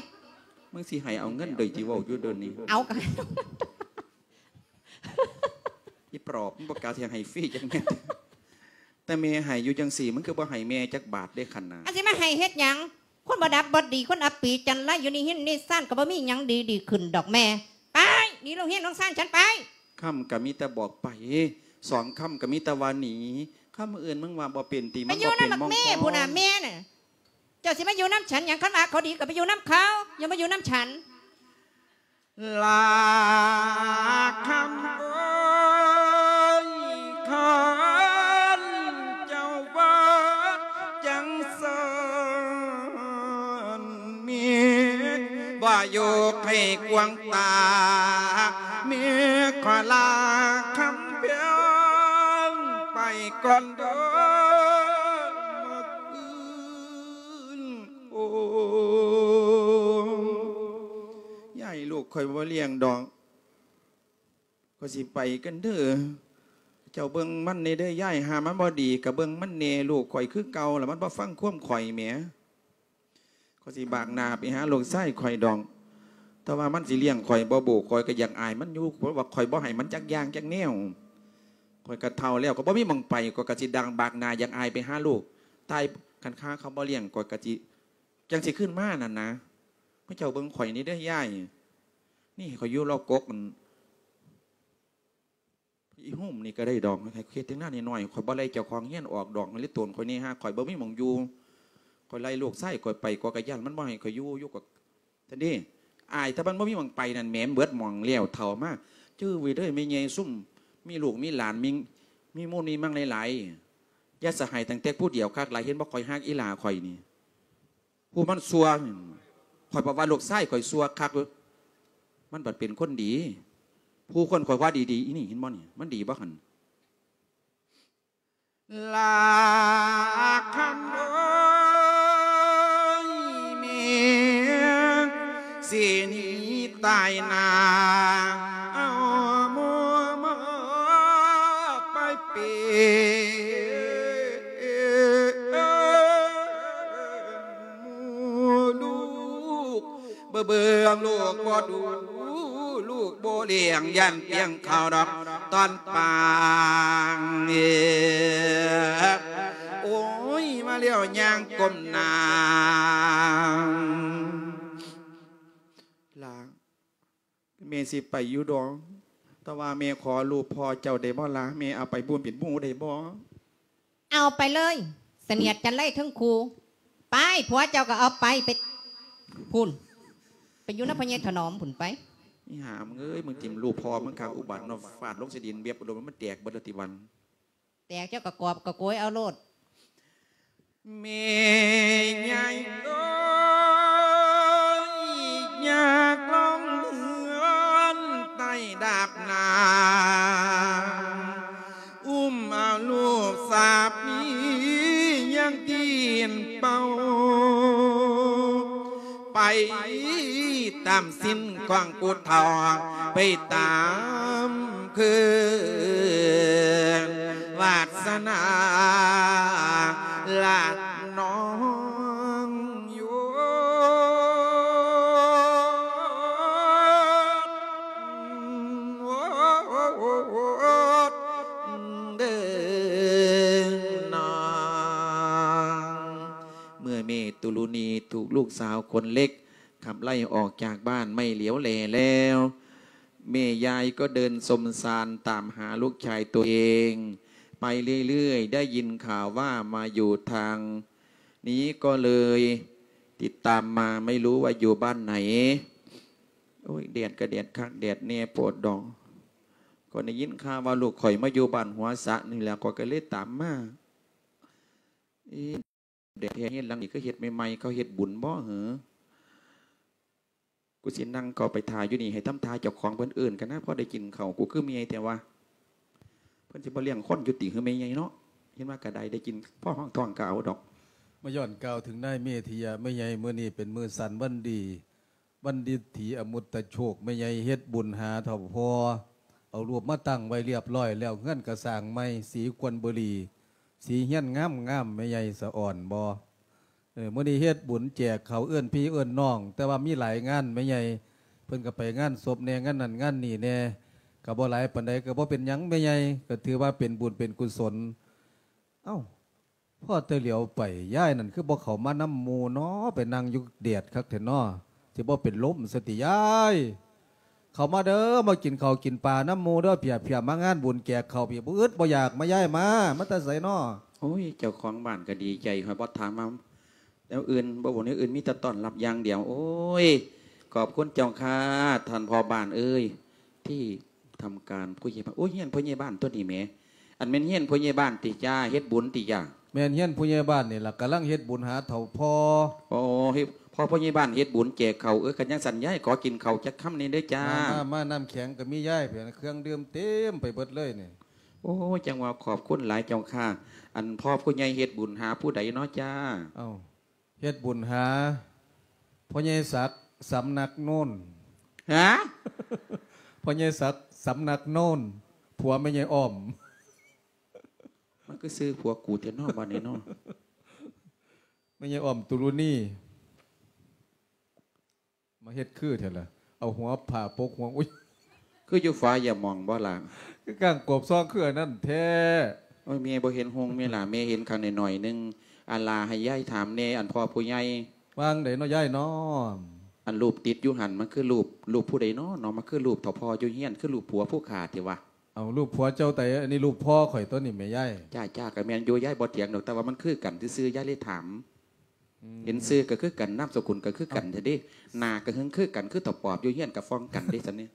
ມຶງຊິໃຫ້ເອົາເງິນໂດຍທີ່ເວົ້າຢູ່ເດີນີ້ ເອົາກະ ອີປອບ ມັນບໍ່ກະຊິໃຫ້ຟຣີຈັກເມັດ. ແຕ່ແມ່ໃຫ້ຢູ່ຈັ່ງຊີ້ ມຶງຄືບໍ່ໃຫ້ແມ່ຈັກບາດເດ້ຄັນນະ? ອັນຊິມາໃຫ້ເຮັດຫຍັງ? ຄົນບໍ່ດັບບໍ່ດີ ຄົນອັບປີຈັນໄລ ຢູ່ນິຮິນນິຊານ ກະບໍ່ມີຫຍັງດີດີຂຶ້ນດອກແມ່. ໄປ ໜີໂຮງຮຽນໂຮງຊານສັນໄປ. ຄຳກະມີແຕ່ບອກໄປ ສອງຄຳກະມີແຕ່ວ່າໜີ. ຄຳອື່ນມຶງວ່າບໍ່ເປັນຕິ ມັນບໍ່ເປັນມອງຄອງ. ໄປຢູ່ນຳບັກເມພຸ້ນນະ ເມນະ. ເຈົ້າຊິມາຢູ່ນຳສັນຫຍັງ? ຄັນວ່າເຂົາດີກະໄປຢູ່ນຳເຂົາ ຢ່າມາຢູ່ນຳສັນ. ລາຄຳເອີຍ ຄັນເຈົ້າວ່າຈັ່ງຊັ້ນ ມີບໍ່ຢູ່ໃຫ້ກວາງຕາ ມີຂໍລາຄຳເພິ່ນໄປກ່ອນເດີ ມື້ອື່ນ. ໂອ້ ຍາຍ ລູກຂ້ອຍບໍ່ລ້ຽງດອກ ຂ້ອຍຊິໄປກັນເດີ. ເຈົ້າເບິ່ງມັນແດ່ເດີຍາຍ ຫາມັນບໍ່ດີກະເບິ່ງມັນແດ່. ລູກຂ້ອຍຄືເກົ່າລະ ມັນບໍ່ຟັງຄວາມຂ້ອຍແໝ. ຂ້ອຍຊິບາກໜ້າໄປຫາລູກຊາຍຂ້ອຍດອກ ແຕ່ວ່າມັນຊິລ້ຽງຂ້ອຍບໍ່ບຸ ຂ້ອຍກະຢາກອາຍມັນຢູ່ ເພາະວ່າຂ້ອຍບໍ່ໃຫ້ມັນຈັກຢ່າງຈັກແນວ. ຂ້ອຍກະເຖົ້າແລ້ວ ກະບໍ່ມີໝ່ອງໄປ ຂ້ອຍກະຊິດັງບາກໜ້າຢາກອາຍໄປຫາລູກ. ຕາຍ ຄັນຄາເຂົາບໍ່ລ້ຽງ ຂ້ອຍກະຊິ ຈັ່ງຊິຄືນມານັ້ນນະ. ເຈົ້າເບິ່ງຂ້ອຍນີ້ເດີຍາຍ ນີ້ຂ້ອຍຢູ່ລອກກົກ ອັນ ອີໂຮມນີ້ກະໄດ້ດອກ ໃຫ້ເຮັດຖຽງນານ້ອຍໆ ຂ້ອຍບໍ່ໄລ່ເຈົ້າຂອງເຮືອນອອກດອກ ເລີຍໂຕນຂ້ອຍນີ້ ຫາຂ້ອຍບໍ່ມີໝ່ອງຢູ່. ຂ້ອຍໄລ່ລູກຊາຍຂ້ອຍໄປ ຂ້ອຍກະຢ້ານມັນບໍ່ໃຫ້ຂ້ອຍຢູ່ ຢູ່ກະ ຊັ້ນເດ້ ອາຍ ຖ້າມັນບໍ່ມີໝ່ອງໄປນັ້ນແໝ ເບິດໝ່ອງແລ້ວ ເຖົ້າມາ. ຈື່ໄວ້ເດີແມ່ໃຫຍ່ ຊຸມມີລູກມີຫຼານ ມີ ມີມູນມີມັງຫຼາຍໆ ຢ່າສະໃຫ້ຕັ້ງແຕ່ຜູ້ດຽວຄັກຫຼາຍ ເຫັນບໍ່ ຂ້ອຍຮັກອີ່ຫຼ້າຂ້ອຍນີ້. ຜູ້ມັນຊົ່ວ ຂ້ອຍບອກວ່າລູກຊາຍຂ້ອຍຊົ່ວຄັກ ມັນບັດເປັນຄົນດີ. ຜູ້ຄົນຂ້ອຍວ່າດີໆ ອີ່ນີ້ເຫັນບໍ່ນີ້ ມັນດີບໍ່ຫັ້ນ? ລາຄຳເອີຍ ແມ່ຊິໜີຕາຍໜ້າ ເອົາໝູ່ມາໄປເປັນ ລູກ ບໍ່ເບິ່ງລູກບໍ່ດູ ລູກບໍ່ລ້ຽງ ຢ້ານປ່ຽງເຂົ້າດອກຕອນປາງ. ໂອ້ຍ ມາແລ້ວຍ່າງກົ້ມໜ້າ. ຫຼ້າ ແມ່ຊິໄປຢູ່ດອກ ແຕ່ວ່າແມ່ຂໍຮູບພໍ່ເຈົ້າໄດ້ບໍ່ລະ? ແມ່ເອົາໄປບຸນເປັນໝູ່ໄດ້ບໍ່? ເອົາໄປເລີຍ ສະໜຽດຈັນໄລເທິງຄູ່. ໄປ ຜົວເຈົ້າກະເອົາໄປ ໄປພຸ້ນ ໄປຢູ່ນຳພໍ່ໃຫຍ່ຖະໜອມພຸ້ນໄປ. ອີຫ່າມຶງເອີຍ ມຶງຖິ້ມຮູບພໍ່ມຶງຄັກອຸບາດເນາະ ຟາດລົງໃສ່ດິນແວບໂດນ ມັນແຕກເບິດລະຕິວັນ. ແຕກເຈົ້າກະກອບກະໂກຍເອົາໂລດ. ແມ່ໃຫຍ່ເອີຍ ຢາກລົງເຮືອນໃຕ້ດາບໜາ ອຸ້ມເອົາລູກສາມີຍັງຕີນເປົ່າ ໄປຕາມສິນຂອງຜູ້ເຖົ້າ ໄປຕາມຄືນວາສະໜາລະນ້ອງໂຍ ເດີນ້ອງ. ເມື່ອແມ່ຕຸລຸນີຖືກລູກສາວຄົນເລັກຂັບໄລ່ອອກຈາກບ້ານໄມ່ຫຼຽວແລແລ້ວ ແມ່ຍາຍກໍເດີນສົມສານຕາມຫາລູກຊາຍຕົວເອງໄປເລື້ອຍໆ ໄດ້ຍິນຂ່າວວ່າມາຢູ່ທາງນີ້ກໍເລີຍຕິດຕາມມາ ໄມ່ຮູ້ວ່າຢູ່ບ້ານໃດ. ໂອ້ຍ ແດດກະແດດຄັກແດດແນ່ໂພດດອກ ຂ້ອຍໄດ້ຍິນຂ່າວວ່າລູກຂ້ອຍມາຢູ່ບ້ານຫົວສະນີ້ແຫຼະ ຂ້ອຍກະເລີຍຕາມມາ. ເອ ແດດແທ້ ເຮືອນຫຼັງນີ້ຄືເຮັດໃໝ່ໆ ເຂົາເຮັດບຸນບໍ່ເຫີ? ກູຊິນັ່ງເຂົ້າໄປຖ້າຢູ່ນີ້ ໃຫ້ທຳທ່າເຈົ້າຂອງເພິ່ນເອີ້ນກັນນະ ພໍໄດ້ກິນເຂົ້າ. ກູຄືເມື່ອຍແທ້ວະ. ເພິ່ນຊິບໍ່ລ້ຽງຄົນຢູ່ຕິ ເຮີແມ່ໃຫຍ່ເນາະ? เห็นว่ากะได้ ได้กินพอห้องท้องกะเอาดอก มาย้อนกล่าวถึงนายเมธิยะแม่ใหญ่ มื้อนี้เป็นมื้อสันวันดี วันดิถีอมุตตะโชค แม่ใหญ่เฮ็ดบุญหาเฒ่าพ่อ เอารูปมาตั้งไว้เรียบร้อยแล้ว เฮือนกะสร้างใหม่ สีควันบุหรี่ สีเฮือนงามๆ แม่ใหญ่สะอ่อนบ่ เออ มื้อนี้เฮ็ดบุญแจกข้าว เอิ้นพี่เอิ้นน้อง แต่ว่ามีหลายงานแม่ใหญ่ เพิ่นก็ไปงานศพแหน่ งานนั่นงานนี่แหน่ ก็บ่หลายปานใด ก็บ่เป็นหยังแม่ใหญ่ ก็ถือว่าเป็นบุญเป็นกุศล เอ้า พอแต่เหลียวไป ยายนั่นคือบ่เข้ามานำหมู่น้อ ไปนั่งอยู่แดดคักแท้น้อ สิบ่เป็นลมซะติยาย เข้ามาเด้อ มากินข้าวกินปลานำหมู่เด้อ เพียๆ มางานบุญแจกข้าวพี้ บ่อึดบ่อยาก มายายมา มาแต่ไสน้อ โอ้ย เจ้าของบ้านก็ดีใจ ข้อยบ่ถามว่าแนวอื่น บ่เว้าแนวอื่น มีแต่ต้อนรับอย่างเดียว โอ้ย ขอบคุณเจ้าค่ะ ท่านพ่อบ้านเอ้ย ที่ทำการผู้ใหญ่บ้าน โอ้ย เฮือนพ่อใหญ่บ้านตัวนี้แหม อันแม่นเฮือนพ่อใหญ่บ้านติจ้า เฮ็ดบุญติจ้า แม่นเฮือนผู้ใหญ่บ้านนี่ล่ะ กำลังเฮ็ดบุญหาเฒ่าพ่อ โอ้ เฮ็ด พ่อผู้ใหญ่บ้านเฮ็ดบุญแจกข้าว เออ คันจั่งซั้นยายขอกินข้าวจักคำแหน่เด้อจ้า มา มา มา น้ำแข็งก็มียาย เครื่องดื่มเต็มไปเบิดเลยนี่ โอ้ จั่งว่าขอบคุณหลายเจ้าค่ะ อันพ่อผู้ใหญ่เฮ็ดบุญหาผู้ใดน้อจ้า เอ้า เฮ็ดบุญหา พ่อใหญ่ศักดิ์ สำนักโน้น ฮะ พ่อใหญ่ศักดิ์ สำนักโน้น ผัวแม่ใหญ่อ้อม มันคือชื่อผัวกูแท้น้อ บัดนี้น้อ แม่ใหญ่อ้อมตุลุนี มาเฮ็ดคือแท้ล่ะ เอาหัวผ้าปกหัว อุ๊ย คืออยู่ฝาอย่ามองบ่ล่ะ คือก้างกบซองคืออันนั้นแท้ โอ้ย แม่บ่เห็นฮงแม่ล่ะ แม่เห็นข้างน้อยๆ หนึ่ง อันล่ะ ให้ยายถามแหน่ อันพ่อผู้ใหญ่ ว่าจั่งใดน้อยายน้อ อันรูปติดอยู่หั่น มันคือรูป รูปผู้ใดน้อ น้อ มันคือรูปเฒ่าพ่ออยู่เฮือน คือรูปผัวผู้ข้าติวะ เอารูปผัวเจ้าไต อันนี้รูปพ่อข้อยตั๊วนี่แม่ยาย จ้า จ้า ก็แม่นอยู่ ยายบ่เถียงดอก แต่ว่ามันคือกันซื่อๆ ยายเลยถาม อืม เห็นชื่อก็คือกัน นามสกุลก็คือกันแท้เด้ หน้าก็หึงคือกัน คือเฒ่าปอบอยู่เฮือนก็ฟ้องกันเด้ ซั่นนี่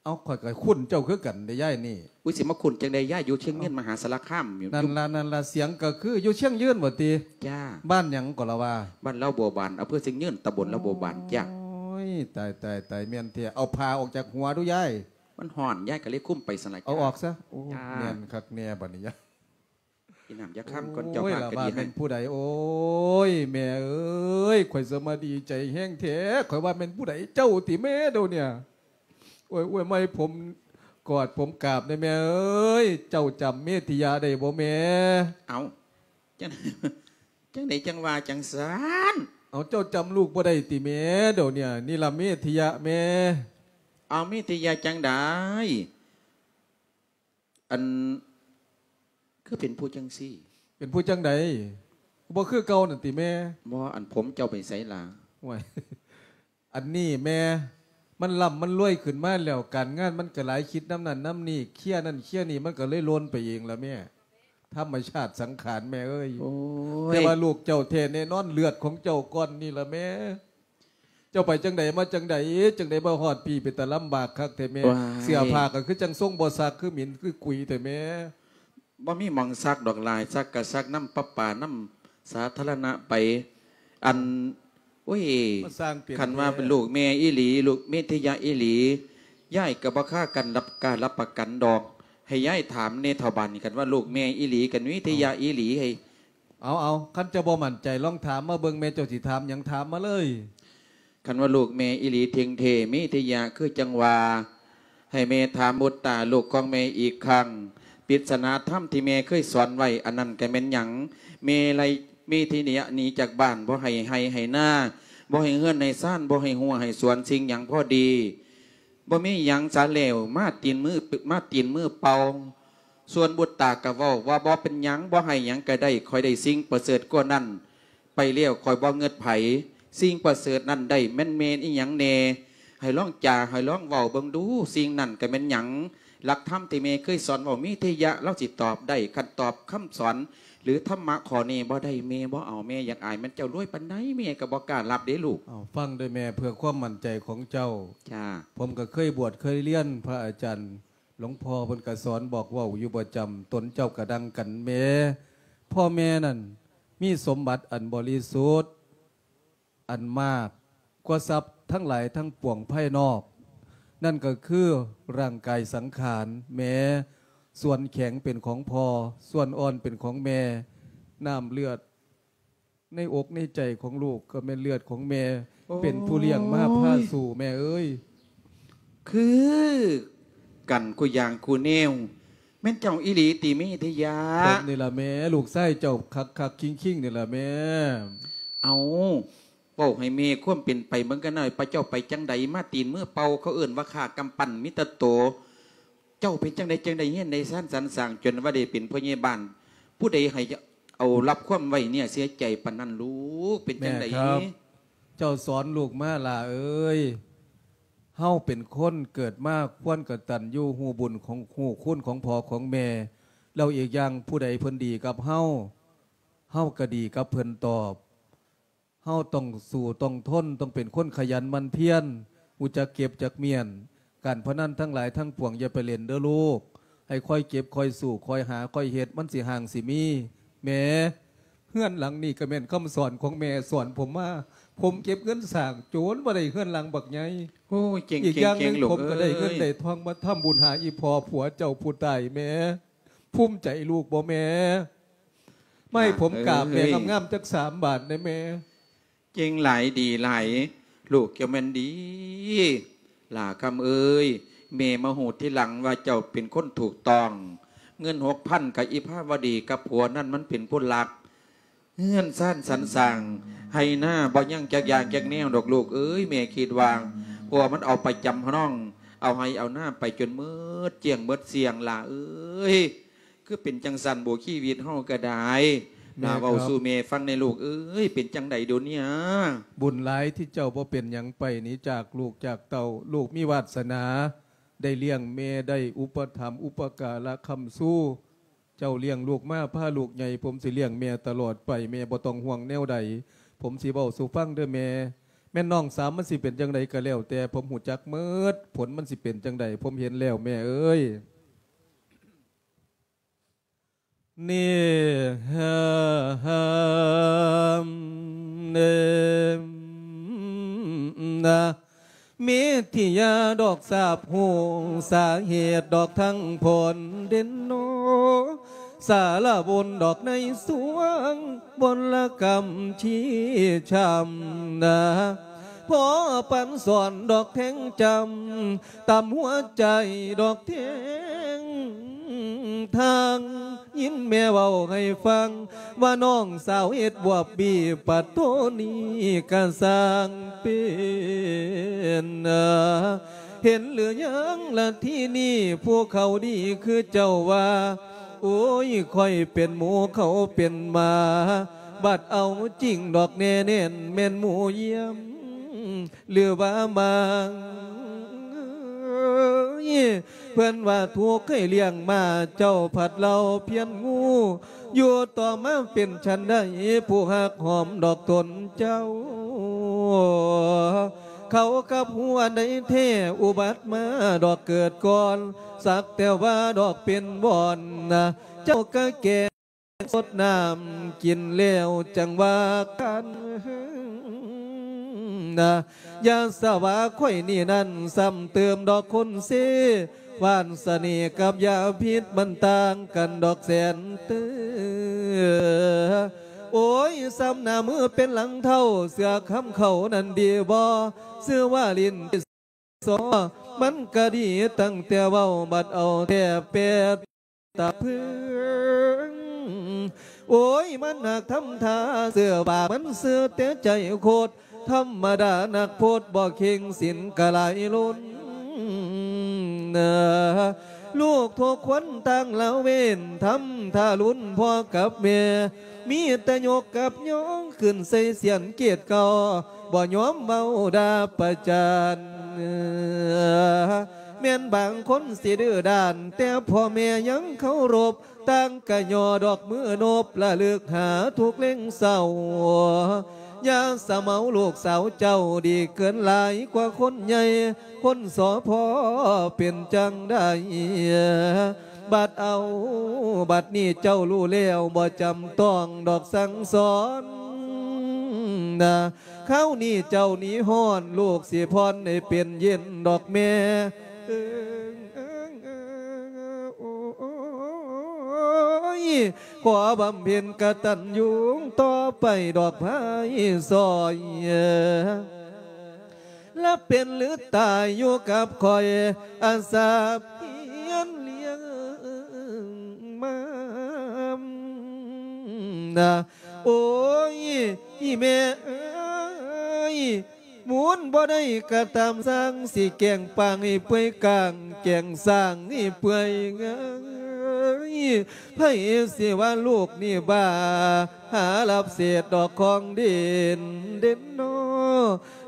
เอ้า ข้อยก็คุ้นเจ้าคือกันเด้ยายนี่ อุ๊ย สิมาคุ้นจั่งใด ยายอยู่เชียงยืน เอ้า มหาสารคามอยู่ นั่นล่ะ นั่นล่ะ เสียงก็คืออยู่เชียงยืนบ่ติ จ้า บ้านหยังก็ละว่า บ้านลาวบัวบาน อำเภอเชียงยืน ตำบลลาวบัวบาน จ้า โอ้ย ตาย ตาย ตาย แม่นแท้ เอาผ้าออกจากหัวดูยาย มันฮ้อน ยายก็เลยคลุมไปซั่นล่ะ เอาออกซะ โอ้ จ้า แม่นคักแน่บัดนี้ยาย กินน้ำยาคำก่อน โอ้ย เจ้าภาพ ละ ก็ ว่า ดีให้ แม่นผู้ใด โอ้ย แม่เอ้ย ข้อยสมาดีใจแฮงแท้ ข้อยว่าแม่นผู้ใด เจ้าติแม่เดี๋ยวเนี่ย โอ้ย โอ้ย มาให้ผมกอดผมกราบแน่แม่เอ้ย เจ้าจำเมธิยะได้บ่แม่ เอ้า จั่ง จั่งใดจั่งว่าจั่งซั้น เอา เจ้าจำลูกบ่ได้ติแม่เดี๋ยวเนี่ย นี่ล่ะเมธิยะแม่ เอา เมธิยะจั่งใด อัน คือเป็นผู้จั่งซี้ เป็นผู้จั่งใด บ่คือเก่านั่นติแม่ บ่ อันผมเจ้าไปไสล่ะ โอ้ย อันนี้แม่ มันร่ำมันรวยขึ้นมาแล้ว การงานมันก็หลาย คิดนำนั่นนำนี่ เคลียร์นั่นเคลียร์นี่ มันก็เลยหล่นไปเองล่ะแม่ ธรรมชาติสังขารแม่เอ้ย โอ้ย แต่ว่าลูกเจ้าแท้แน่นอน เลือดของเจ้าก้อนนี่ล่ะแม่ เจ้าไปจั่งใดมาจั่งใด จั่งใดมาฮอดพี้ เป็นตาลำบากคักแท้แม่ ว้าย เสื้อผ้าก็คือจั่งทรงบ่ซัก คือหมิ่นคือกุยแท้แม่ บ่มีหม่องซักดอกหลาย ซักก็ซักนำประปานำสาธารณะไป อัน โอ้ย มาสร้างเปลี่ยน คันว่าเป็นลูกแม่อีหลี ลูกเมธิยะอีหลี ยายก็บ่ค้ากันรับ กล้ารับประกันดอก ให้ยายถามแน่เฒ่าบ้านนี่ คันว่าลูกแม่อีหลี คันเมธิยะอีหลี ให้ เอา เอา คันเจ้าบ่มั่นใจ ลองถามมาเบิ่งแม่ เจ้าสิถามหยัง ถามมาเลย คันว่าลูกแม่อีหลีเท่งเท่ เมธิยะ คือจั่งว่า ให้แม่ถามบุตตาลูกของแม่อีกครั้ง ปริศนาธรรมที่แม่เคยสอนไว้ อันนั้นก็แม่นหยัง แม่ไล่เมธิยะหนีจากบ้าน บ่ให้ไร่ให้นา บ่ให้เฮือนให้ซาน บ่ให้รั้วให้สวน สิ่งหยังพอดี บ่มีหยังสาแล้ว มาตีนมือ มาตีนมือเปล่า ส่วนบุตตาก็เว้าว่า บ่เป็นหยัง บ่ให้หยังก็ได้ ข้อยได้สิ่งประเสริฐกว่านั้นไปแล้ว ข้อยบ่เงิดไผ สิ่งประเสริฐนั้นได้แม่นแม่นอิหยังแน่ ให้ลองจา ให้ลองเว้าเบิ่งดู สิ่งนั้นก็แม่นหยัง หลักธรรมที่แม่เคยสอนเว้า เมธิยะ ลาวสิตอบได้ คันตอบคำสอน หรือธรรมะข้อนี้บ่ได้ แม่บ่เอา แม่อยากอาย แม่นเจ้ารวยปานใด แม่ก็บ่กล้ารับเด้ลูก เอา ฟังเด้อแม่ เพื่อความมั่นใจของเจ้า จ้า ผมก็เคยบวช เคยเรียนพระอาจารย์ หลวงพ่อเพิ่นก็สอนบอกเว้าอยู่ประจำ ตนเจ้าก็ดังกันแม่ พ่อแม่นั่นมีสมบัติอันบริสุทธิ์ อันมากกว่าทรัพย์ทั้งหลายทั้งปวงภายนอก นั่นก็คือร่างกายสังขารแหม ສ່ວນແຂງເປັນຂອງພໍ່, ສ່ວນອ່ອນເປັນຂອງແມ່. ນ້ຳເລືອດໃນອົກໃນໃຈຂອງລູກກໍແມ່ນເລືອດຂອງແມ່, ໂອ້ຍ ເປັນຜູ້ລ້ຽງມາພາສູ່ແມ່ເອີຍ. ຄືກັນຄູ່ຢ່າງຄູ່ແນວ. ແມ່ນເຈົ້າອີ່ຫຼີຕິເມທະຍາ? ເພິ່ນນີ້ລະແມ່, ລູກຊາຍເຈົ້າຄັກໆຄິງໆນີ້ລະແມ່. ເອົ້າ ເວົ້າໃຫ້ແມ່ຄວາມເປັນໄປເບິ່ງກັນໜ້ອຍ, ພະເຈົ້າໄປຈັ່ງໃດມາຕີນມືເປົ່າ, ເຂົາເອີ້ນວ່າຂ້າກຳປັ່ນມີແຕ່ໂຕ. ເຈົ້າເປັນຈັ່ງໃດ ຈັ່ງໄດ້ເຮັດໄດ້ຊານສັນສ້າງ ຈົນວ່າໄດ້ເປັນພໍ່ໃຫຍ່ບ້ານ? ຜູ້ໃດໃຫ້ເອົາ ຮັບຄວາມໄວ້ເນື້ອເຊື່ອໃຈປານນັ້ນລູກ? ເປັນຈັ່ງໃດ? ແມ່ຄັບ ເຈົ້າສອນລູກມາຫຼ້າເອີຍ. ເຮົາເປັນຄົນເກີດມາຄວນກະຕັນຍູຮູ້ບຸນຂອງ ຮູ້ຄຸນຂອງພໍ່ຂອງແມ່. ແລ້ວອີກຢ່າງຜູ້ໃດເພິ່ນດີກັບເຮົາ, ເຮົາກໍດີກັບເພິ່ນຕອບ. ເຮົາຕ້ອງສູ້ຕ້ອງທົນ, ຕ້ອງເປັນຄົນຂະຫຍັນໝັ່ນພຽນ, ຮູ້ຈັກເກັບຈັກມ້ຽນ. ການພະນັນທັງຫຼາຍທັງປວງຢ່າໄປຫຼິ້ນເດີ້ລູກ. ໃຫ້ຄອຍເກັບ, ຄອຍສູ້, ຄອຍຫາ, ຄອຍເຮັດ, ມັນຊິຮ່າງຊິມີ. ແມ່, ເຮືອນຫຼັງນີ້ກໍແມ່ນຄຳສອນຂອງແມ່ສອນຜົມມາ. ຜົມເກັບເງິນສ້າງໂຈນບໍ່ໄດ້ເຮືອນຫຼັງບັກໃຫຍ່. ໂອ້ຍ ເກັ່ງ ອີກຢ່າງໜຶ່ງ ເກັ່ງໆລູກເອີຍ ຜົມກໍໄດ້ເງິນໄດ້ທອງມາທຳບຸນຫາອີ່ພໍ່ຜົວເຈົ້າຜູ້ຕາຍແມ່. ພູມໃຈລູກບໍ່ແມ່? ມາໃຫ້ຜົມກາບແມ່ງາມໆຈັກສາມບາດແດ່ແມ່. ເກັ່ງຫຼາຍ ດີຫຼາຍ ລູກເຈົ້າແມ່ນດີ. ຫຼ້າຄຳເອີຍ ແມ່ມາຮູ້ທີຫຼັງວ່າເຈົ້າເປັນຄົນຖືກຕ້ອງ. ເງິນຫົກພັນກັບອີພາວະດີກັບຜົວນັ້ນ ມັນເປັນຜູ້ລັກ. ເຮືອນຊານສັນສ້າງ ໄຮ່ນາບໍ່ຍັງຈັກຢ່າງຈັກແນວດອກລູກເອີຍ. ແມ່ຄິດວ່າຜົວມັນເອົາໄປຈຳນອງ ເອົາໄຮ່ເອົານາໄປຈົນໝົດກ້ຽງໝົດສ່ຽງ ຫຼ້າເອີຍ. ຄືເປັນຈັ່ງຊັ້ນບໍ? ຊີວິດເຮົາກໍໄດ້. ແມ່ນ ຫຼ້າເວົ້າສູ່ແມ່ຟັງແດ່ລູກເອີຍ, ເປັນຈັ່ງໃດດຽວນີ້? ບຸນຫຼາຍທີ່ເຈົ້າບໍ່ເປັນຫຍັງໄປໜີຈາກລູກຈາກເຕົ້າ. ລູກມີວາດສະໜາໄດ້ລ້ຽງແມ່, ໄດ້ອຸປະຖຳອຸປະກາລະຄ້ຳຊູ. ເຈົ້າລ້ຽງລູກມາ, ພາລູກໃຫຍ່, ຜົມຊິລ້ຽງແມ່ຕະຫຼອດໄປ. ແມ່ບໍ່ຕ້ອງຫ່ວງແນວໃດ, ຜົມຊິເວົ້າສູ່ຟັງເດີ້ແມ່. ແມ່ນນ້ອງສາວມັນຊິເປັນຈັ່ງໃດກໍແລ້ວແຕ່, ຜົມຮູ້ຈັກໝົດ. ຜົນມັນຊິເປັນຈັ່ງໃດ, ຜົມເຫັນແລ້ວແມ່ເອີຍ. ນີ້ ເມທິຍາດອກຊາບຮູ້ສາເຫດດອກທັງຜົນເດັ່ນໂນ ສາລະບົນດອກໃນສວງບົນລະກຳຊີ້ຊ້ຳນາ ພໍປັນສອນດອກແທງຈຳ ຕຳຫົວໃຈດອກແທງທາງ ຍິນແມ່ເວົ້າໃຫ້ຟັງ ວ່ານ້ອງສາວເຮັດບວບບີ ປະໂທນີ້ກະຊ່າງເປັນ ເຫັນຫຼືຍັງລະທີນີ້ ຜູ້ເຂົາດີຄືເຈົ້າວ່າ ໂອ້ຍ ຂ້ອຍເປັນໝູ ເຂົາເປັນໝາ ບັດເອົາຈິງດອກແນ່ແໜ້ນ ແມ່ນໝູຢ້ຽມ ຫຼືວ່າໝາ ເພິ່ນວ່າທຸກໃຫ້ລ້ຽງມາ ເຈົ້າພັດເລົ່າພຽນງູ ຢູ່ຕໍ່ມາເປັນຊັ້ນໃດ ຜູ້ຮັກຫອມດອກຕົນເຈົ້າ ເຂົາກັບຮູ້ອັນໃດແທ້ ອຸບັດມາດອກເກີດກ່ອນ ສັກແຕ່ວ່າດອກເປັນບ່ອນນະ ເຈົ້າກະແກງ ສົດນ້ຳກິນແລ້ວຈັ່ງວ່າກັນນະ ຢ່າສະຫວາຂ້ອຍນີ້ນັ້ນ ຊ້ຳເຕີມດອກຄົນເຊ ຫວານສະເໜ່ກັບຢາພິດມັນຕ່າງກັນດອກແສນເຕີ. ໂອ້ຍ ຊ້ຳໜ້າມືເປັນຫຼັງເທົ້າ ເສື້ອຄຳເຂົານັ້ນດີບໍ່ ຊື່ວ່າຫຼິ້ນ ສອ ມັນກະດີຕັ້ງແຕ່ເວົ້າ ບັດເອົາແທ້ແປດຕາເພິງ ໂອ້ຍ ມັນຫາກທຳທ່າເຊື່ອວ່າ ມັນຊື່ແຕ່ໃຈໂຄດ ທຳມະດານັກໂພດບໍ່ເຄັ່ງ ສິນກະຫຼາຍລົ້ນ ນະ ລູກທຸກຄົນຕ່າງລະເວນ ທຳທ່າລຸນພໍ່ກັບແມ່ ມີແຕ່ຍົກກັບຍອງຂຶ້ນໃສ່ສຽນເກດເກົ່າ ບໍ່ຍອມເວົ້າດ່າປະຈານ ແມ່ນບາງຄົນຊິດື້ດ້ານ ແຕ່ພໍ່ແມ່ຍັງເຄົາລົບ ຕ່າງກະຍໍດອກມືນົບ ລະລຶກຫາທຸກເລັງເສົ້າ ຢ່າສະເໝົາລູກສາວເຈົ້າ ດີເກີນຫຼາຍກວ່າຄົນໃຫຍ່ ຄົນສອ ພໍ່ເປັນຈັ່ງໃດ ບັດເອົາ ບັດນີ້ເຈົ້າຮູ້ແລ້ວ ບໍ່ຈຳຕ້ອງດອກສັ່ງສອນນະ ຄາວນີ້ເຈົ້າໜີຮ້ອນ ລູກຊິຜ່ອນໃຫ້ເປັນເຢັນດອກແມ່ ເອີງ ເອີງ ເອີງ ເອີງ ໂອ້ ຂໍບຳເພັນກະຕັນຍູຕໍ່ໄປດອກພາຍຊ່ອຍ ລະເປັນຫຼືຕາຍຢູ່ກັບຂ້ອຍ ອາສາພຽນລ້ຽງມານະ. ໂອ້ຍ ອີ່ແມ່ເອີຍ ມູນບໍ່ໄດ້ກະຕາມຊ່າງ ຊິແກງປາງໃຫ້ເປື່ອຍກາງ ແກງສ້າງໃຫ້ເປື່ອຍງ່າຍ ໃຜຊິວ່າລູກນີ້ບ້າ ຫາລັບເສດດອກຂອງດິນເດັ່ນນໍ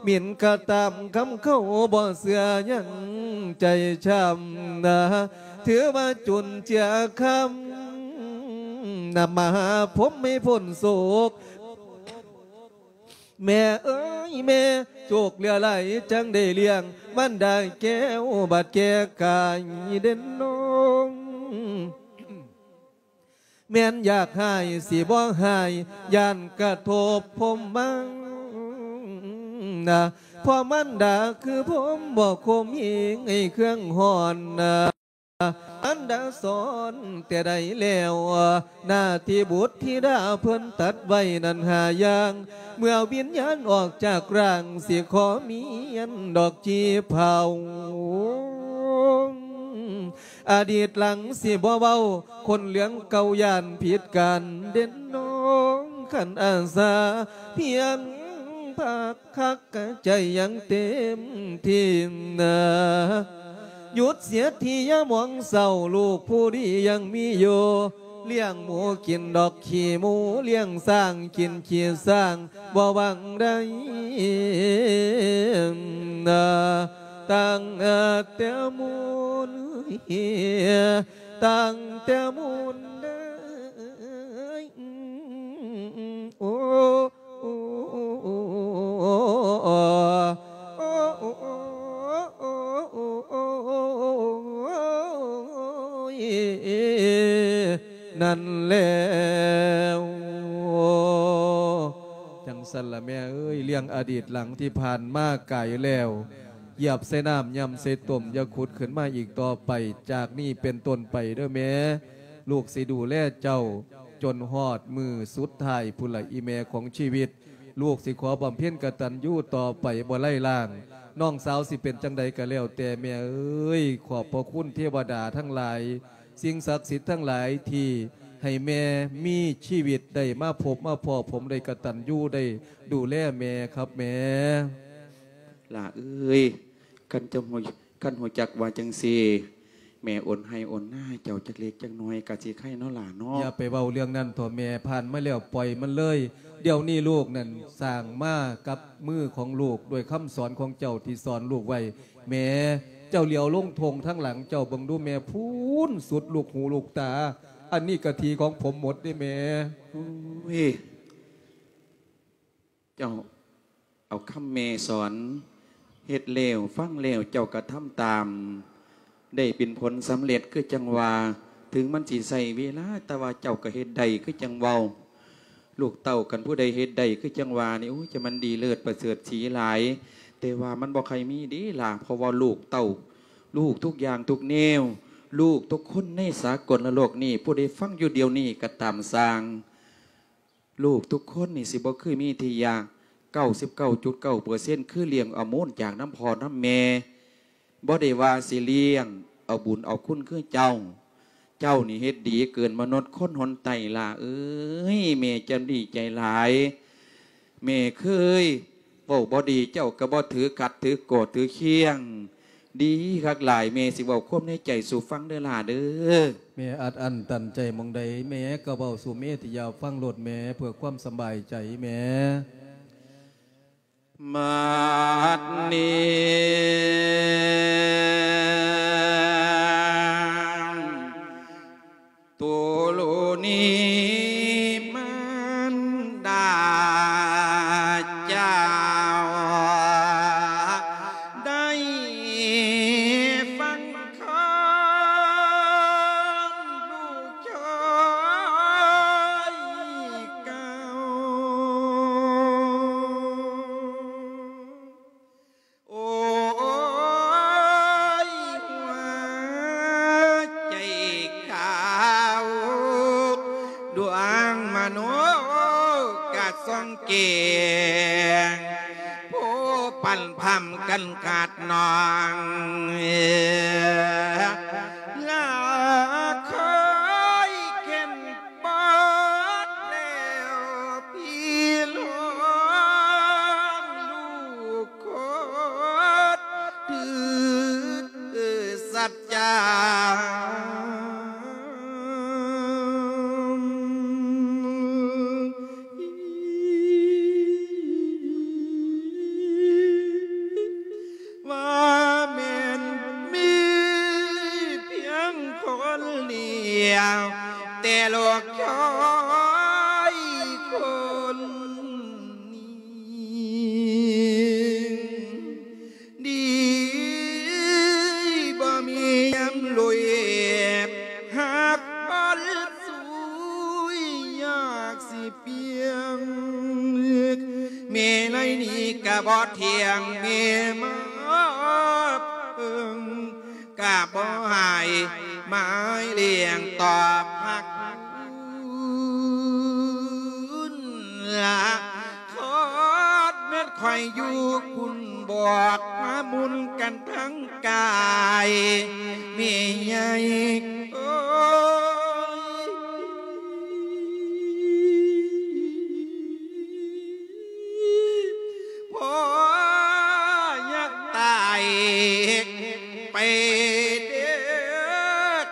ໝິ່ນກະຕາມຄຳເຂົາບໍ່ເຊື່ອຍັງໃຈຊ້ຳນະ ຖືວ່າຈຸນເຈືອຄຳນຳມະຫາພົມໃຫ້ພົ້ນໂສກ ແມ່ເອີຍແມ່ ໂຈກເຫຼືອຫຼາຍຈັ່ງໄດ້ລ້ຽງ ມັນໄດ້ແກ້ວບາດແກ່ກາຍເດັ່ນນໍ ແມ່ນຢາກຮ້າຍຊິບໍ່ຮ້າຍ ຢ້ານກະທົບພົມມັງນະ ເພາະມັນດາຄືພົມບໍ່ຄົມເຮງໃຫ້ເຄື່ອງຮ້ອນນະ. ອັນດາສອນແຕ່ໃດແລ້ວ ໜ້າທີ່ບຸດທິດາເພິ່ນຕັດໄວ້ນັ້ນຫ້າຢ່າງ ເມື່ອວິນຍານອອກຈາກຮ່າງ ຊິຂໍມຽນດອກຈີ່ເຜົາ ອະດີດຫຼັງຊິບໍ່ເວົ້າ ຄົນເລື່ອງເກົ່າຢ້ານຜິດກັນເດັ່ນນ້ອງ ຄັນອາສາພຽງພັກ ຄັກກະໃຈຍັງເຕັມທີ່ນາ ຢຸດເສຍທີຢ່າມອງເສົ້າ ລູກຜູ້ດີຍັງມີຢູ່ ລ້ຽງໝູກິນດອກຂີ້ໝູ ລ້ຽງຊ້າງກິນຂີ້ຊ້າງ ບໍ່ຫວັງໃດນາ ຕັ້ງແຕ່ມູນ ຕັ້ງແຕ່ມູນເດີ ໂອ້ ໂອ້ ນັ້ນແລ້ວ ຈັ່ງຊັ້ນລະແມ່ເອີຍ ເລື່ອງອະດີດຫຼັງທີ່ຜ່ານມາກາຍແລ້ວ ຢຽບໃສ່ນ້ຳ ຍ່ຳໃສ່ຕົມ ຢ່າຂຸດຂຶ້ນມາອີກຕໍ່ໄປ ຈາກນີ້ເປັນຕົ້ນໄປເດີແມ່ ລູກຊິດູແລເຈົ້າ ຈົນຮອດມື້ສຸດທ້າຍພຸ້ນລະ ອີ່ແມ່ຂອງຊີວິດ ລູກຊິຂໍບຳເພັນກະຕັນຍູຕໍ່ໄປບໍ່ໄລລ້າງ ນ້ອງສາວຊິເປັນຈັ່ງໃດກະແລ້ວແຕ່ແມ່ເອີຍ ຂອບພະຄຸນເທວະດາທັງຫຼາຍ ສິ່ງສັກສິດທັງຫຼາຍທີ່ໃຫ້ແມ່ມີຊີວິດໄດ້ມາພົບມາພໍ້ ຜົມໄດ້ກະຕັນຍູໄດ້ດູແລແມ່ຄັບແມ່. ຫຼ້າເອີຍ ຄັນເຈົ້າຮູ້ ຄັນຮູ້ຈັກວ່າຈັ່ງຊີ້ ແມ່ໂອນໄຮ່ໂອນນາໃຫ້ເຈົ້າຈັກເລັກຈັກນ້ອຍກະຊິໄຄເນາະຫຼ້າເນາະ. ຢ່າໄປເວົ້າເລື່ອງນັ້ນເຖາະແມ່ ຜ່ານມາແລ້ວປ່ອຍມັນເລີຍ. ດຽວນີ້ລູກນັ້ນສ້າງມາກັບມືຂອງລູກ ດ້ວຍຄຳສອນຂອງເຈົ້າທີ່ສອນລູກໄວ້. ແມ່ ເຈົ້າຫຼຽວລົງທົ່ງທາງຫຼັງເຈົ້າເບິ່ງດູແມ່ ພຸ້ນສຸດລູກຫູລູກຕາ. ອັນນີ້ກະທີ່ຂອງຜົມໝົດເດ້ແມ່. ໂອ້ຍ ເຈົ້າເອົາຄຳແມ່ສອນ ເຮັດແລ້ວຟັງແລ້ວເຈົ້າກະທຳຕາມ ໄດ້ເປັນຜົນສຳເລັດຄືຈັ່ງວ່າ ເຖິງມັນຊິໃຊ້ເວລາ ແຕ່ວ່າເຈົ້າກະເຮັດໄດ້ຄືຈັ່ງເວົ້າ. ລູກເຕົ້າຄັນຜູ້ໃດເຮັດໄດ້ຄືຈັ່ງວ່ານີ້ ໂອ້ຍ ຈະມັນດີເລີດປະເສີດສີຫຼາຍ ແຕ່ວ່າມັນບໍ່ໃຄ່ມີເດ້ຫຼ້າ ເພາະວ່າລູກເຕົ້າ ລູກທຸກຢ່າງທຸກແນວ ລູກທຸກຄົນໃນສາກົນລະໂລກນີ້ ຜູ້ໃດຟັງຢູ່ດຽວນີ້ກະຕາມຊ່າງ ລູກທຸກຄົນນີ້ຊິບໍ່ຄືມີທີ່ຢາກ ເກົ້າສິບເກົ້າຈຸດເກົ້າເປີເຊັນ ຄືລ້ຽງເອົາມູນຈາກນຳພໍ່ນຳແມ່ ບໍ່ໄດ້ວ່າຊິລ້ຽງເອົາບຸນເອົາຄຸນຄືເຈົ້າ. ເຈົ້ານີ້ເຮັດດີເກີນມະນຸດຄົນຫົນໃຕ້ຫຼ້າເອີຍ ແມ່ຈະດີໃຈຫຼາຍ. ແມ່ເຄີຍເວົ້າບໍ່ດີເຈົ້າກະບໍ່ຖືຂັດຖືໂກດຖືຄຽງ ດີຄັກຫຼາຍ ແມ່ຊິເວົ້າຄວາມໃນໃຈສູ່ຟັງເດີຫຼ້າເດີ. ແມ່ອັດອັ້ນຕັນໃຈໝ່ອງໃດ ແມ່ກະເວົ້າສູ່ເມທິຍາຟັງໂລດແມ່ ເພື່ອຄວາມສະບາຍໃຈແມ່. ບັດນີ້ ຕຸລຸນີມານດາເຈົ້າ ໄດ້ຟັງຄຳລູກຊາຍເກົ່າ. ກະສົ່ງເກງ ຜູ້ປັນພຳກັນຂາດນ້ອງ ລາເຄີຍເຂັນປາດແລ້ວ ພີ່ນ້ອງລູກຄົນ ຖືສັດຈາ ວ່າແມ່ນມີພຽງຄົນດຽວ ແຕ່ລູກຊາຍຄົນນີ້ ດີບໍ່ມີຍາມລຸຍ ຫາກບໍ່ສູ້ຍາກຊິປ່ຽງ ແມ່ໄລນີ້ກະບໍ່ທ່ຽງ ແມ່ມາເພິ່ງກະບໍ່ໃຫ້ ໝາຍລ້ຽງຕອບຮັກ ລະຂອດແມ່ນຂ້ອຍຢູ່ພຸ້ນ ບອກມາມຸນກັນທັງກາຍ ແມ່ໃຫຍ່ເອີຍ ພໍ່ຢາກຕາຍໄປເດີ້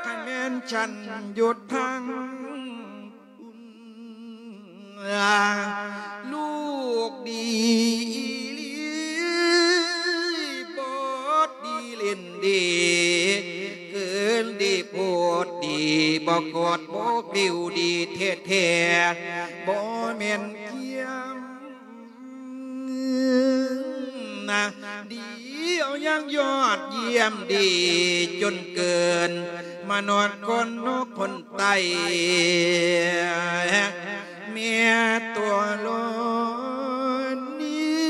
ຄັນແມ່ນສັນຢຸດທາງ ລູກດີອີ່ຫຼີ ໂພດດີຫຼິ້ນດີ ເກີນດີໂພດດີ ບໍ່ໂກດບໍ່ກລິ້ວດີແທ້ໆ ບໍ່ແມ່ນກຽມນະ ດີເອົາຢ່າງຍອດຢ້ຽມ ດີຈົນເກີນມະນຸດຄົນ ຄົນ ໄຕ ແມ່ຕົວໂລນນີ້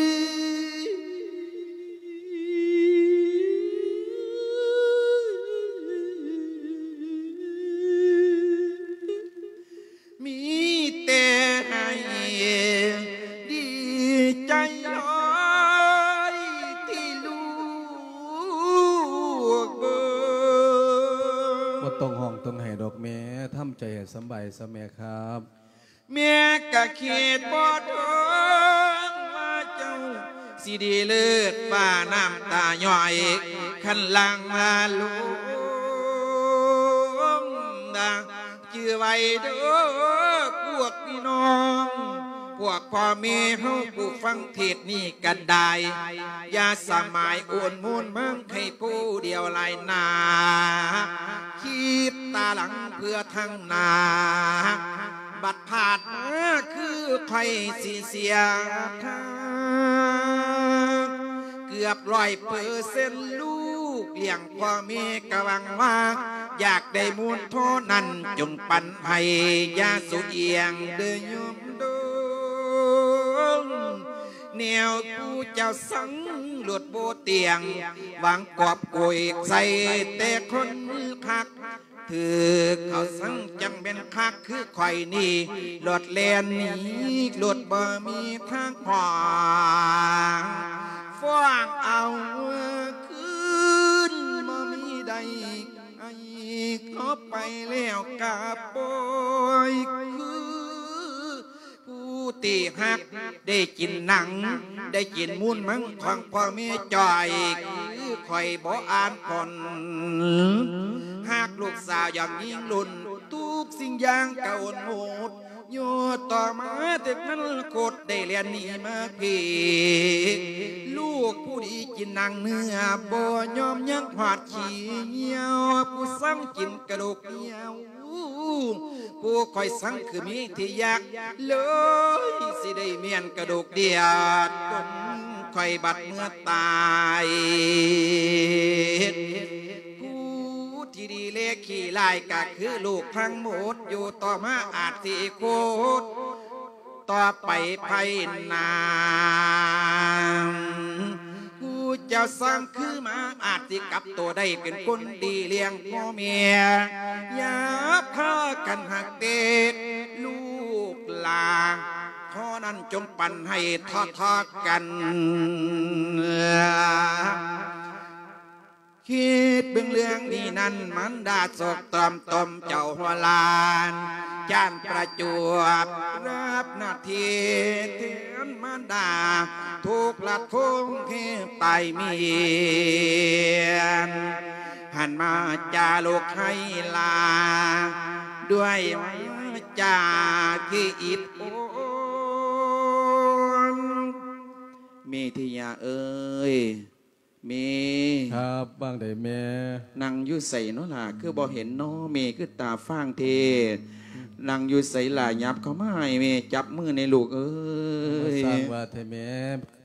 ມີແຕ່ໃຫ້ດີໃຈຫຼາຍທີ່ລູກເບິ່ງ ບໍ່ຕ້ອງຮ້ອງຕ້ອງໄຫ້ດອກແມ່ ທຳໃຈໃຫ້ສະບາຍຊະແມ່ຄັບ. ແມ່ກະຄິດບໍ່ເຖິງວ່າເຈົ້າຊິດີເລີດ ຟ້ານ້ຳຕາຍ້ອຍ ຄັນຫຼັງມາລົງນາ ຈື່ໄວ້ເດີ້ພວກພີ່ນ້ອງ ພວກພໍ່ແມ່ເຮົາຜູ້ຟັງເທດນີ້ກັນໄດ້ ຢ່າສະໝາຍໂອນໂມນມັງໃຫ້ຜູ້ດຽວຫຼາຍໜ້າ ຄິດຕາຫຼັງເພື່ອທາງໜ້າ ບັດພາດມາຄືຂ້ອຍຊິເສຍທາງ ເກືອບຮ້ອຍເປີເຊັນ ລູກລ້ຽງພໍ່ແມ່ກະຫວັງວ່າ ຢາກໄດ້ມູນທໍ່ນັ້ນຈົ່ງປັນໃຫ້ ຢ່າສຸອຽງເດີ້ໂຍມດົງ ແນວຜູ້ເຈົ້າສັງໂລດບໍ່ຕຽງ ຫວັງກອບໂກຍໃສ່ແຕ່ຄົນຄັກ ຖືກເຂົາສັງຈັ່ງແມ່ນຄັກຄືຂ້ອຍນີ້ ໂລດແລ່ນໜີໂລດບໍ່ມີທາງຫວັງ ຟ້ອງເອົາຄືນບໍ່ມີໄດ້ ໃຫ້ເຂົາໄປແລ້ວກະປ່ອຍຄື ຜູ້ທີ່ຮັກໄດ້ກິນໜັງ ໄດ້ກິນມູນມັງຂອງພໍ່ແມ່ຈ່ອຍ ຄືຂ້ອຍບໍ່ອ່ານຜົນ ຫາກລູກສາວຢາກຍິງລຸ້ນ ທຸກສິ່ງຢ່າງກະໂອນໝົດ ຢູ່ຕໍ່ມາເຖິງມັນໂຄດໄດ້ແລ່ນໜີມາພີ້ ລູກຜູ້ດີກິນໜັງເນື້ອ ບໍ່ຍອມຍັງຮອດຂີ້ຫ່ຽວ ຜູ້ສັງກິນກະດູກຫ່ຽວ ຜູ້ຂ້ອຍສັງຄືມີທີ່ຢາກ ເລີຍຊິໄດ້ແມ່ນກະດູກດຽດ ຄົນຂ້ອຍບັດເມື່ອຕາຍ ຜູ້ທີ່ດີແລຂີ້ຮ້າຍກະຄືລູກທັງໝົດ ຢູ່ຕໍ່ມາອາດຊິໂຄດ ຕໍ່ໄປໄພໜ້າ ຜູ້ເຈົ້າສ້າງຄືມາອາດຊິກັບໂຕໄດ້ເປັນຄົນດີລ້ຽງພໍ່ແມ່ ຢ່າພາກັນຮັກເດັດລູກ ຕາ ຂໍນັ້ນຈົ່ງປັນໃຫ້ເທາະໆກັນ. ຄິດເບິ່ງເລື່ອງນີ້ນັ້ນ ມານດາສົກຕອມຕົມເຈົ້າຫົວຫຼານ ຈານປະຈວບຮັບໜ້າທີ່ແທນມານດາ ທຸກລະທົງເຮັດຕາຍເມຍນ ຫັນມາຈາລູກໃຫ້ລາ ດ້ວຍວາຈາທີ່ອິດໂອນ. ເມທິຍາເອີຍ ເມ. ຄັບ ວ່າງໃດແມ່? ນັ່ງຢູ່ໃສເນາະຫຼ້າ ຄືບໍ່ເຫັນເນາະ ເມຄືຕາຟາງແທ້. ນັ່ງຢູ່ໃສຫຼ້າ? ຫຍັບເຂົ້າມາໃຫ້ແມ່ຈັບມືແດ່ລູກເອີຍ. ມາສ້າງວ່າແທ້ແມ່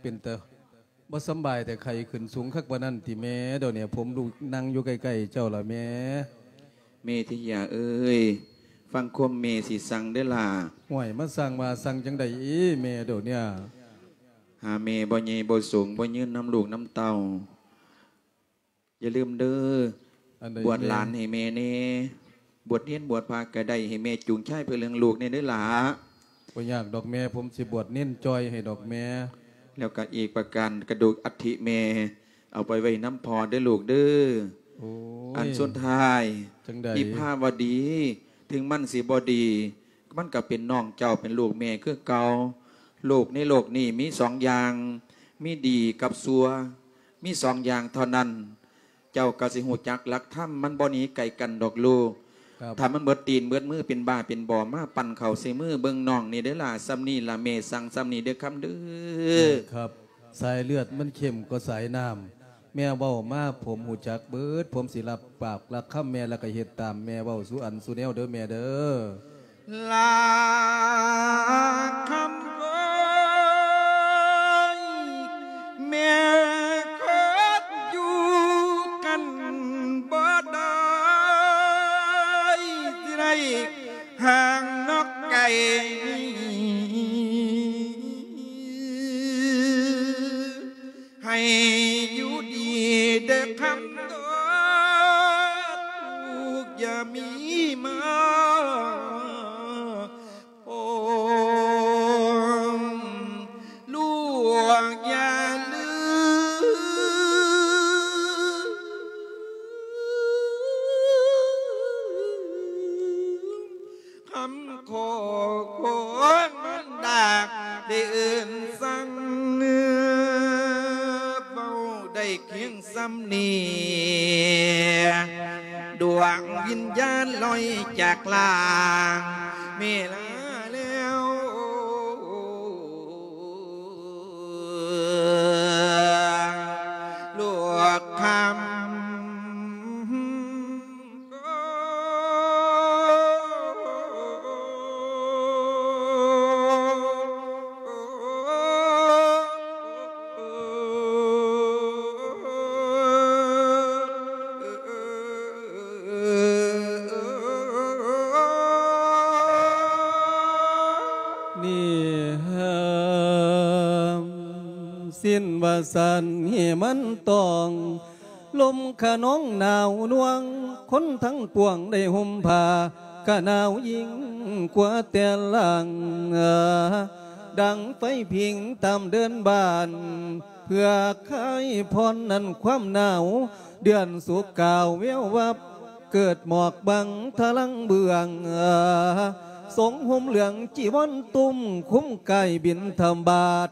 ເປັນຕາບໍ່ສຳບາຍແຕ່ ໄຂ້ຂຶ້ນສູງຄັກປານນັ້ນຕິແມ່? ດຽວນີ້ຜົມລູກນັ່ງຢູ່ໃກ້ໆເຈົ້າລະແມ່. ເມທິຍາເອີຍ ຟັງຄວາມແມ່ຊິສັ່ງເດີ້ຫຼ້າ. ຫ້ວຍ ມາສັ່ງວ່າສັ່ງຈັ່ງໃດອີແມ່ດຽວນີ້? ຫາແມ່ບໍ່ໃຫຍ່ບໍ່ສູງ ບໍ່ຍືນນຳລູກນຳເຕົ້າ. ຢ່າລືມເດີ້ ອັນໃດ ບວດຫຼານໃຫ້ແມ່ແດ່ ບວດເນນບວດພະກະໄດ້ ໃຫ້ແມ່ຈູງຊາຍເພື່ອເລື່ອງລູກແດ່ເດີ້ຫຼ້າ. ບໍ່ຍາກດອກແມ່ ຜົມຊິບວດເນນຈ່ອຍໃຫ້ດອກແມ່. ແລ້ວກະອີກປະການ ກະດູກອັດຖິແມ່ ເອົາໄປໄວ້ນຳພໍ່ເດີ້ລູກເດີ້. ໂອ້ຍ ອັນສຸດທ້າຍ ຈັ່ງໃດ? ວິພາວະດີ ເຖິງມັນຊິບໍ່ດີ ມັນກໍເປັນນ້ອງເຈົ້າ ເປັນລູກແມ່ຄືເກົ່າ. ໂລກໃນໂລກນີ້ມີສອງຢ່າງ ມີດີກັບຊົ່ວ ມີສອງຢ່າງເທົ່ານັ້ນ. ເຈົ້າກໍຊິຮູ້ຈັກຫຼັກທຳ ມັນບໍ່ໜີໄກກັນດອກລູກ. ຄັບ ຖ້າມັນເບິດຕີນເບິດມື ເປັນບ້າເປັນບໍ່ ມາປັ້ນເຂົ້າໃສ່ມືເບິ່ງນ້ອງນີ້ເດີ້ຫຼ້າ. ສ່ຳນີ້ລະແມ່ສັ່ງ ສ່ຳນີ້ເດີ້ຄຳເດີ້. ແມ່ນຄັບ ສາຍເລືອດມັນເຂັ້ມກວ່າສາຍນ້ຳ. ແມ່ເວົ້າມາ ຜົມຮູ້ຈັກເບິດ ຜົມຊິຮັບປາກຮັບຄຳແມ່ ແລ້ວກໍເຮັດຕາມແມ່ເວົ້າສູ່ອັນສູ່ແນວເດີ້ແມ່ເດີ້. ລາຄຳເອີຍ ແມ່ຄົນຢູ່ກັນບໍ່ໄດ້ ຊິໄດ້ຫ່າງນອກໄກ ໃຫ້ຢູ່ດີເດີ້ຄຳເດີ້ ລູກຢ່າມີມາ ໂອ້ ລູກຢ່າລືມ ຄຳຂໍຂອງມານດາ ໄດ້ເອີ້ນສັ່ງ ເວົ້າໄດ້ພຽງສ່ຳນີ້ ດວງວິນຍານລອຍຈາກຮ່າງແມ່ລາແລ້ວ ລູກຄຳ ນິຮາມສິນວ່າສັນ ເຫມັນຕອງ ລົມຂະນອງໜາວນວງ ຄົນທັງປວງໄດ້ຫົ່ມຜ້າ ກະໜາວຍິ່ງກວ່າແຕ່ຫຼັງ ດັງໄຟຜິງຕາມເດີ່ນບ້ານ ເພື່ອຄາຍຜ່ອນນັ້ນຄວາມໜາວ ເດືອນສຸກກາວແວວວັບ ເກີດໝອກບັງທະລັງເບື້ອງ ຊົງຫົ່ມເຫຼືອງຈີວອນຕຸ້ມ ຄຸມກາຍບິນທະບາດ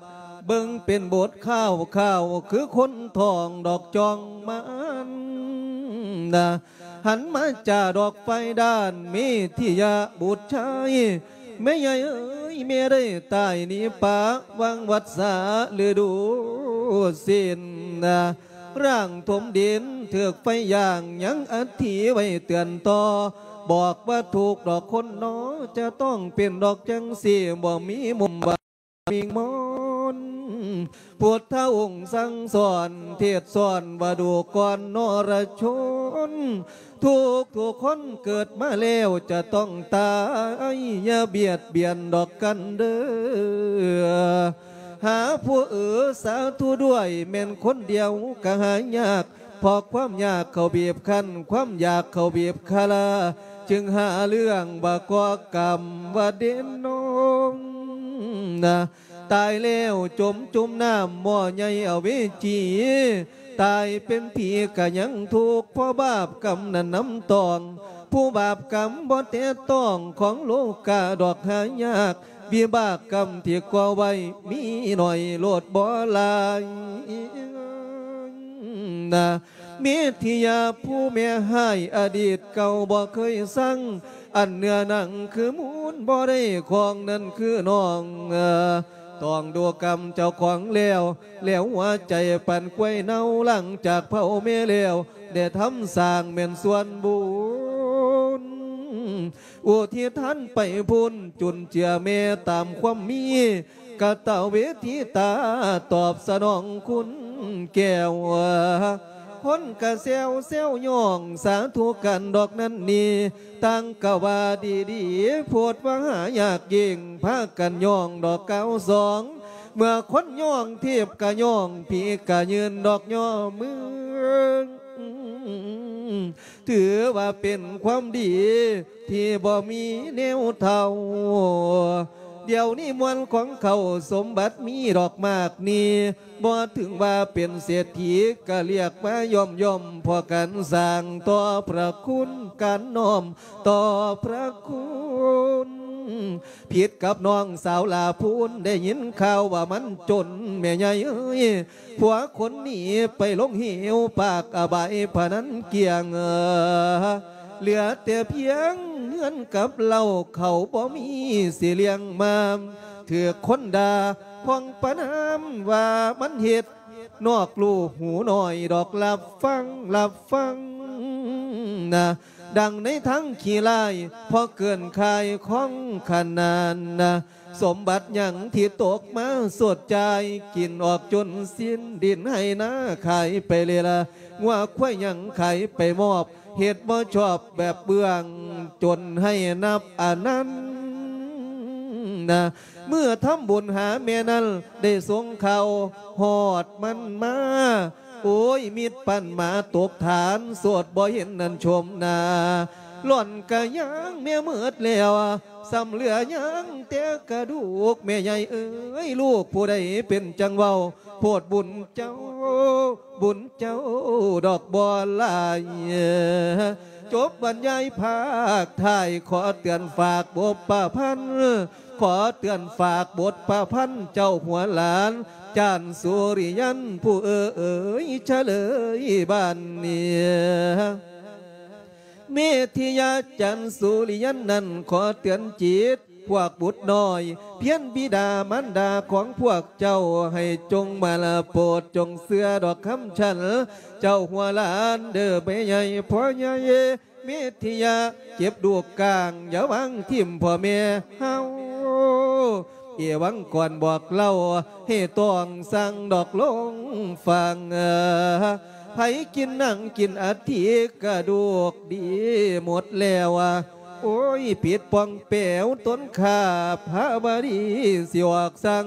ເບິ່ງເປັນບົດຄາວໆ ຄືຄົນທ້ອງດອກຈອງມານນະ ຫັນມາຈາດອກໄຟດ້ານເມທິຍະບຸດຊາຍ ແມ່ໃຫຍ່ເອີຍ ແມ່ໄດ້ຕາຍໜີປະຫວ່າງວັດສາລະດູສິນນະ ຮ່າງຖົມດິນຖືກໄຟຢ່າງ ຍັງອັດຖິໄວ້ເຕືອນຕໍ່ ບອກວ່າທຸກດອກຄົນໜໍ ຈະຕ້ອງເປັນດອກຈັ່ງຊີ້ ບໍ່ມີມຸມວ່າ ວິງມອນ ພຸດທະອົງສັ່ງສອນ ເທດສອນວ່າດູກ່ອນນໍລະຊົນ ທຸກໆຄົນເກີດມາແລ້ວຈະຕ້ອງຕາຍ ຢ່າບຽດບຽນດອກກັນເດີ້ ຫາຜູ້ເອີ ສາທຸດ້ວຍ ແມ່ນຄົນດຽວກະຫາຍາກ ເພາະຄວາມຍາກເຂົາບີບຄັ້ນ ຄວາມຢາກເຂົາບີບຄາລາ ຈຶ່ງຫາເລື່ອງວ່າກໍ່ກຳວ່າເດນນອງນະ ຕາຍແລ້ວຈົມຈຸ່ມນ້ຳໝໍ້ໃຫຍ່ອະເວຈີ ຕາຍເປັນຜີກະຍັງທຸກ ເພາະບາບກຳນັ້ນນຳຕ້ອງ ຜູ້ບາບກຳບໍ່ແຕະຕ້ອງ ຂອງໂລກາດອກຫາຍາກ ວິບາກກຳທີ່ກໍ່ໄວ້ມີໜ້ອຍໂລດບໍ່ຫຼາຍນະ ເມທິຍາຜູ້ແມ່ຮ້າຍອະດີດເກົ່າບໍ່ເຄີຍຊັງ ອັນເນື້ອໜັງຄືມູນບໍ່ໄດ້ຂອງນັ້ນຄືນ້ອງ ຕ້ອງດູກຳເຈົ້າຂອງແລ້ວ ແລ້ວຫົວໃຈປັນກວຍເນົາ ຫຼັງຈາກເຜົາແມ່ແລ້ວ ໄດ້ທຳສ້າງແມ່ນສ່ວນບຸນ ອຸທິດທານໄປພຸ້ນ ຈຸນເຈືອແມ່ຕາມຄວາມມີ ກະຕະເວທິຕາຕອບສະໜອງຄຸນແກ້ວ ຄົນກະແຊວແຊວຍ້ອງ ສາທຸກັນດອກນັ້ນນີ້ ຕ່າງກະວ່າດີໆ ໂພດວ່າຫາຍາກຍິ່ງ ພາກັນຍ້ອງດອກກ່າວສອງ ເມື່ອຄົນຍ້ອງເທບກະຍ້ອງ ຜີກະຍື່ນດອກຍໍມື ຖືວ່າເປັນຄວາມດີທີ່ບໍ່ມີແນວເທົ່າ ດຽວນີ້ມ່ວນຂອງເຂົາສົມບັດມີດອກມາກມີ ບໍ່ເຖິງວ່າເປັນເສດຖີ ກະລຽກມາຍ້ອມໆ ເພາະການສ້າງຕໍ່ພະຄຸນ ການນ້ອມຕໍ່ພະຄຸນ ຜິດກັບນ້ອງສາວຫຼ້າພູນ ໄດ້ຍິນຂ່າວວ່າມັນຈົນ ແມ່ໃຫຍ່ເອີຍ ຜົວຄົນໜີໄປລົງເຫວປາກອະບາຍພະນັນກ້ຽງ ເຫຼືອແຕ່ພຽງເຮືອນກັບເລົ້າ ເຂົາບໍ່ມີຊິລ້ຽງມາ ຖືກຄົນດ່າ ພ້ອງປະນາມວ່າມັນເຮັດ ນອກລູກຫູໜ້ອຍດອກ ລັບຟັງ ລັບຟັງນະ ດັ່ງໃນທາງຂີ້ລ້າຍ ເພາະເກີນຄ່າຍຂອງຂະໜານນະ ສົມບັດຫຍັງທີ່ຕົກມາຊົດຈ່າຍ ກິນອອກຈົນສິ້ນ ດິນໄຮ່ນາຂາຍໄປເລລະ ງົວຄວາຍຫຍັງຂາຍໄປມອບ ເຮັດບໍ່ຊອບແບບເບື້ອງ ຈົນໃຫ້ນັບອະນັນນະ ເມື່ອທຳບຸນຫາແມ່ນັ້ນ ໄດ້ສົ່ງຂ່າວຮອດມັນມາ ໂອ້ຍ ມິດປັນໝາຕົກຖານ ໂສດບໍ່ເຫັນນັ້ນຊົມໜ້າ ຫຼອນກະຍ່າງແມ່ເໝິດແລ້ວ ສ່ຳເຫຼືອຍັງແຕ່ກະດູກ ແມ່ໃຫຍ່ເອີຍ ລູກຜູ້ໃດເປັນຈັ່ງເວົ້າ ໂພດບຸນເຈົ້າ ບຸນເຈົ້າດອກບໍ່ຫຼາຍ ຈົບບັນຍາຍພາກທ້າຍ ຂໍເຕືອນຝາກບົດປະພັນ ຂໍເຕືອນຝາກບົດປະພັນ ເຈົ້າຫົວຫຼານ ຈານສຸລິຍັນ ຜູ້ເອີຍ ຊະເລີຍບ້ານນີ້ ເມທິຍາຈານສຸລິຍັນນັ້ນ ຂໍເຕືອນຈິດ ພວກບຸດນ້ອຍ ພຽນບິດາມານດາຂອງພວກເຈົ້າ ໃຫ້ຈົ່ງມາລະໂປດ ຈົ່ງເຊື່ອດອກຄຳສັນ ເຈົ້າຫົວຫຼານເດີແມ່ໃຫຍ່ພໍ່ໃຫຍ່ ເມທິຍາເກັບລູກກ້າງ ຢ່າວາງຖິ້ມພໍ່ແມ່ເຮົາ ເອວັງກອນບອກເລົ່າ ໃຫ້ຕ້ອງສັ່ງດອກລົງຟັງ ໃຜກິນໜັງກິນອັດຖິກະດູກດີໝົດແລ້ວ ໂອ້ຍ ປິດປ່ອງແປວຕົນຂ້າພະວະດີ ຊິອອກສັ່ງ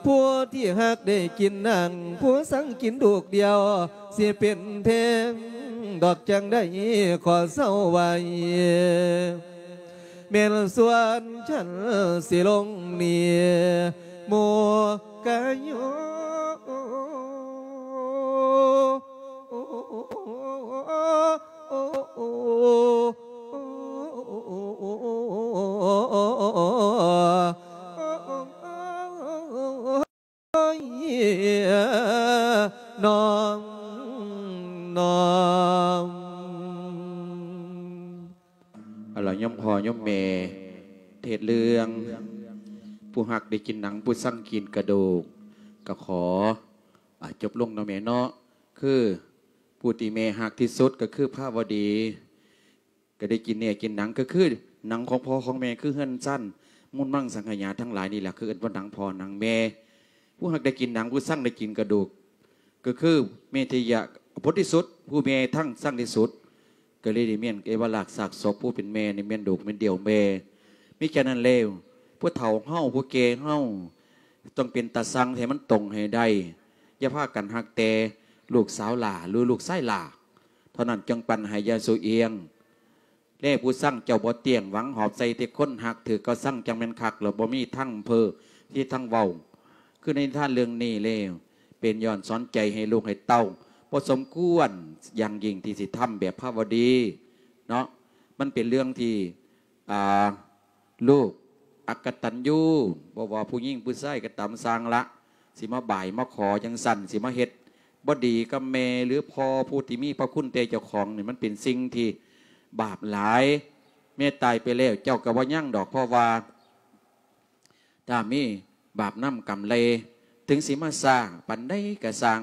ຜູ້ທີ່ຮັກໄດ້ກິນໜັງ ຜູ້ສັ່ງກິນລູກດຽວ ຊິເປັນແພງດອກຈັ່ງໃດຂໍເຊົາໄວ້ ແມ່ນສ່ວນຊັ້ນຊິລົງໜີ ໝູ່ກະໂຍ ນ້ອງ ນ້ອງ ເອົາລະ ໂຍມພໍ່ໂຍມແມ່ ເທດເລື່ອງ ຜູ້ຮັກໄດ້ກິນໜັງ ຜູ້ສັ່ງກິນກະດູກ ກະຂໍ ອາ ຈົບລົງເນາະແມ່ເນາະ ຄື ຜູ້ທີ່ແມ່ຮັກທີ່ສຸດກະຄືພະວະດີ ກະໄດ້ກິນເນື້ອກິນໜັງ ກະຄືໜັງຂອງພໍ່ຂອງແມ່ ຄືເຮືອນຊັ້ນ ມູນມັງສັງຂະຫຍາທັງຫຼາຍນີ້ແຫຼະ ຄືເອີ້ນວ່າໜັງພໍ່ໜັງແມ່ ຜູ້ຮັກໄດ້ກິນໜັງ ຜູ້ຊັງໄດ້ກິນກະດູກ ກະຄືເມທິຍະ ຜົນທີ່ສຸດ ຜູ້ແມ່ທັງຊັງທີ່ສຸດ ກະເລີຍໄດ້ແມ່ນເອວະລາກຊາກສົບ ຜູ້ເປັນແມ່ນີ້ແມ່ນລູກແມ່ນດຽວແມ່ ມີແຄ່ນັ້ນແລ້ວ ຜູ້ເຖົ້າເຮົາ ຜູ້ແກ່ເຮົາ ຕ້ອງເປັນຕາຊັງໃຫ້ມັນຕົງໃຫ້ໄດ້ ຢ່າພາກັນຮັກແຕ່ລູກສາວຫຼ້າ ຫຼື ລູກຊາຍຫຼ້າ ເທົ່ານັ້ນ ຈຶ່ງປັນໃຫ້ຢ່າຊູ່ອຽງ ແລຜູ້ຊັງເຈົ້າບໍ່ຕຽງ ຫວັງຫອບໃສ່ແຕ່ຄົນຮັກ ຖືກເຂົາຊັງຈັ່ງແມ່ນຄັກ ແລ້ວບໍ່ມີທາງເພີທີ່ທາງເວົ້າ. ຄືໃນນິທານເລື່ອງນີ້ແລ້ວ ເປັນຍ້ອນສອນໃຈໃຫ້ລູກໃຫ້ເຕົ້າ ບໍ່ສົມຄວນຢ່າງຍິ່ງທີ່ຊິທຳແບບພາວະດີເນາະ. ມັນເປັນເລື່ອງທີ່ ອ່າ ລູກອັກກະຕັນຍູ ບໍ່ວ່າຜູ້ຍິງຜູ້ຊາຍກໍຕາມ ຊ່າງລະ ຊິມາບ່າຍມາຂໍຈັ່ງຊັ້ນ ຊິມາເຮັດບໍ່ດີກັບແມ່ ຫຼື ພໍ່ຜູ້ທີ່ມີພະຄຸນແຕ່ເຈົ້າຂອງນີ້ ມັນເປັນສິ່ງທີ່ບາບຫຼາຍ. ແມ່ຕາຍໄປແລ້ວ ເຈົ້າກໍບໍ່ຍັງດອກ ເພາະວ່າ ຖ້າມີບາບນຳກຳໄລ ເຖິງຊິມາຊ້າປານໃດກໍຊ່າງ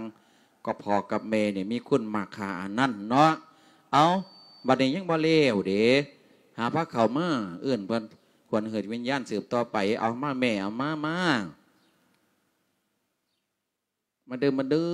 ກໍພໍ່ກັບແມ່ນີ້ມີຄຸນມາກຄ່າອັນນັ້ນເນາະ. ເອົາ ບັດນີ້ຍັງບໍ່ແລ້ວເດ້ ຫາພາເຂົ້າມາ ເອີ້ນເພິ່ນ ຄວນເຮີດວິນຍານສືບຕໍ່ໄປ. ເອົາມາແມ່ ເອົາມາ ມາ ມາເດີ ມາເດີ.